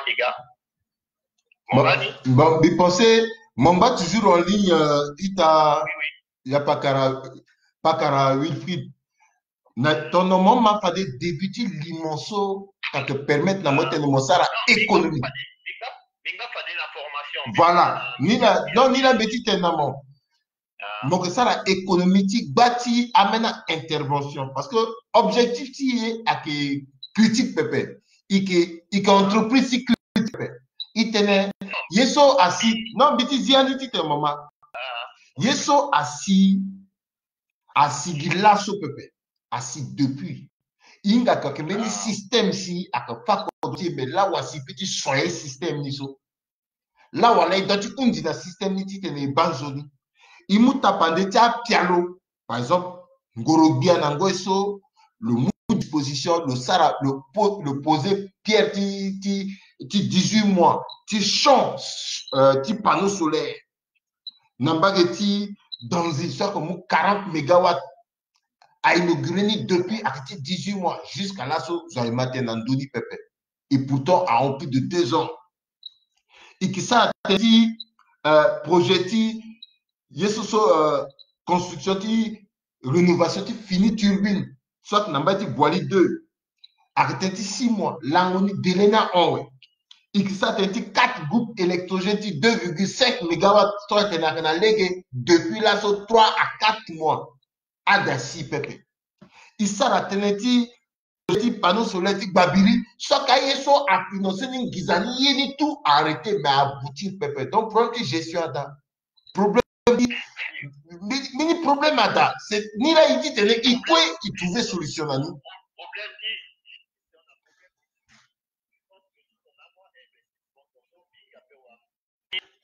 Mangba ke ga. Bon, mbi pense Mangba toujours en ligne, euh, ita ya pakara pakara Wilfried. Na ton normalement fade début ti limo so ka ke permettre na mo tene mo sara économie. Voilà. Ni na non ni na mbe ti tene na mo. Mo ke sara économie ti gba ti amena intervention parce que objectif ti e ake critique pepe. Ike ike entreprise ti critique pepe. Itene ye so asi non mbi ti zi andi ti tene mama. Ye so asi asi gi laso pepe. Asi depuis. Inga ka ke mbeni système si aka fa ko ti me lawa si pe ti soye système ni so. Lawa la e doit ti hundi na système ni titene e baa nzoni. E mu tapande ti apialo par exemple ngoro gbia na ngoi so lo mu disposition lo sara lo, po, lo poser pierre ti, ti, ti dix-huit mois ti champ euh, ti panneau solaire na mbage ti Danzi so ake mu quarante mégawatts. A inauguré ni depuis ake ti dix-huit mois jusqu'à laso zo aye ma tene na ndö ni pepe. Et pourtant a hon plus de deux ans. E ke sara tënë ti euh, projet ti ye so so euh, construction ti rénovation ti fini turbine soit na mbai ti Boali deux. Ake tënë ti six mois lango ni délai ni ahon we. E ke sara tënë ti quatre groupes électrogènes ti deux virgule cinq mégawatts so atene ake na lege depuis laso trois à quatre mois. Ada si pepe. E sara tënë ti ti panneau solaire ti gbabiri so aka ye so afinance ni nginza ni ye ni tout arrêté mais aboutir pepe donc problème ti gestion ada. Problème Mini problème ada, c'est ni la il dit tene il kue il trouver solution na ni.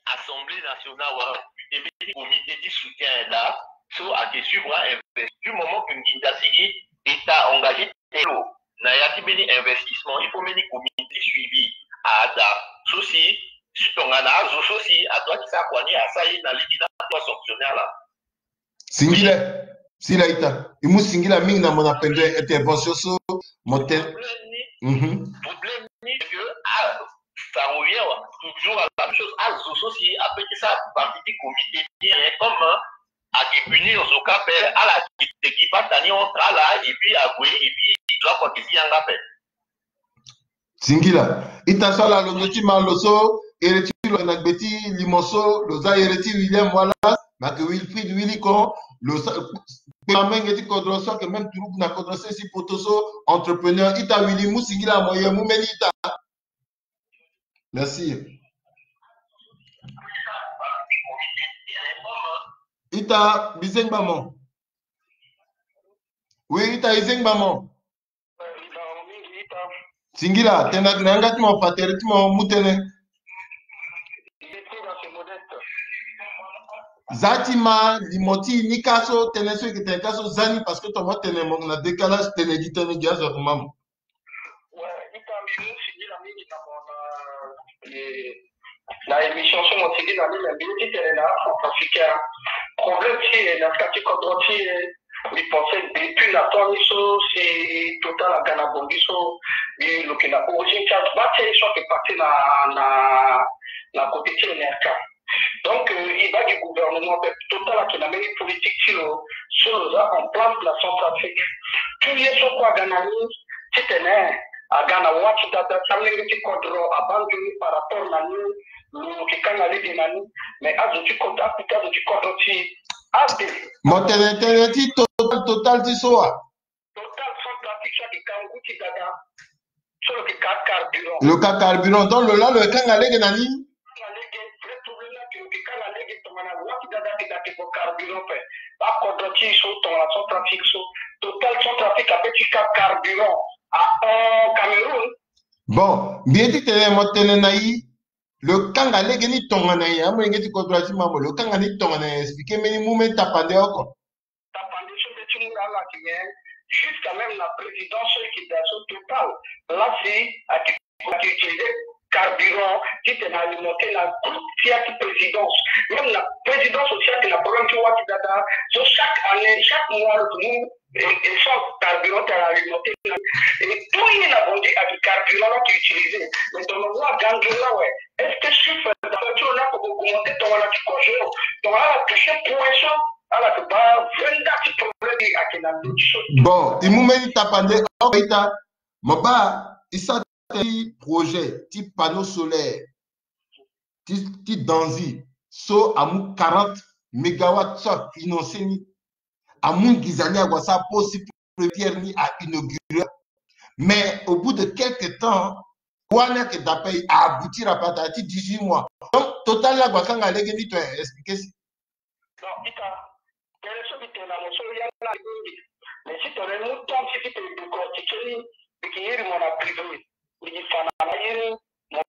Assemblée nationale wala e mbeni comité ti soutien la so ake suivre investi du moment que nginza sigi état engagé telo na ya ti mbeni investissement il faut mbeni comité ti suivi ada so si si tongana azo so si adoit ti sara kua ni asa ye na lege na adoit sanctionner ala. Singila, sila ita. E mu singila mingi na mo na pendere intervention so mo tene. Problème ni, mhm, problème ni c'est que ah, ça revient toujours à la même chose. Azo so si ape ti sara partie du comité ni, comme ake punir zo kâ ape, ala ake teki bata ni entre ala et puis ague et puis zo akua ke zi yanga ape. Singila. Ita so ala londo ti ma lo so ere ti lo na gbe ti limo so lo za ere ti William Wallace, ma ke Wilfried Willy Kon, lo sa kpe amenge ti kodro so ake même turugu na kodro sese poto so, entrepreneur. Ita Willy, mu singila moyen mu mbeni ita. Merci. Ita bizengba mo. Oui, ita izengba mo. Singila, tena tena yanga ti mo fa tere ti mo mu tënë. Za ti ma limo ti ni ka so tënë so e ke tene ka so za ni parce que tongana mo tene mo na décalage tene gi tënë gi azo akumba mo. Ouais, ita mbi mu singila mingi na mo na, eh, na émission so mo sigi na ni na mbi ti tene na centrafricain. Problème ti e na ka ti kodro ti e, mbi pense depuis na temps ni so si Total aga na Bangui so, mbi lo ke na origine ti agba ti e so ake parti na, na, na côté ti N R K. Donc, euh, e baa gi gouvernement ape, Total ake na mbeni politique ti lo so lo za en place na Centrafrique. Tout ye so kue aga na ni titene aga na wâ ti dada ti amolenge ti kodro abaa nzoni par rapport na ni, lo ke kanga lege na ni. Mais azo ti kodro, akute azo ti kodro ti e ade. Mo tene tënë ti Total, Total ti so wa? Total Centrafrique so ake ka ngu ti dada. So lo ke ka carburant. Lo ka carburant. Donc lo laa lo kanga lege na ni. Kanga lege, vrai problème laa ke lo ke kanga lege tongana wâ ti dada ke da ke gue carburant ape. Akodro ti e so tongana Centrafrique so. Total Centrafrique ape ti ka carburant ahon Cameroun. Bon, mbi ye ti tene mo tene na e, lo kanga lege ni tongana nyen? Amolenge ti kodro ti ma mo, lo kanga ni tongana nyen? Expliquer mbeni mu mbeni tapande oko. Tapande so mbi ye ti mu na ala ti nyen? Jusqu'à même na présidence so e ke daa so Total laa si ake, ake utiliser carburant titene alimenter na groupe ti ya ti présidence. Même na présidence aussi ake na problème ti wâ ti dada. So chaque année, chaque mois, lo ke mu e, essence, carburant ti ala alimenter na. Et tout ye na Bangui ake carburant laa ake utiliser. Mais tongana wâ aga nzoni laa awe, est-ce que chiffre d'affaires ti lo ni ake augmenter tongana ti kozo? Tongana ala toucher point so, ala ke baa vingt-quatre ti problème ake na ndö ti so. Bon, e mu mbeni tapande oko ita. Mo baa e sara ti projet ti panneau solaire ti, ti Danzi so amu quarante mégawatts so afinancé ni. Amu nginza ni ague asara pose ti première pierre ni, a inauguré. Mais au bout de quelque temps, wâ ni ake daa ape, a aboutir ape, atara ti dix-huit mois. Donc Total laa ague akanga lege ni to, expliquer si. Non, ita, tënë so mbi tene na mo so ya ni mingi. Mais si tene mu temps ti mbi tene décortiquer ni, mbi ke iri mo na privé. Mbi ke fa na mayiri, mo,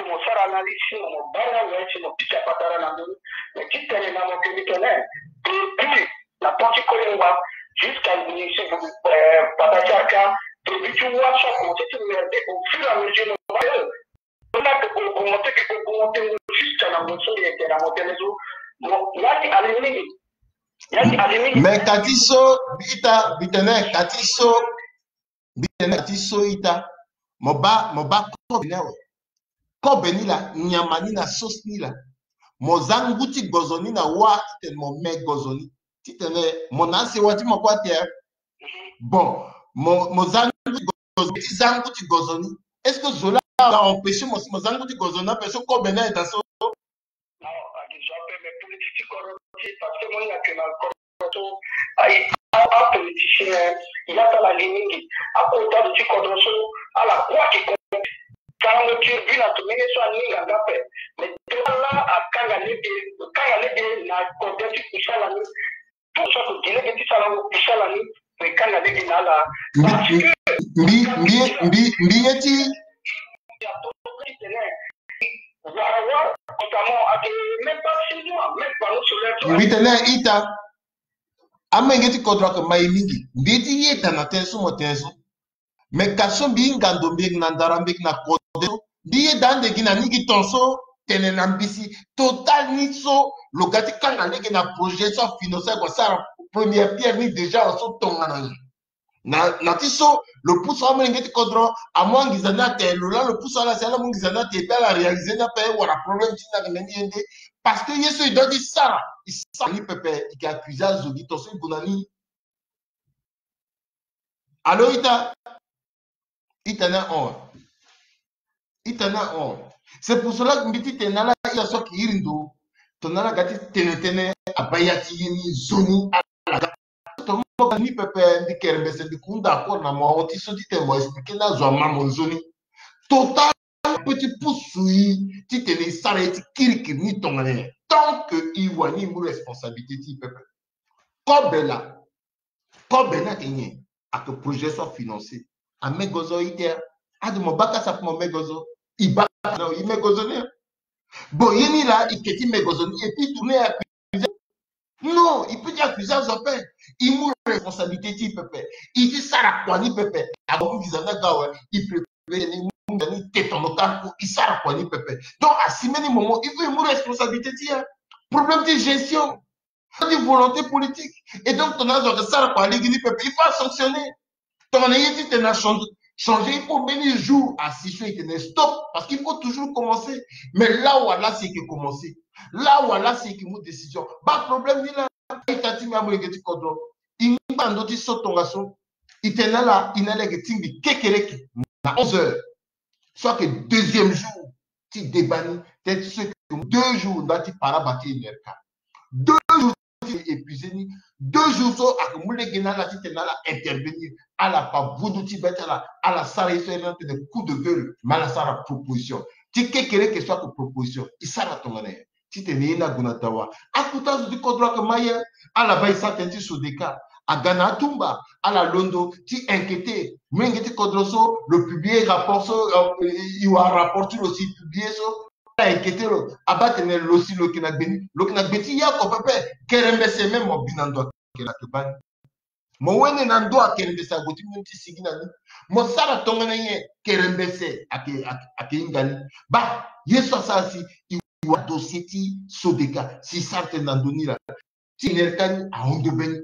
mo sara analyse ti mo, mo baa ni awe si mo pika patara na ndö ni. Mais ti tene na mo ke mbi tene, depuis na temps ti Kolingba jusqu'à ministre, euh, Papa Tiarka, depuis ti wâ so akomanse ti merder au fur et à mesure, mo baa, euh, on a augmenté, augmenté jusqu'à na mo so ye tene na mo tene so. Mo, ya ni ali mingi. Ya ni ali mingi. Mais ka ti so, ita, mbi tene, ka ti so, mbi tene ka ti so ita. Mo baa, mo baa kobe ni awe. Kobe ni laa, nyama ni na sauce ni laa. Mo za ngu ti gozo ni na wâ titene mo me gozo ni. Titene mo na asewa ti mo kue ate. Bon, mo, mo za ngu ti gozo, ti za ngu ti gozo ni. Est-ce que zo laa aga empêcher mo si mo za ngu ti gozo ni ape so kobe ni aye daa so? Non, agi zo ape, mais politique ti kodro ti e, parce que mo hinga ke na kodro so, aye, a, apoliticien, ya ti ala li mingi. Akota zo ti kodro so, ala kue ake compte. Sarango tribune atu menge so aninga nga pe. Mais tongana akanga lege, akanga lege na kode ti kusala ni. Tout so atu di lege ti sarango kusala ni. Mais kanga lege na ala. Mbi mbi mbi mbi ye ti. Wara wara, notamment ake même pas six mois, même panneau solaire. Mbi tene ita. Amenge ti kodro ake mai mingi. Mbi ye ti yeda na tënë so mo tene so. Me ka so mbi hinga ndo mbi yeke na ndara mbi yeke na kode so, mbi yeda ande gi na ni gi ton so tene na mbisi. Total ni so lo ga ti kanga lege na projet so afinancé ague asara première pierre ni déjà so tongana nyen. Na, na ti so lo pusu amolenge ti kodro amu anginza ni atene lo laa lo pusu ala si ala mu nginza ni atene pe ala réalisé ni ape wala problème ti ni ayeke na ni ye nde. Parce que ye so e doit ti sara e sara ni pepe. E yeke accusé azo gi ton so e gue na ni. Allô, ita? Ita ni ahon. Ita ni ahon. C'est pour cela que mbi ti tene na ala ita so ayeke iri ndo. Tongana ala ga ti tene tënë abaa ya ti ye ni nzoni ala ga. Tongana mo ga ni pepe mbi kere mbese mbi hunda accord na mo ahon ti so ti tene mo expliqué ni azo ama mo nzoni. Total ape ti pusu e ti tene e sara ye ti kirikiri ni tongana nyen. Tant que e wani e mu responsabilité ti e pepe. Kobe laa. Kobe ni ayeke nyen? Ayeke projet so afinancé. Amegozo ite. Ade mo baa kasa ape mo megozo. E baa kasa na e megozo ni. Bon, ye ni laa e ke ti megozo ni et puis e tourné e accusé. Non, e peut ti accusé azo ape. E mu responsabilité ti e pepe. E ti sara kua ni pepe. Ague amu visa ni aga awe. E préparé ni, e mu visa ni, e te tono kâ ku, e sara kua ni pepe. Donc asi mbeni moment il faut e mu responsabilité ti e. Problème ti gestion. Faut di volonté politique. Et donc tongana azo ayeke sara kua lege ni pepe il faut asanctionner. Tongana ye ti tene achangé, il faut mbeni jour asi so e tene stop. Parce qu'il faut toujours commencer. Mais là wala si e yeke commencer, là wala si e yeke mu décision. Baa problème ni laa. Ita ti mbi amolenge ti kodro, e ngba na ndö ti so tongaso. E tene na ala, e na ala yeke tingbi kekereke na onze heures. So ayeke deuxième jour ti débat ni. Tënë ti so e yeke mu deux jours ndali ti paraba ti E N R K. Deux jours ti épuisé ni. Deux jours so ayeke mu lege na ala ti tene na ala intervenir. Ala pa bundu ti be ti ala. Ala sara ye so e na tene coup de gueule. Me ala sara proposition ti kekereke so ayeke proposition. E sara tongana nyen? Titene ye ni ague na dawa. Akota azo ti kodro ayeke ma ye. Ala baa e sara tënë ti Sodeka. Aga na atumba ala londo ti inquiété. Molenge ti kodro so lo publié rapport so, euh, e wara rapport ti lo si publié so. Ala inquiété lo. Abaa tene lo si lo yeke na gbe ni, lo yeke na gbe ti ye oko pepe. Kerembese même mo bi na ndo ayeke baa ni. Mo wende na ndo akerembese ague ti mu ni ti sigi na ni. Mo sara tongana nyen? Kerembese ayeke, ayeke, ayeke hinga ni. Baa ye so asara si e wara dossier ti Sodeka si e sara tënë na ndö ni laa. Ti E N R K ni ahon ndo be ni.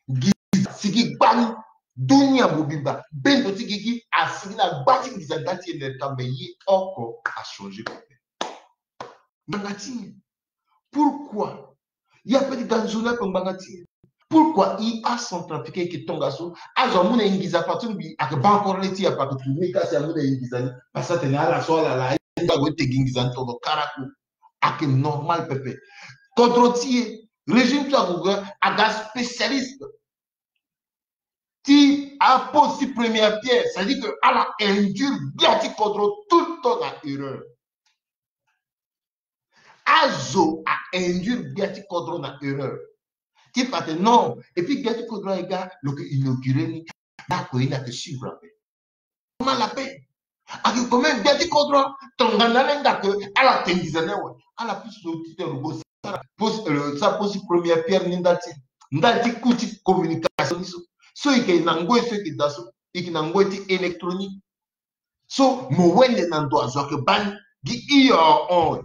Nginza asigi gbani. Dunia mobimba, bendo ti gigi asigi na gba ti nginza ndali ti E N R K, mais ye oko achangé pepe. Ngbanga ti nyen? Pourquoi? Ye ape ti ga nzoni ape ngbanga ti e. Pourquoi e acentrafricain e yeke tongaso? Azo amu na e nginza, patron mbi ayeke baa encore le ti e ape, ayeke tourné ka si amu na e nginza ni. Parce que atene ala so ala laa, ague ti te gi nginza ni tono karaku. Ayeke normal pepe. Kodro ti e, régime so ague aga spécialiste ti apose ti première pierre, c'est-à-dire que ala induire gbia ti kodro tout le temps na erreur. Azo a-induire gbia ti kodro na erreur. Ti fa atene non, et puis gbia ti kodro aye ga lo yeke inauguré ni. Ndako ye ni ayeke suivre ape. Normal ape. Ayeke quand même gbia ti kodro. Tongana ala hinga ke ala te nginza ni awe, ala pusu lo ti tene lo go sara pose, euh, sara pose ti première pierre ni ndali ti, ndali ti coût ti communication ni so. So e yeke na ngoi so e yeke daa so, e yeke na ngoi ti électronique. So mo wende na ndo azo ayeke baa ni gi hio ahon.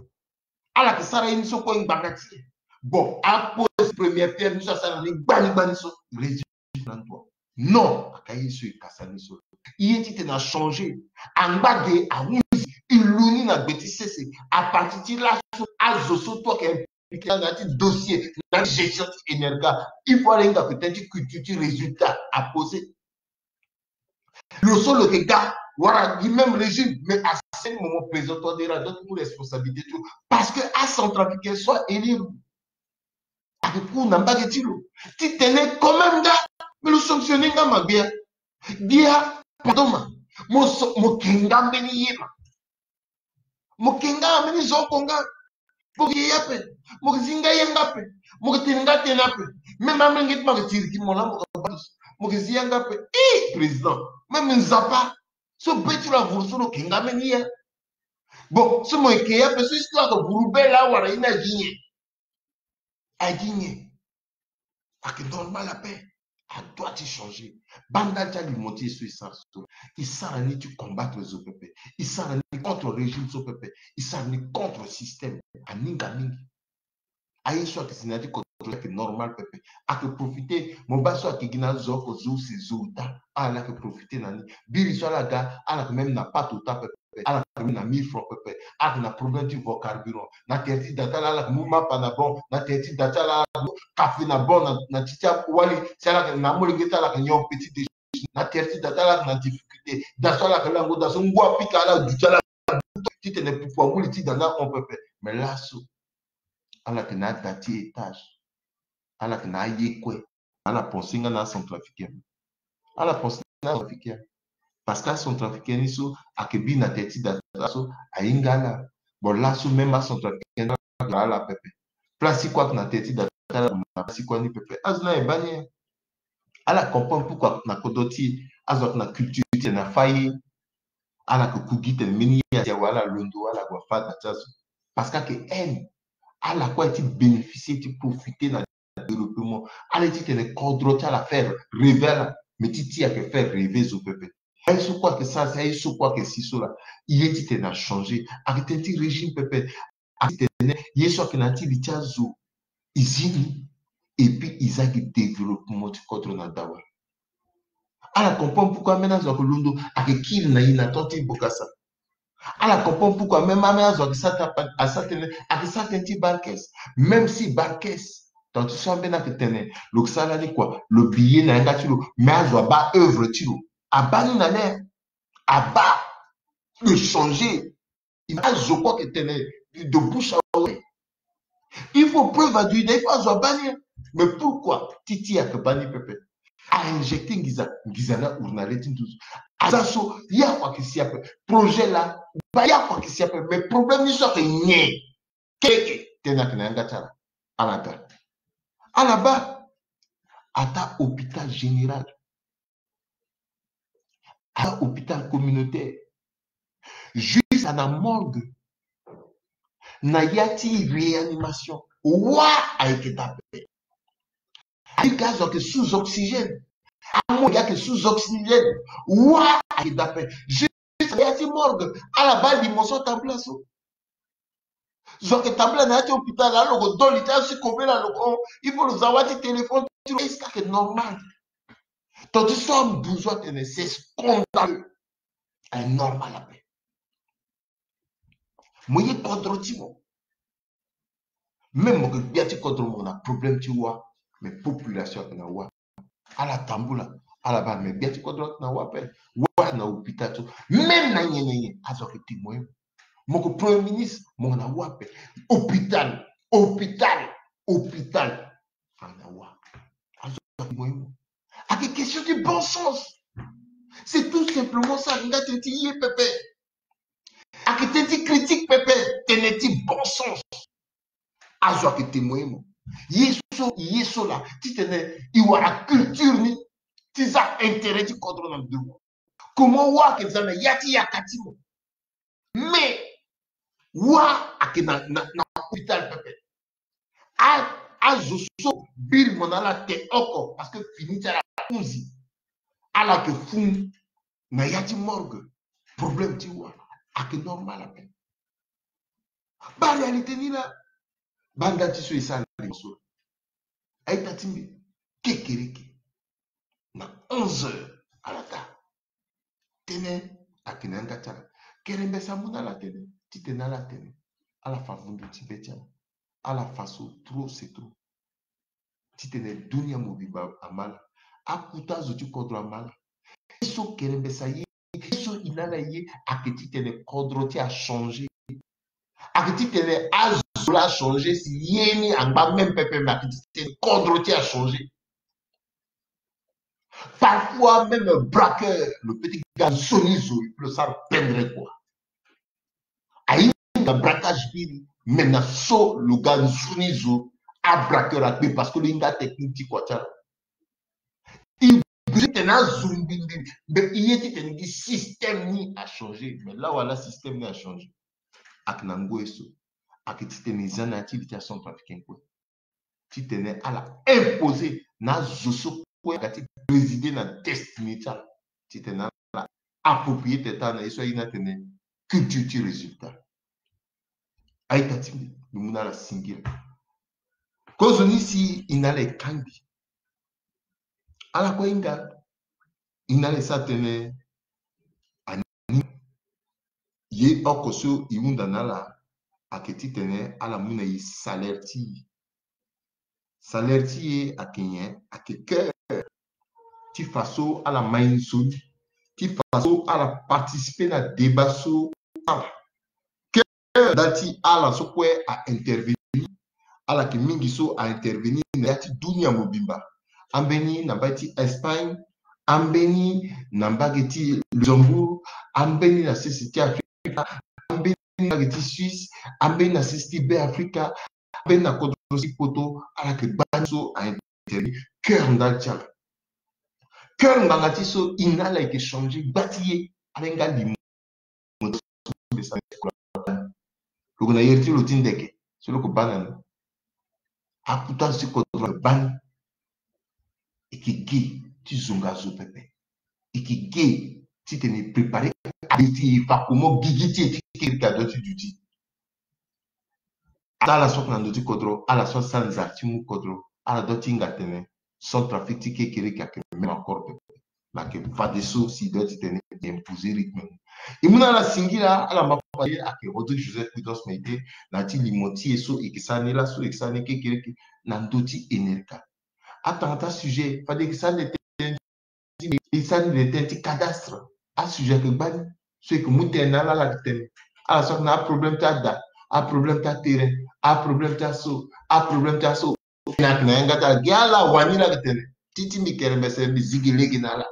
Ala yeke sara ye ni so kue ngbanga ti e. Bon, apose première pierre ni so asara ni gbani gbani so, résultat na ndo. Non, aka ye so e kasa ni so. Ye ti tene achangé. Angba de ahunzi, e lu ni na gbe ti sese. À partir ti laso, azo so tout ayeke impliqué na ti dossier, na ti gestion ti E N R K. Il faut ala hinga peut-être ti culture ti résultat apose. Lo so lo yeke ga wala gi même régime, mais à ce moment présent toi déjà donc mu responsabilité ti lo. Parce que acentrafricain so a-élire lo, ayeke cour na mbage ti lo. Ti tene quand même nga, mais lo sanctionné nga ma gbia. Gbia, pardon ma, mo so, mo ke nga mbeni ye ma. Mo ke nga, mbeni zo oko nga. Mo ke ye ape. Mo ke zi nga yanga ape. Mo ke tene nga tene ape. Même amolenge ti mo ayeke tiri gi mo laa mo ke baa. Mo ke zi yanga ape. Ih, président. Même Nzapa. So be ti lo avuru so lo ke nga mbeni ye. Bon, so mo yeke ye ape so histoire ayeke vuru be laa wala ye ni agi nyen? Agi nyen? Ayeke normal ape. Adoit ti changer. Banda ti alimo ti e so e sara so, e sara ni ti combattre zo pepe. E sara ni contre régime so pepe. E sara ni contre système. Aninga mingi. Aye so ayeke si na ya ti contrôler ayeke normal pepe. Ayeke profiter. Mo baa so ayeke gi na azo oko zo use zo ota. Ala ayeke profiter na ni. Biri so ala ga, ala ayeke même na pâte ota pepe. Ala ayeke même na mille francs pepe. Ala ayeke na problème ti vo carburant. Na tere ti da ti ala, ala ayeke mu mapa na banc. Na tere ti da ti ala, ala ayeke mu café na banc na, na ti ti awali. Si ala ayeke na amolenge ti ala ayeke nyon petit déjeuner. Na tere ti da ti ala ayeke na difficulté. Da so ala ayeke lango, da so ngu apika ala, du ti ala titene pupu anguli ti da ni ahon pepe. Mais laso, ala yeke na ada ti étage. Ala yeke na aye kue. Ala pense nga na acentrafricain. Ala pense na acentrafricain. Parce que acentrafricain ni so ayeke bi na tere ti da ti ala so, ahinga ala. Bon, laso même acentrafricain ni ala pepe. Place ti kue ayeke na tere ti da ti ala, na place ti kue ni pepe. Azo ni aye baa ni. Ala comprendre pourquoi na kodro ti e, azo ayeke na culture ti tene afâ ye. Ala yeke ku gi tene mbeni ye asi awe, ala londo, ala gue afâ da ti azo. Parce que ayeke haine. Ala kue aye ti bénéficier, ti profiter na développement. Ala ye titene kodro ti ala faire rêver ala. Mais ti ti ayeke faire rêver zo pepe. Aye so kue ayeke sara si, aye so kue ayeke si so laa. E ye titene achanger. Ayeke tënë ti régime pepe. Ayeke titene ye so ayeke na ya ti li ti azo, e zi ni. Et puis e za gi développement ti kodro na dawa. Ala comprendre pourquoi ambeni azo ayeke londo, ayeke kiri na e na temps ti bokasa. Ala comprendre pourquoi même ambeni azo ayeke sara tapa, asara tënë, ayeke sara tënë ti baa caisse. Même si baa caisse, tant ti so ambeni ayeke tene lo yeke sara lani kua, lo bi ye na yanga ti lo, mais azo abaa œuvre ti lo. Abaa ni na lê, abaa, lo changer. Il faut azo kue ayeke tene de bouche à oreille. Il faut preuve aduite, il faut azo abaa ni. Mais pourquoi? Ti ti ayeke baa ni pepe. A injecter nginza, nginza ni ahuru na lê ti nduzu. Aza so, ye oko ayeke si ape. Projet laa, baa ye oko ayeke si ape. Mais problème ni so ayeke nyen? Keke, tënë ayeke na yanga ti ala. Ala ga. Ala baa. Ataa hôpital général. Ataa hôpital communautaire. Jusqu'à na morgue. Na ya ti réanimation. Wa ayeke daa ape. Ayeke azo ayeke sous oxygène. Amolenge ayeke sous oxygène. Wa ayeke daa ape. Juste na ya ti morgue. Ala baa limo so atambula so. Zo ayeke tambula na ya ti hôpital, alo lo ko do li ti azo ti kobela lo ko, il faut lo za wâ ti téléphone ti lo. Est-ce que ayeke normal? Tant ti so ambuzu atene c'est scandaleux. Ayeke normal ape. Mo ye kodro ti mo. Même mo yeke gbia ti kodro, mo yeke na problème ti wa, mais population ayeke na wa. Ala tambula, ala baa, mais gbia ti kodro ayeke na wa ape. Wa ayeke na hôpital so. Même na nyen na nyen, azo ayeke témoigner mo. Mo yeke premier ministre, mo yeke na wa ape. Hôpital, hôpital, hôpital. Ayeke na wa. Azo ayeke témoigner mo. Ayeke question ti bon sens. C'est tout simplement ça, nga tënë ti ye pepe. Ayeke tënë ti critique pepe, tënë ti bon sens. Azo ayeke témoigner mo. Ye so, ye so laa, titene e wara culture ni ti za intérêt ti kodro na ndo. Comment wa ayeke za na ya ti yaka ti mo. Mais wa ayeke na, na, na hôpital pepe. A, azo so biri mo na ala te oko, parce que fini ti ala ahunzi. Ala yeke fun na ya ti morgue. Problème ti wa ayeke normal ape. Baa réalité ni laa. Banda ti so e sara limo so, a-ita ti mbi, kekereke, na onze heures ala ga. Tënë ayeke na yanga ti ala. Kerembesa amu na ala tënë, titene ala tene, ala fa vundu ti be ti ala. Ala fa so trop, c'est trop. Titene dunia mobimba ama ala. Akuta azo ti kodro ama ala. Ye so kerembesa ye, ye so e na ala ye, ayeke titene kodro ti e achanger. Ayeke titene azo laa achanger si ye ni angba même pepe, mais ayeke titene kodro ti e achanger. Parfois même braqueur, lo peut ti ga nzoni zo, lo sara pendre kua. Aye na braquage biri, mais na so lo ga nzoni zo abraqueur akpe, parce que lo hinga technique ti kua ti ala. Il besoin tene azo mbimbi, mais i ye titene gi système ni achangé. Mais là wala système ni achangé, ayeke na ngoi so ayeke titene e za na ya ti li ti acentrafricain kue, titene ala imposer na azo so kue aga ti présider na destinée ti ala, titene ala approprier tene tara na ye so aye ni atene culture ti résultat. A-ita ti mbi, mbi mu na ala singila. Kozoni si e na ala e kangbi, ala kue ahinga, e na ala e sara tënë. Ani ye oko so e hunda na ala ayeke titene ala mu na e salaire ti e. Salaire ti e ayeke nyen? Ayeke cœur ti fa so ala ma e nzoni, ti fa so ala participer na débat so ala cœur nda ti ala so kue a intervenir. Ala yeke mingi so a intervenir na ya ti dunia mobimba. Ambeni na mbage ti Espagne, ambeni na mbage ti Luxembourg, ambeni na sese ti Afrika, ambeni na mbage ti Suisse, ambeni na sese ti Be Afrika, ambeni na kodro ti poto, ala yeke gbani so a intervenir. Cœur nda ti ala. Cœur ngbanga ti so e na ala e yeke changer gba ti ye. Ala hinga limo. Lo yeke na iri ti lo ti ndeke so lo yeke baa na ni. Akuta zo ti kodro lo baa ni. E yeke ge ti zonga zo pepe. E yeke ge titene e préparer abe ti e fa comment gigi ti e ti kiri ka do ti duti. Ata ala so ayeke na ndö ti kodro, ala so asara nzara ti mu kodro, ala doit ti hinga tene Centrafrique ti kekereke ayeke même accord pepe. Mais ayeke fadeso si e doit ti tene e imposer rythme ni. E mu na ala singila, ala ma fadeso ayeke Rodrigue Joseph Prudence Maite na ya ti limo ti e so e yeke sara ni laso, e yeke sara ni kekereke na ndö ti Enerca. Atanga ti asujet fade e yeke sara ni tene ti, e sara ni tene ti cadastre. Asujet ayeke gbani so e yeke mu tënë na ala, ala yeke tene. Ala so ayeke na aproblème ti ada, aproblème ti aterrain, aproblème ti aso, aproblème ti aso. Tënë ayeke na yanga ti ala. Gi ala wani la yeke tene. Ti ti mbi kerembese mbi zi gi lege na ala.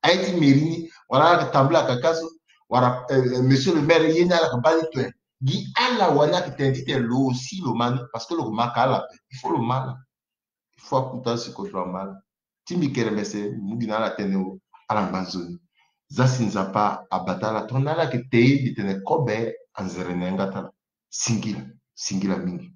Aye ti mairie ni wala ala yeke tambula kaka so, wala, euh, euh, monsieur le maire ye ni ala yeke baa ni tue. Gi ala wani ayeke tene titene lo aussi lo ma ni, parce que lo yeke ma ka ala ape. Il faut lo ma ala. Il faut akuta si kodro ama ala. Ti mbi kerembese mbi mu gi na ala tënë o, ala ngba nzoni. Za si Nzapa abata ala tongana ala yeke te ye mbi tene kobe anzere na yanga ti ala. Singila, singila mingi.